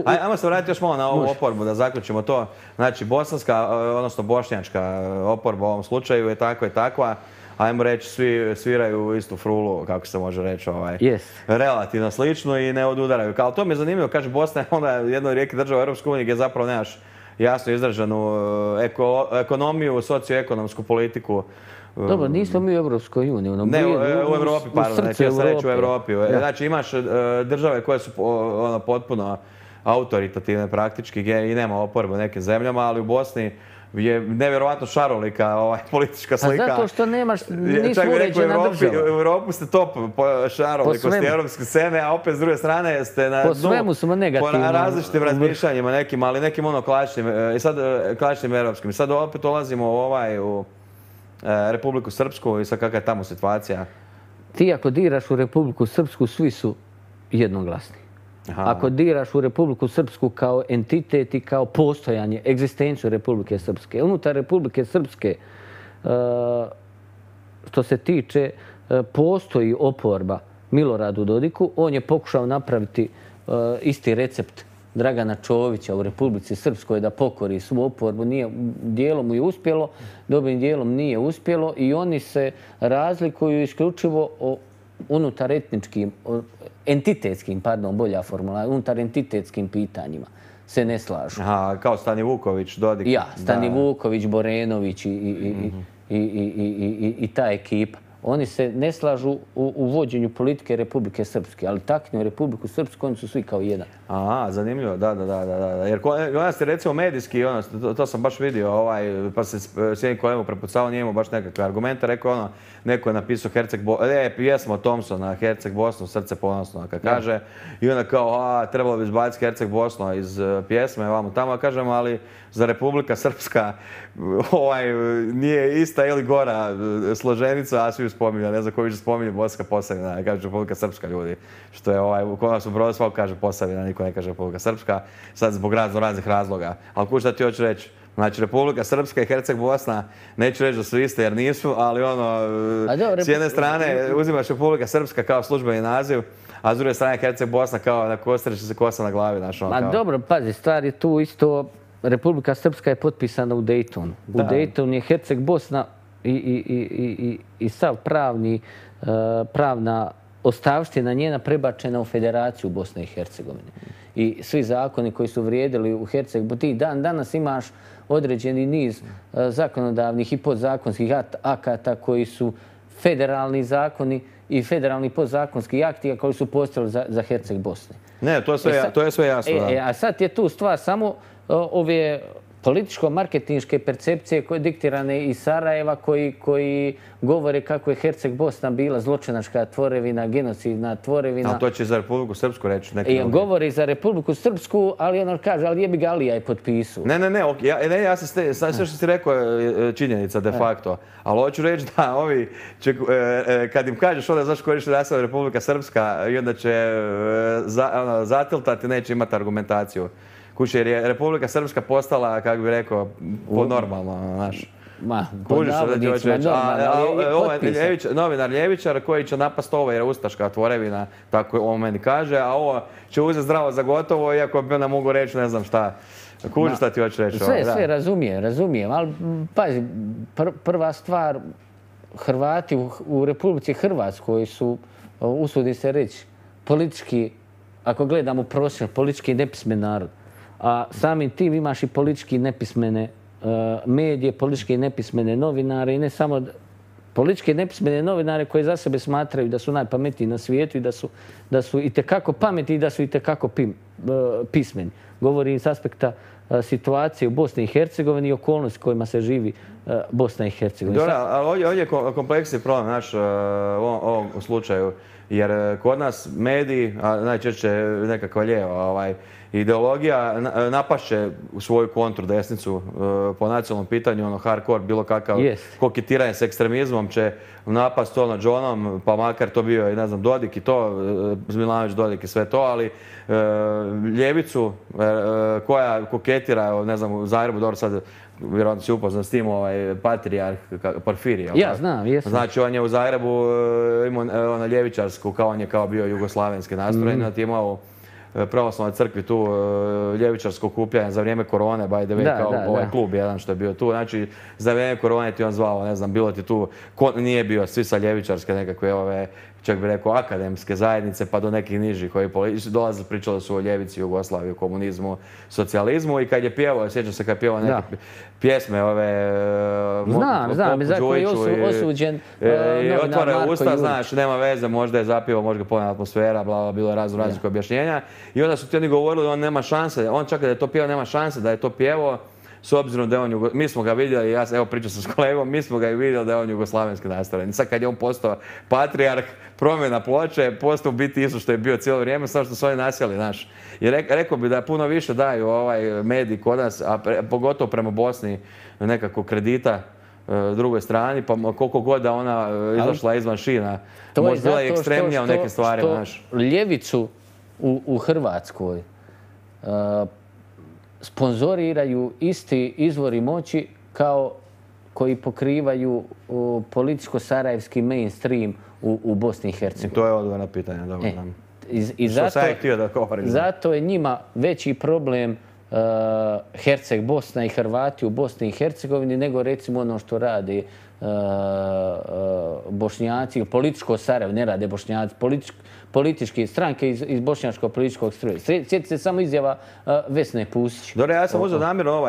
Ajmo se vratiti još malo na ovu oporbu, da zaključimo to. Znači, bosanska, odnosno bošnjačka oporba u ovom slučaju je takva i takva. Ajmo reći, svi sviraju istu frulu, kako se može reći, relativno slično i ne odudaraju. Ali to mi je zanimljivo, kaže Bosna je onda jedna od rijetkih država u Europskoj uniji gdje zapravo nemaš jasno izraženu ekonomiju, socioekonomsku politiku. Dobro, nismo mi u Europskoj uniji. Ne, u Evropi, pardon, neću ja sam reći u Evropi. Znači imaš države koje su potpuno autoritativne praktički i nema oporbe u nekim zemljama, ali u Bosni je nevjerovatno šarolika politička slika. A zato što nisu uređena država. U Europu ste top šarolikosti evropske scene, a opet s druge strane ste na dnu. Po svemu smo negativni. Po različitim razmišljanjima nekim, ali nekim klasičnim evropskim. I sad opet dolazimo Republiku Srpsku i sad kakva je tamo situacija? Ti ako diraš u Republiku Srpsku, svi su jednoglasni. Ako diraš u Republiku Srpsku kao entitet i kao postojanje, egzistenciju Republike Srpske. Unutar Republike Srpske, što se tiče, postoji oporba Miloradu Dodiku. On je pokušao napraviti isti recept Dragana Čovića u Republici Srpskoj da pokori svu oporbu. Dijelom mu je uspjelo, dobrim dijelom nije uspjelo i oni se razlikuju isključivo unutar etničkim, entitetskim, bolja formula, unutar entitetskim pitanjima se ne slažu. Aha, kao Stani Vuković, Dodik. Ja, Stani Vuković, Borenović i ta ekipa. Oni se ne slažu u vođenju politike Republike Srpske, ali taknju Republiku Srpsku, oni su svi kao jedan. Aha, zanimljivo, da. Jer kod nas je recimo medijski, to sam baš vidio, pa se s jednim kolegom prepucavao, nije imao baš nekakve argumente, rekao neko je napisao pjesmu od Thompsona, Herceg Bosnu, srce ponosno, kad kaže, i onda kao, trebalo bi izbaciti Herceg Bosnu iz pjesme, vamo tamo, kažem, ali za Republika Srpska nije ista ili gora složenica, a svi spominju, ne znam ko više spominje Bosanska Posavina, kaže Republika Srpska ljudi, što je kod nas u Brodu svako kaže Posavina, niko ne kaže Republika Srpska, sad zbog raznih razloga. Ali šta ti hoću reći? Znači, Republika Srpska i Herceg Bosna, neću reći da su iste jer nisu, ali s jedne strane uzimaš Republika Srpska kao službeni naziv, a s druge strane Herceg Bosna kao na kostreće se kosa na glavi. Dobro, pazi, stvar je tu isto, Republika Srpska je potpisana u Daytonu. U Daytonu je Herceg Bosna i sav pravna ostavština njena prebačena u Federaciju Bosne i Hercegovine. I svi zakoni koji su vrijedili u Herceg, ti danas imaš određeni niz zakonodavnih i podzakonskih akata koji su federalni zakoni i federalni podzakonski akti koji su postojali za Herceg Bosne. Ne, to je sve jasno. A sad je tu stvar samo ove političko-marketinške percepcije koje diktirane iz Sarajeva koji govore kako je Herceg Bosna bila zločinačka tvorevina, genocidna tvorevina. Ali to će za Republiku Srpsku reći. Govori za Republiku Srpsku, ali on kaže, ali jebi ga Alija je potpisao. Ja se sve što si rekao je činjenica de facto. Ali hoću reći da ovi, kad im kažeš onda zašto koriš naslov Republika Srpska i onda će zatiltati, neće imati argumentaciju. Kuće, jer je Republika Srpska postala, kako bih rekao, normalno, znaš. Pod navodnicima normalno, ali potpisan. Novinar Ljevičar koji će napast ovo jer je ustaška tvorevina, tako on meni kaže, a ovo će uzeti zdravo za gotovo, iako bi onda mogu reći ne znam šta. Kuži šta ti hoću reći. Sve razumijem, ali pazi, prva stvar, Hrvati u Republici Hrvatskoj su, usudim se reći, politički, ako gledamo prosječno, politički nepismen narod. A samim tim imaš i politički nepismene medije, politički nepismene novinare i ne samo politički nepismene novinare koji za sebe smatraju da su najpametniji na svijetu i da su itekako pametni i da su itekako pismeni. Govorim s aspekta situacije u Bosni i Hercegovini i okolnosti kojima se živi Bosna i Hercegovina. Dobro, ali ovdje je kompleksni problem naš u ovom slučaju. Jer kod nas mediji, a najčešće nekakva lijeva ideologija napašće u svoju kontru desnicu po nacionalnom pitanju, hardcore, bilo kakav koketiranje s ekstremizmom će napast to nad Johnom, pa makar to bio i ne znam Dodik i to, Milanović Dodik i sve to, ali ljevicu koja koketira, ne znam, u Zagrebu, dobro sad vjerojatno si upoznan s tim, patrijarh Porfirij. Ja znam, jesam. Znači on je u Zagrebu imao ljevičarsku, kao on je kao bio jugoslavenski nastrojen, da ti imao pravoslavnoj crkvi tu ljevičarsko okupljanje za vrijeme korone, by the way, kao ovaj klub jedan što je bio tu. Znači, za vrijeme korone ti on zvao, ne znam, bilo ti tu, nije bio svi sa ljevičarske nekakve, čak bi rekao, akademske zajednice, pa do nekih nižih koji dolazili, pričali su o ljevici, Jugoslaviji, komunizmu, socijalizmu i kad je pjevao, sjećam se kad je pjevao neke pjesme Znam, za koji je osuđen novinar Marko Jurić. Usta, znaš, nema veze, možda je zapjevao, možda ga ponela atmosfera, bilo je raznih objašnjenja. I onda su ti oni govorili, on nema šanse, on čak da je to pjevao, nema šanse da je to pjevao, s obzirom da je on, mi smo ga vidjeli, ja evo pričao sam s kolegom, mi smo ga i vidjeli da je on jugoslavenski nastrojen. Sad kad je on postao patrijarh, promjena ploče, postao biti isto što je bio cijelo vrijeme, samo što su oni nasjeli, znaš. I rekao bi da puno više daju mediji kod nas, a pogotovo prema Bosni nekako kredita drugoj strani, pa koliko god da ona izašla izvan šina, možda bila i ekstremnija u nekim stvarima. Znaš. Ljevicu u Hrvatskoj sponzoriraju isti izvori moći kao koji pokrivaju političko-sarajevski mainstream u Bosni i Hercegovini. To je odgovor na pitanje, dobro. Zato je njima veći problem Herceg Bosna i Hrvati u Bosni i Hercegovini nego recimo ono što rade Bošnjaci, političko Sarajevo, ne rade Bošnjaci, političke stranke iz bošnjačkog političkog stroja. Sjetite se samo izjava Vesne Pusić. Dobro, ja sam uzeo namjerno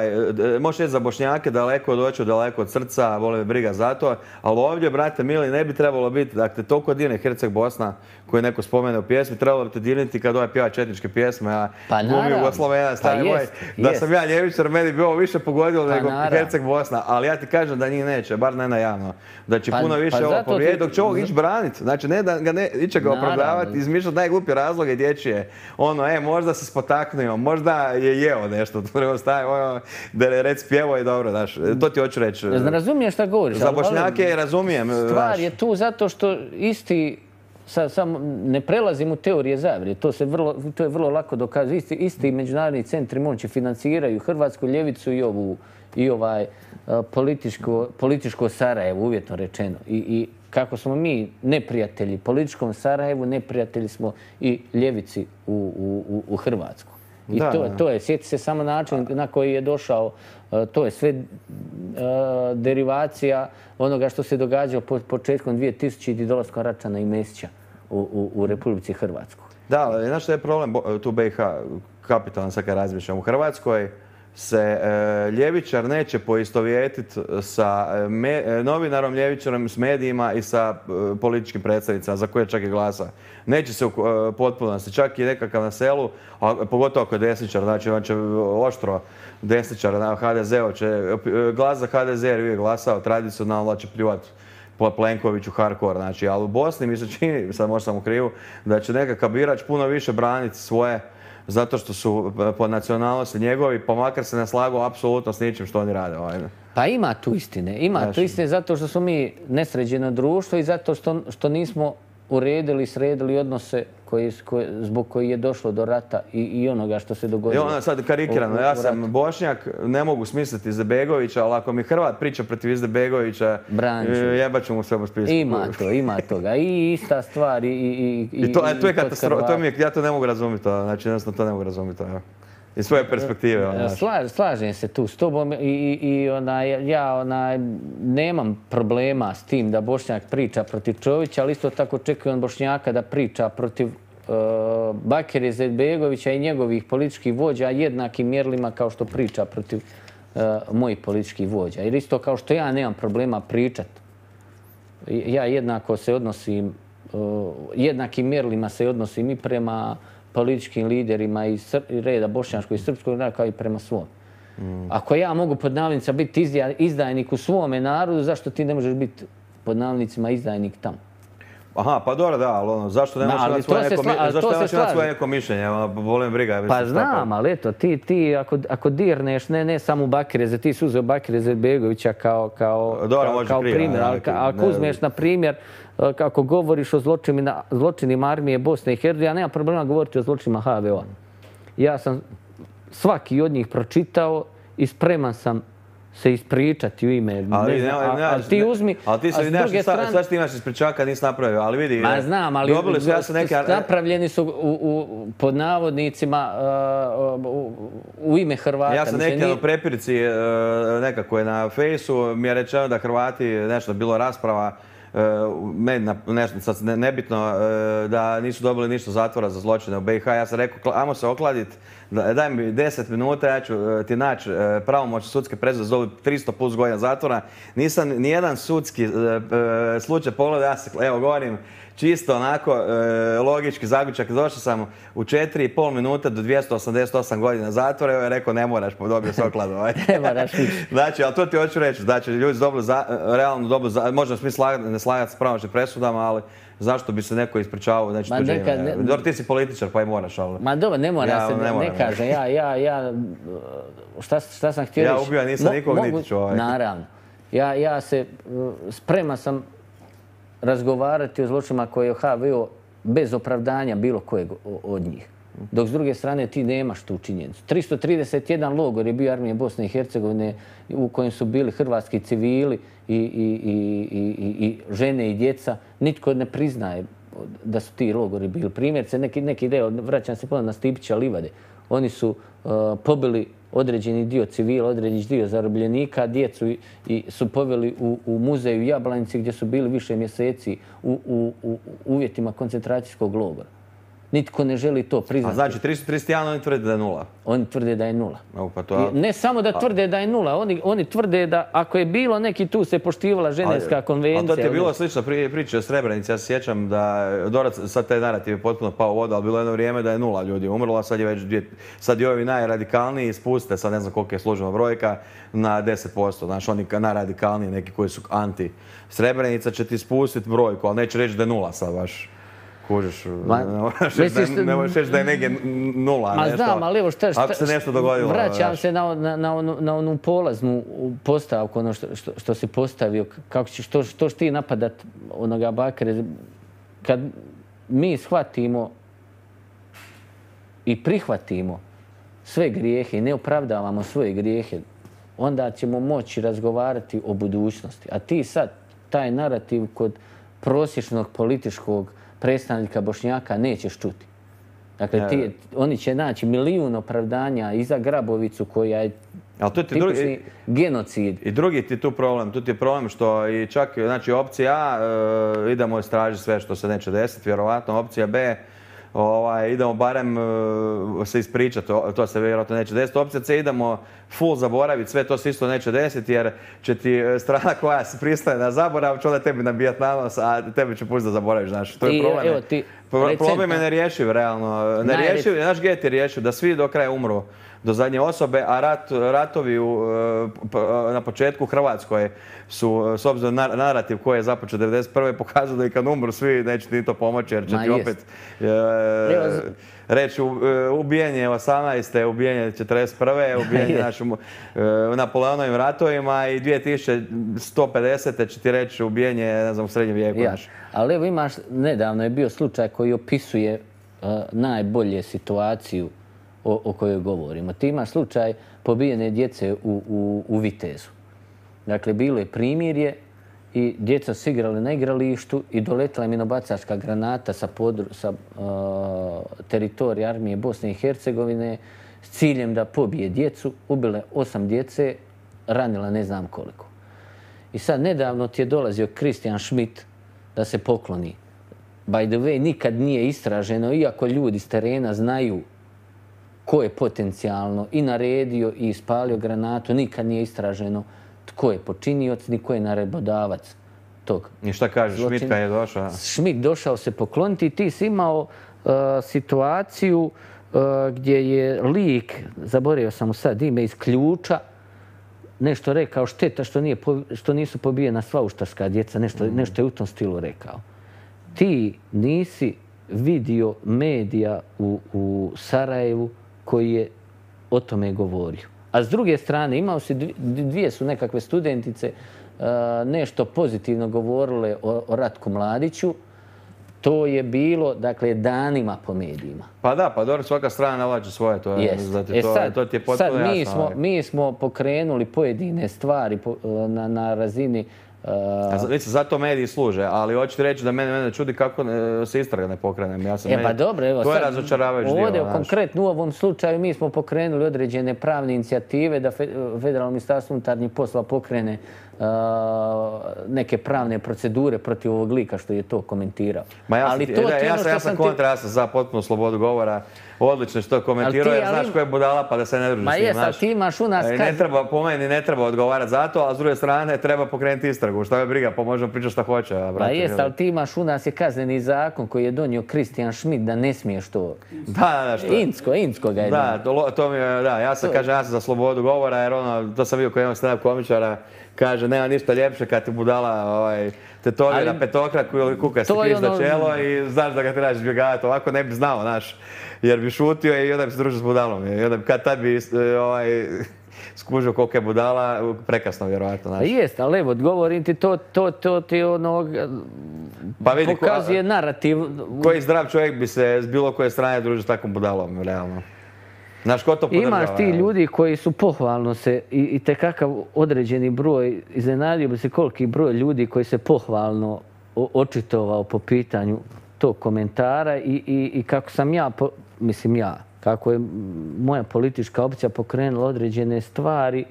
možeš reći za Bošnjake daleko od očiju, daleko od srca, vole me briga za to, ali ovdje, brate mili, ne bi trebalo biti, dakle, toliko divne Herceg Bosna koji neko spomene u pjesmi, trebalo bi te dirniti kad ovaj pjeva četničke pjesme, a glumi Jugoslavena, stari moj, da sam ja ljevičar, meni bi ovo više pogodilo nego Herceg Bosna, ali ja ti kažem da njih neće, bar ne najavno, da će puno više ovo povrijediti, dok će ovog ići braniti, znači ne da ga iće ga opravdavati, izmišljati najgluplje razloge dječje, možda se spotaknuo, možda je jeo nešto, da reci pjevo i dobro, znaš, to ti hoću reći. Razumiješ šta govoriš? Za Bošnjake razumijem. Stvar je tu zato što isti, samo ne prelazim u teorije zavjere, to je vrlo lako dokazati. Isti međunarodni centri moći financiraju Hrvatsku ljevicu i ovaj političko Sarajevo, uvjetno rečeno. I kako smo mi neprijatelji političkom Sarajevu, neprijatelji smo i ljevici u Hrvatsku. I to je, sjeti se samo način na koji je došao, to je sve derivacija onoga što se događalo početkom 2000 i dolaskom Račana i Mesića u Republici Hrvatskoj. Da, ali znaš što je problem tu BiH, kapitalan sad kad razmišljam. U Hrvatskoj se ljevičar neće poistovjetiti sa novinarom ljevičarom, s medijima i sa političkim predstavnicama za koje čak i glasa. Neće se u potpunosti, čak i nekakav na selu, a pogotovo ako je desničar, znači on će oštro desničar na HDZ-u, će glas za HDZ jer uvijek glasao tradicionalno, će pljuvati po Plenkoviću hardcore, znači, ali u Bosni mi se čini, sad možda sam u krivu, da će nekakav birač puno više braniti svoje zato što su po nacionalnosti njegovi, pa makar se ne slagu apsolutno s ničim što oni rade. Pa ima tu istine. Ima tu istine zato što smo mi nesređeno društvo i zato što nismo uredili i sredili odnose zbog koji je došlo do rata i onoga što se dogodilo. Ona sad karikirano, ja sam Bošnjak, ne mogu smisliti Izetbegovića, ali ako mi Hrvat priča protiv Izetbegovića, jebat ću mu sve u spisku. Ima toga. I ista stvar i to je katastrofa, ja to ne mogu razumjeti, znači jednostavno to ne mogu razumjeti. Iz svoje perspektive. Slažem se tu s tobom i ja nemam problema s tim da Bošnjak priča protiv Čovića, ali isto tako očekujem Bošnjaka da priča protiv Bakira Izetbegovića i njegovih političkih vođa jednakim mjerilima kao što priča protiv mojih političkih vođa. Jer isto kao što ja nemam problema pričat, ja jednako se odnosim, jednakim mjerilima se odnosim i prema političkim liderima iz reda bošnjačkog i srpskog naroda kao i prema svom. Ako ja mogu pod navodnicima biti izdajnik u svome narodu, zašto ti ne možeš biti pod navodnicima izdajnik tamo? Aha, pa dobro, da, ali zašto nemaš imati svoje neko mišljenje? Volim briga. Pa znam, ali eto, ti ako dirneš, ne samo Bakira, ti si uzeo Bakira Izetbegovića kao primjer, ali ako uzmeš, na primjer, kako govoriš o zločinima armije Bosne i Hercegovine, ja nemam problema govoriti o zločinima HVO-a. Ja sam svaki od njih pročitao i spreman sam se ispričati u ime. Ali ti uzmi, ali ti se nemaš, sad što imaš ispričaka nisi napravio, ali vidi. Ma znam, ali napravljeni su pod navodnicima u ime Hrvata. Ja sam neki u prepirici nekako je na fejsu mi je rečeno da Hrvati, nešto bilo rasprava, nešto sad nebitno, da nisu dobili ništa zatvora za zločine u BiH. Ja sam rekao, ajmo se okladiti, daj mi 10 minuta, ja ću ti naći pravomoćne sudske presude za 300 plus godina zatvora. Nisam nijedan sudski slučaj pogledao, ja se, evo govorim, čisto onako logički zaključak. Došao sam u 4,5 minuta do 288 godina zatvora. Evo je rekao ne moraš, dobio se okladu. Ne moraš. Znači, ali to ti hoću reći. Znači, ljudi su dobili, realno dobili, možda svi ne slagati s pravomoćnim presudama, ali zašto bi se neko ispričavao, znači tuđe ime. Dobro, ti si političar pa i moraš, ali... Ma dobro, ne mora se, ne kažem. Šta sam htio reći? Ja ubio nisam nikog niti ću. Naravno. Ja se spreman sam razgovarati o zločinima koje je HVO bez opravdanja bilo kojeg od njih. Dok s druge strane ti nemaš tu činjenicu. 331 logor je bio armije Bosne i Hercegovine u kojem su bili hrvatski civili i žene i djeca. Nitko ne priznaje da su ti logori bili. Primjerice, neki deo, vraćam se ponovno na Stipića Livade, oni su pobili određeni dio civila, određeni dio zarobljenika, djecu su poveli u muzeju Jablanici gdje su bili više mjeseci u uvjetima koncentracijskog logora. Nitko ne želi to priznati. A znači 331 oni tvrde da je 0? Oni tvrde da je 0. Pa to... Ne samo da tvrde da je 0, oni tvrde da ako je bilo neki tu se poštivala Ženevska konvencija. Ali to ti je bilo slično priče o Srebrenici. Ja se sjećam da, sad taj narativ je potpuno pao u vodu, ali bilo jedno vrijeme da je 0 ljudi umrlo, a sad je već sad i ovi najradikalniji spuste, sad ne znam koliko je službena brojka, na 10%. Znaš, oni najradikalniji, neki koji su anti Srebrenica će ti spustiti brojku, ali neće reći da je 0 sad baš. Kužiš, ne možeš reći da je negdje 0. Ma znam, ali evo ako se nešto dogodilo. Vraćam se na onu polaznu postavku, ono što si postavio, što ćeš ti napadat onoga Bakire. Kad mi shvatimo i prihvatimo sve grijehe i ne opravdavamo svoje grijehe, onda ćemo moći razgovarati o budućnosti. A ti sad, taj narativ kod prosječnog političkog predstavnika Bošnjaka nećeš čuti. Dakle, oni će naći milijun opravdanja i za Grabovicu koja je tipični genocid. I drugi ti tu problem. Tu ti je problem što i čak, znači, opcija A, idemo istražiti sve što se neće desiti, vjerovatno. Opcija B, idemo barem se ispričati, to se vjerojatno neće desiti. Opcija C, idemo full zaboraviti, sve to se isto neće desiti jer će ti strana koja se pristaje na zaborav, će onda tebi nabijati na nos, a tebi će pustiti da zaboraviš, znaš. To je problem. Problem je nerješiv, realno. Nerješiv, znaš gdje ti rješiv? Da svi do kraja umru, do zadnje osobe, a ratovi na početku u Hrvatskoj su, s obzirom na narativ koji je započeo 1991. pokazao da i kad umru svi neće ti to pomoći jer će ti opet reći ubijenje 18. ubijenje 41. ubijenje u Napoleonovim ratovima i 2150. će ti reći ubijenje, ne znam, u srednjem vijeku. Ali evo imaš, nedavno je bio slučaj koji opisuje najbolje situaciju o kojoj govorimo. Ti imaš slučaj pobijene djece u Vitezu. Dakle, bilo je primirje i djeca su igrali na igralištu i doletila je minobacačka granata sa teritorija armije Bosne i Hercegovine s ciljem da pobije djecu. Ubile 8 djece, ranila ne znam koliko. I sad nedavno ti je dolazio Christian Schmidt da se pokloni. By the way, nikad nije istraženo, iako ljudi s terena znaju ko je potencijalno i naredio i ispalio granatu, nikad nije istraženo tko je počinioc, ni ko je naredbodavac tog. I šta kažeš, Schmidt kad je došao? Schmidt došao se pokloniti i ti si imao situaciju gdje je lik, zaboravio sam mu sad ime, iz Ključa, nešto rekao, šteta što nisu pobijena sva uštarska djeca, nešto je u tom stilu rekao. Ti nisi vidio medija u Sarajevu koji je o tome govorio. A s druge strane, imao si dvije su nekakve studentice nešto pozitivno govorile o Ratku Mladiću. To je bilo, dakle, danima po medijima. Pa da, pa dobro, svaka strana nalače svoje. To ti je potpuno jasno. Mi smo pokrenuli pojedine stvari na razini... Zato mediji služe, ali hoćete reći da mene čudi kako se istraga ne pokrenem. Pa dobro, evo to je razočaravajući dio. Ovdje, konkretno u ovom slučaju, mi smo pokrenuli određene pravne inicijative da Federalno ministarstvo unutarnjih poslova pokrene neke pravne procedure protiv ovog lika što je to komentirao. Ja sam kontra, ja sam za potpunu slobodu govora. Odlično što komentirao, jer znaš ko je budala pa da se ne druži s njim. Ma jes, ti imaš u nas... Po meni ne treba odgovarati za to, a s druge strane treba pokrenuti istragu. Šta je briga, pa možemo pričati šta hoće. Ma jes, ali ti imaš u nas je kazneni zakon koji je donio Christian Schmidt da ne smiješ to... Da, što? Insko ga je donio. Da, ja sam za slobodu govora, jer to sam vidio kod jednog stand-up komičara, kaže, nema ništa ljepše kad ti budala tetovira petokraku ili kuka si križ za čelo i znaš da ga trebaš izbjegavati. Ovako ne bi znao, znaš. jer bi šutio i onda bi se družio s budalom. I onda kad tad bi skužio koliko je budala, prekasno vjerojatno. Pa jest, ali evo, govorim ti, to ti pa vidi, pokazuje narativ. Koji zdrav čovjek bi se s bilo koje strane družio s takvom budalom, realno? Znaš, ko to podržava? Imaš ti ljudi koji su pohvalno se i tekakav određeni broj, iznenadio bi se koliki broj ljudi koji se pohvalno očitovao po pitanju tog komentara i kako sam kako je moja politička opcija pokrenula određene stvari,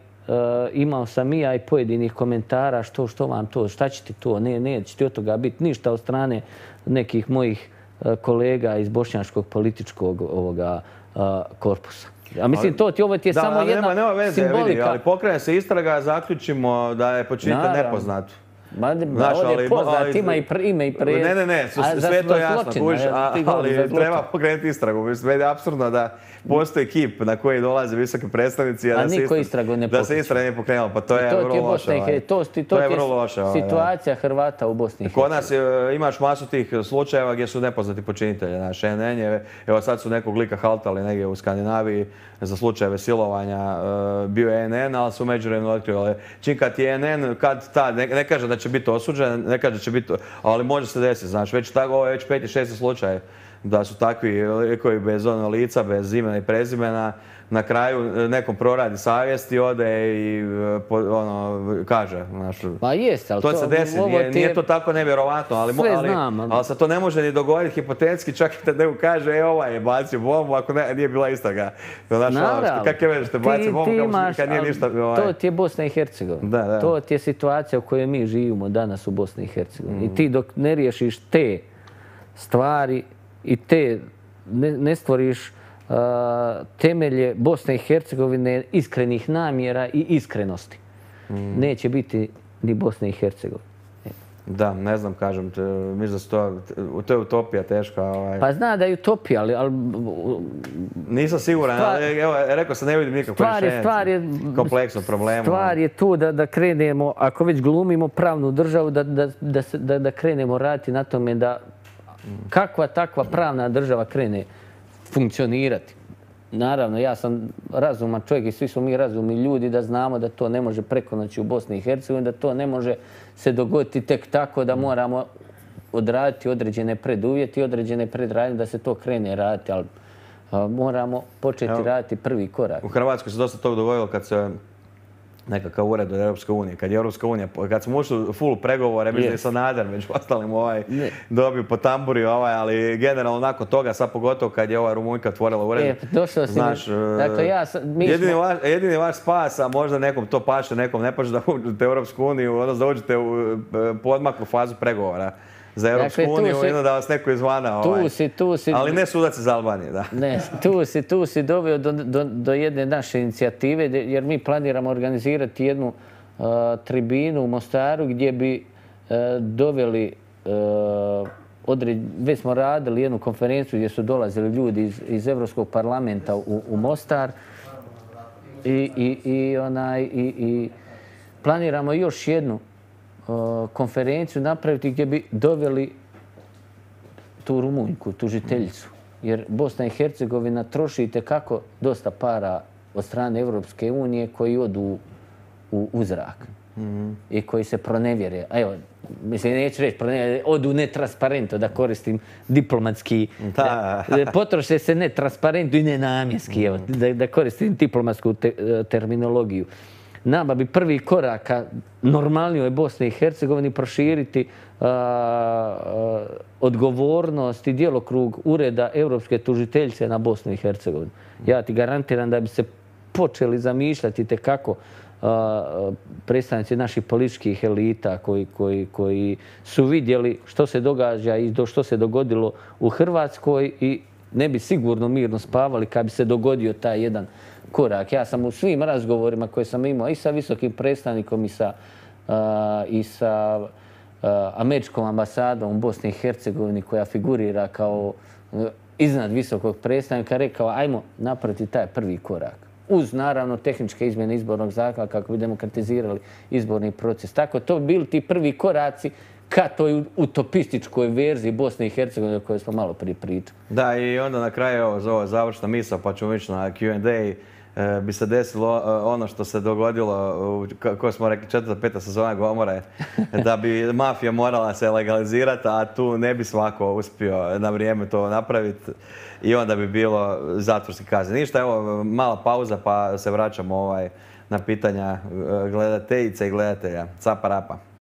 imao sam i ja i pojedinih komentara što vam to, šta će ti to, neće ti od toga biti ništa od strane nekih mojih kolega iz bošnjačkog političkog korpusa. A mislim, ovo ti je samo jedna nema veze, simbolika. Vidi, ali pokrene se istraga, zaključimo da je počinitelj nepoznat. Ovdje je poznat, ima i ime i prezime. Ne, sve to jasno, ali treba pokrenuti istragu. Mislim, meni je apsurdno da postoji ekip na koji dolaze visoki predstavnici, a niko istragu ne pokreće. Da se istraga nije pokrenula, pa to je vrlo loše. To je vrlo loše. Situacija Hrvata u Bosni i Hercegovini. Kod nas imaš masu tih slučajeva gdje su nepoznati počinitelji. Naš NN je, evo sad su nekog lika haltali negdje u Skandinaviji za slučajeve silovanja. Bio je NN, ali su međuvremenu otkrili. Čim kad je NN, kad tad, ne kaže da će biti osuđen, ne kaže da će biti, ali može se desiti, znaš, ovo je već 5. 6. slučaj da su takvi likovi bez lica, bez imena i prezimena, na kraju nekom proradi savjesti, ode i kaže, znaš. Pa jest, ali to se desi, nije to tako nevjerovatno, ali se to ne može ni dogoditi hipotetski, čak i da neko kaže, ovaj je bacio bombu, ako nije bila istraga. Naravno. Kakve veze što bacio bombu, kad nije ništa... To ti je Bosna i Hercegovina. To ti je situacija u kojoj mi živimo danas u Bosni i Hercegovini. I ti dok ne riješiš te stvari i ne stvoriš temelje Bosne i Hercegovine iskrenih namjera i iskrenosti, neće biti ni Bosne i Hercegovine. Da, ne znam, kažem, mislim da to je utopija teška. Pa zna da je utopija, ali... Nisam siguran, ali evo, rekao sam, ne vidim nikakvo rješenje kompleksnog problema. Stvar je tu da krenemo, ako već glumimo pravnu državu, da krenemo raditi na tome da kakva takva pravna država krene funkcionirati. Naravno, ja sam razuman čovjek i svi smo mi razumni ljudi da znamo da to ne može preko noći u Bosni i Hercegovini, da to ne može se dogoditi tek tako da moramo odraditi određene preduvjeti, određene predradnje da se to krene raditi, ali moramo početi raditi prvi korak. U Hrvatskoj se dosta toga dogodilo kad se nekakav ured od Europske unije. Kad smo ušli u full pregovore, mislim da je Sanader među ostalim dobio po tamburi, ali generalno nakon toga, sad pogotovo kad je ova Rumunjka otvorila ured. Došao si mi... Jedini vaš spas, a možda nekom to paše, nekom ne paše da uđete u Europsku uniju, odnosno da uđete u podmaklu fazu pregovora za Europsku uniju i da vas neko izvana. Ali ne sudac iz Albanije, da. Ne, tu si doveo do jedne naše inicijative, jer mi planiramo organizirati jednu tribinu u Mostaru gdje bi doveli, već smo radili jednu konferenciju gdje su dolazili ljudi iz Evropskog parlamenta u Mostar i planiramo još jednu konferenciju napraviti gdje bi doveli tu Rumunjku, tužiteljicu. Jer Bosna i Hercegovina troši itekako dosta para od strane Evropske unije koji odu u zrak i koji se pronevjere. Evo, mislim, neću reći pronevjere, odu netransparentno, da koristim diplomatski. Potroše se netransparentno i nenamjenski, da koristim diplomatsku terminologiju. Nama bi prvi korak ka normalnijoj Bosni i Hercegovini proširiti odgovornost i djelokrug ureda Europske tužiteljice na Bosnu i Hercegovinu. Ja ti garantiram da bi se počeli zamišljati tekako predstavnici naših političkih elita koji su vidjeli što se događa i što se dogodilo u Hrvatskoj i ne bi sigurno mirno spavali kad bi se dogodio taj jedan korak. Ja sam u svim razgovorima koje sam imao i sa visokim predstavnikom i sa američkom ambasadom u Bosni i Hercegovini koja figurira kao iznad visokog predstavnika rekao ajmo napraviti taj prvi korak. Uz naravno tehničke izmjene izbornog zakona kako bi demokratizirali izborni proces. Tako to bi bili ti prvi koraci ka toj utopističkoj verziji Bosne i Hercegovine o kojoj smo malo prije pričali. Da, i onda na kraju ovo završna misao, pa ćemo ići na Q&A, bi se desilo ono što se dogodilo, kako smo rekli, 4. 5. sezona Gomore, da bi mafija morala se legalizirati, a tu ne bi svako uspio na vrijeme to napraviti i onda bi bilo zatvorski kazne. Ništa, evo, mala pauza pa se vraćamo na pitanja gledateljica i gledatelja. Capa rapa.